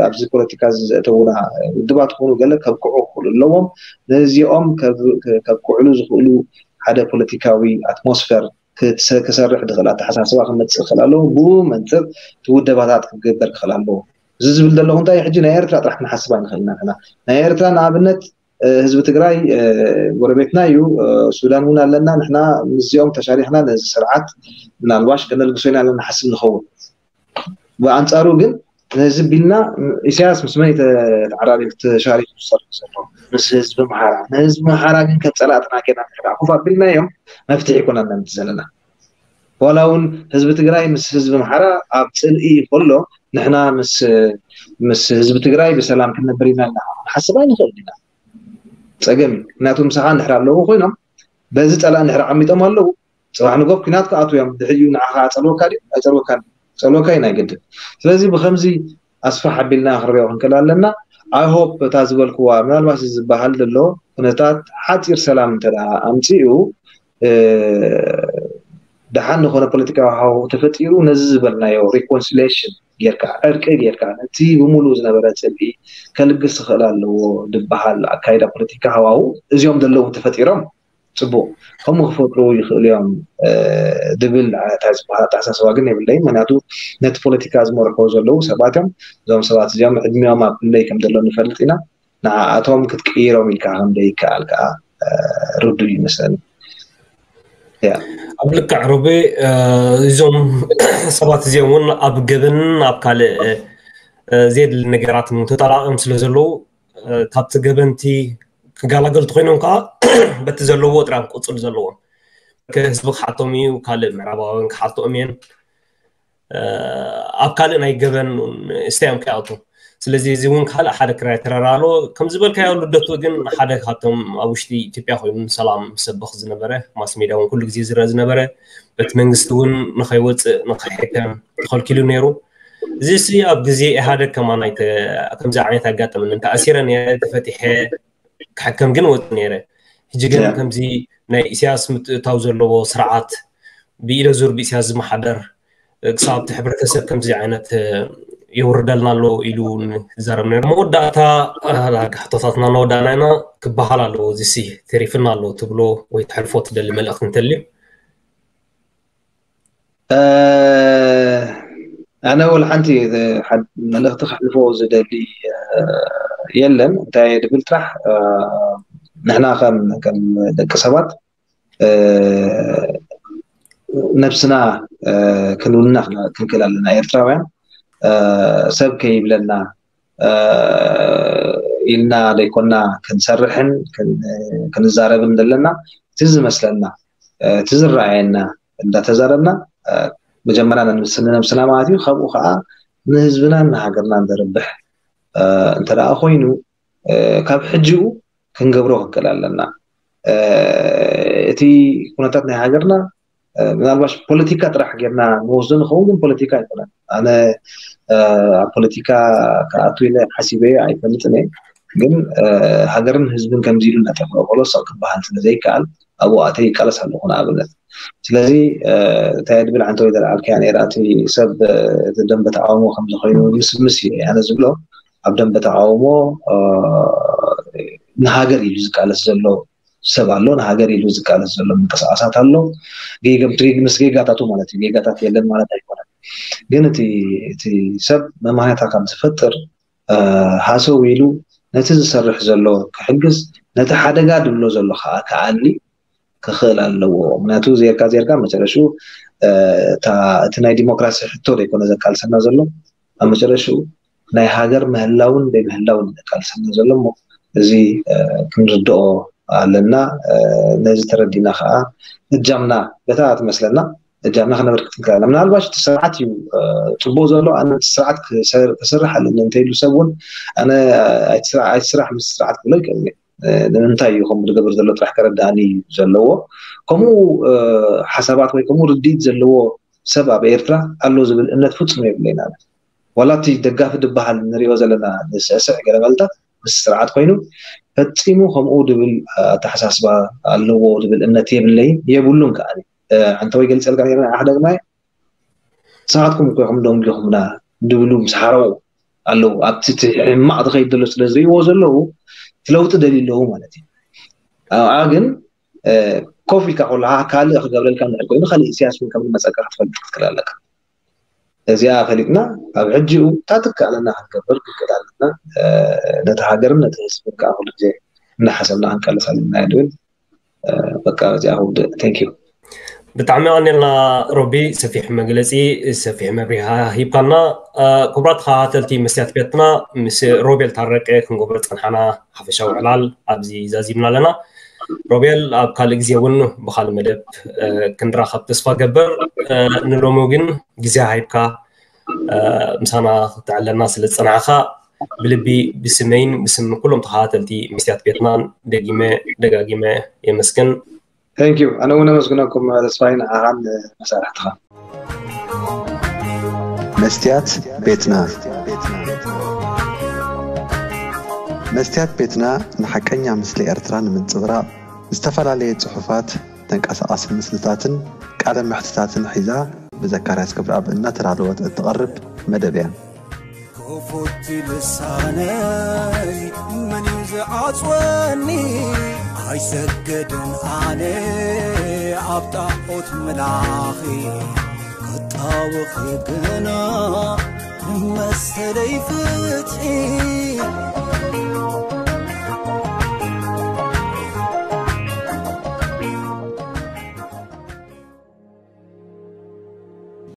ኣብዚ ፖለቲካ እዚ ዘእተውና ውድባት ክኾኑ ገለ ከብቅዑ ክኽእሉ ኣለዎም። ነዚኦም ከብቅዕሉ ዝኽእሉ ሓደ ፖለቲካዊ ኣትሞስፈር ክሰርሕ ዝኽእል ኣተሓሳስባ ክመፅእ ክኽእል ኣለዎ። ብኡ መንፅር እቲ ውደባታት ክግበር ክኽእል ኣለዎ። እዚ ዝብል ዘለኹ እንታይ ሕጂ ናይ ኤርትራ ጥራሕ ክንሓስብ ኣይንኽእልና ንሕና ናይ ኤርትራ ንኣብነት ህዝቢ ትግራይ ጎረቤትና እዩ። ሱዳን እውን ኣለና። ንሕና ምስዚኦም ተሻሪኽና ነዚ ስርዓት ምናልባሽ ከነልግሶ ኢና ንሓስብ ንኸውን። ብኣንፃሩ ግን ነዚ ቢልና ኢሳያስ ምስ መን ተዓራሪቡ ተሻሪኹ ዝሰርሕ ዘሎ? ምስ ህዝቢ ኣምሓራ። ንህዝቢ ኣምሓራ ግን ከም ፀላእትና ጌርና እንድሕር ኮፍ ኣቢልናዮም መፍትሒ ኣይኮነን ነምፅእ ዘለና። ዋላ እውን ህዝቢ ትግራይ ምስ ህዝቢ ኣምሓራ ኣብ ፅልኢ ከሎ ንሕና ምስ ምስ ህዝቢ ትግራይ ብሰላም ክንነብር ኢና ኢልና ክንሓስብ ኣይንኽእል ኢና። ፀገም እዩ። ምክንያቱ ምሳኻ እንድሕር ኣለዉ ኮይኖም በዚ ፀላእ እንድሕር ዓሚጦም ኣለዉ ፅባሕ ንጎ ኩናት ክኣትዉ እዮም። ድሕሪኡ ንዓኻ ኣፀልወካ ድዩ ኣይፀልወካን? ፀልወካ እዩ ናይ ግድን። ስለዚ ብከምዚ ኣስፋሕ ኣቢልና ክንሪኦ ክንክእል ኣለና። I hope እታ ዝበልክዋ ምናልባት እዚ ዝበሃል ዘሎ ኩነታት ሓፂር ሰላም እንተ ኣምፂኡ ደሓን ዝኾነ ፖለቲካዊ ሃዋሁ ተፈጢሩ ነዚ ዝበልናዮ reconciliation ጌርካ ዕርቂ ጌርካ ነቲ ብሙሉ ዝነበረ ፅልኢ ከልግስ ክኽእል ኣለዎ ዝበሃል ኣካይዳ ፖለቲካ ሃዋሁ እዚኦም ዘለዉ ተፈጢሮም ፅቡቕ ከምኡ ክፈጥሩ ይኽእሉ እዮም ድብል ኣተሓሳስባ ግን የብለይ። ምክንያቱ ነቲ ፖለቲካ ዝመርሕዎ ዘለዉ ሰባት እዮም። እዞም ሰባት እዚኦም ዕድሚኦም ኣብ ክንደይ ከም ዘሎ ንፈልጥ ኢና። ንኣቶም ክትቅይሮም ኢልካ ከም ዘይከኣል ከዓ ርዱእ ይመስለኒ። ኣብ ልክዕ ሩቤ፣ እዞም ሰባት እዚኦም እውን ኣብ ገበንን ኣብ ካልእ ዘየድሊ ነገራት ተጣላቂም ስለ ዘለዉ ካብቲ ገበንቲ ክጋላገልቲ ኮይኖም ከዓ በቲ ዘለዎ ጥራም ቅፅል ዘለዎም ህዝቢ ክሓቶም እዩ። ካልእ ምዕራባውያን ክሓልትኦም እየን። ኣብ ካልእ ናይ ገበን ስታዮም ከይኣቱ። ስለዚ እዚ እውን ካልእ ሓደ ክራይ ተረራ ኣሎ። ከም ዝበልካዮ ልደቱ ግን ሓደ ካብቶም ኣብ ውሽጢ ኢትዮጵያ ኮይኑ ሰላም ሰብኽ ዝነበረ ማስ ሜድያ እውን ኩሉ ግዜ ዝረአ ዝነበረ በቲ መንግስቲ እውን ንኸይወፅእ ንኸይሕከም ተኸልኪሉ ነይሩ። እዚ ሲ ኣብ ግዜ ኢህኣደግ ከማን ከምዚ ዓይነት ኣጋጠመኒ። ተኣሲረ ነይረ፣ ተፈቲሐ ክሕከም ግን ወፅ ነይረ። ሕጂ ግን ከምዚ ናይ ኢሳያስ ምትእታው ዘለዎ ስርዓት ብኢደ ዙር ብኢሳያስ ዝመሓደር ክሳብ እቲ ሕብረተሰብ ከምዚ ዓይነት የውርደልና ኣሎ ኢሉ ዝዛረብ ነይሩ። መወዳእታ ሕቶታትና እናወዳእና ኢና። ክበሃል ኣለዎ እዚ ሲ ተሪፍና ኣሎ ትብሎ ወይ ተሕልፎ ትደሊ መልእኽቲ እንተልዩ? ኣነ ወላ ሓንቲ መልእኽቲ ከሕልፎ ዝደሊ የለን። እንታይ ድብል ጥራሕ ንሕና ከም ደቂ ሰባት ነብስና ክንውንና ክንክእል ኣለና። ኤርትራውያን ሰብ ከይብለና ኢልና ዘይኮና ክንሰርሕን ክንዛረብን ዘለና እቲ ዝመስለና እቲ ዝረኣየና እንዳተዛረብና መጀመርያ ንነብስና ማለት እዩ። ካብኡ ከዓ ንህዝብናን ንሃገርናን ዘርብሕ እንተ ደኣ ኮይኑ ካብ ሕጂኡ ክንገብሮ ክንክእል ኣለና። እቲ ኩነታት ናይ ሃገርና ምናልባሽ ፖለቲካ ጥራሕ ጌርና ንወስዶ ንኸውን፣ ግን ፖለቲካ ኣይኮነን። ኣነ ኣብ ፖለቲካ ክኣቱ ኢለ ሓሲበ ኣይፈልጥን እየ። ግን ሃገርን ህዝብን ከምዚ ኢሉ እናጠፍአ ከሎ ሰቕ ክበሃል ስለ ዘይከኣል ኣብኡ ኣተይ ይቃለስ ኣለኹ ንኣብነት። ስለዚ እንታይ ድብል ዓንተ ወይ ዘልዓልካያ ነይራ እቲ ሰብ እቲ ደንበ ተቃውሞ ከምዚ ኮይኑ ምስምስ እዩ ኣነ ዝብሎ ኣብ ደንበ ተቃውሞ ንሃገር ኢሉ ዝቃለስ ዘሎ ሰብ ኣሎ፣ ንሃገር ኢሉ ዝቃለስ ዘሎ ምንቅስቃሳት ኣሎ። ጌገም ትሪግ ምስ ጌጋታቱ ማለት እዩ። ጌጋታት የለን ማለት ኣይኮነን። ግን እቲ እቲ ሰብ መማህያታ ካብ ዝፈጥር ሃሰው ኢሉ ነቲ ዝሰርሕ ዘሎ ክሕግዝ ነቲ ሓደጋ ድብሎ ዘሎ ከዓ ክኣሊ ክኽእል ኣለዎ። ምክንያቱ ዜርካ ዜርካ መጨረሽኡ እቲ ናይ ዲሞክራሲ ሕቶ ዘይኮነ ዘቃልሰና ዘሎ ኣብ መጨረሽኡ ናይ ሃገር ምህላውን ዘይምህላውን ዘቃልሰና ዘሎ እሞ እዚ ክንርድኦ ኣለና። ነዚ ተረዲና ከዓ እጃምና በታ ትመስለና እጃምና ክነበርክት ንክእል ኣለና። ምናልባሽ እቲ ስርዓት እዩ ፅቡቅ ዘሎ ኣነ ስርዓት ክሰርሕ ኣለኒ እንተይሉ ሰብ እውን ኣነ ኣይትስራሕ ምስ ስርዓት ክብሎ ይክእል። ንምንታይ እዩ ከምኡ ዝገብር ዘሎ ጥራሕ ከረዳእኒ እዩ ዘለዎ። ከምኡ ሓሳባት ወይ ከምኡ ርድኢት ዘለዎ ሰብ ኣብ ኤርትራ ኣሎ ዝብል እምነት ፍጹም የብለይን። ኣነ ዋላ እቲ ደጋፊ ዝበሃል ንሪኦ ዘለና ዝስዕስዕ ገለ መልታት ምስ ስርዓት ኮይኑ ፈጺሙ ከምኡ ድብል ኣተሓሳስባ ኣለዎ ድብል እምነት የብለይን የብሉን ከዓኒ። ኣንተ ወይ ገልጸልካ ነይረ ንዓኽ ደግማይ ንስኻትኩም እኮ ኢኹም ደንጊኹምና ድብሉ ምስ ሓረቑ ኣለዉ። ኣብቲ እቲ ሕማቕ ዝኸይድ ዘሎ ስለ ዝርእይዎ ዘለዉ እቲ ለውጢ ደልዩ ኣለዉ ማለት እዩ። ኣብኣ ግን ኮፍ ኢልካ ከለኻ ካልእ ክገብረልካ እንድሕር ኮይኑ ካልእ ኢሳያስ እውን ከም ዝመፀካ ክትፈልጥ ክትክእል ኣለካ። እዚኣ ፈሊጥና ኣብ ሕጂኡ እንታይ ትከኣለና ክንገብር ክንክእል ኣለና። ነቲ ሃገርን ነቲ ህዝብን ከዓ ኩሉ ግዜ እናሓሰብና ክንቃለስ ኣለና እየ ዝብል። በቃ እዚኣ ክውድእ። Thank you። ብጣዕሚ ቀኒልና ሮቢ፣ ሰፊሕ መግለፂ ሰፊሕ መብሪሃ ሂብካና። ክቡራት ተኸታተልቲ መስትያት ቤትና ምስ ሮቤል ታረቀ ክንገብሮ ዝፀንሓና ሓፈሻዊ ዕላል ኣብዚ ዛዚምና ኣለና። ሮቤል ኣብ ካልእ ግዜ እውን ብካልእ መደብ ክንራኸብ ተስፋ ገብር። ንሎሚ ግን ግዜ ሃይብካ ምሳና ክትዕለና ስለ ዝፀናሕካ ብልቢ ብስመይን ብስም ኩሎም ተኸታተልቲ መስትያት ቤትናን ደጊመ ደጋጊመ የመስግን። Thank you። ኣነ እውን ኣመስግነኩም ተስፋይን ንዓኻን መሳርሕትኻ። መስትያት ቤትና መስትያት ቤትና ንሓቀኛ ምስሊ ኤርትራ ንምንጽብራቕ ዝተፈላለየ ጽሑፋት፣ ተንቀሳቓሲ ምስልታትን ቃለ መሕትታትን ሒዛ ብዘካርያስ ክብረኣብ እናተዳለወት እትቐርብ መደብ እያ። ክፉት ልሳነይ መን እዩ ዝዓጽወኒ? ኣይሰግድን ኣነ ኣብ ጣዖት ምላኺ ክጣወኺ ግና ንመሰለይ ፍትሒ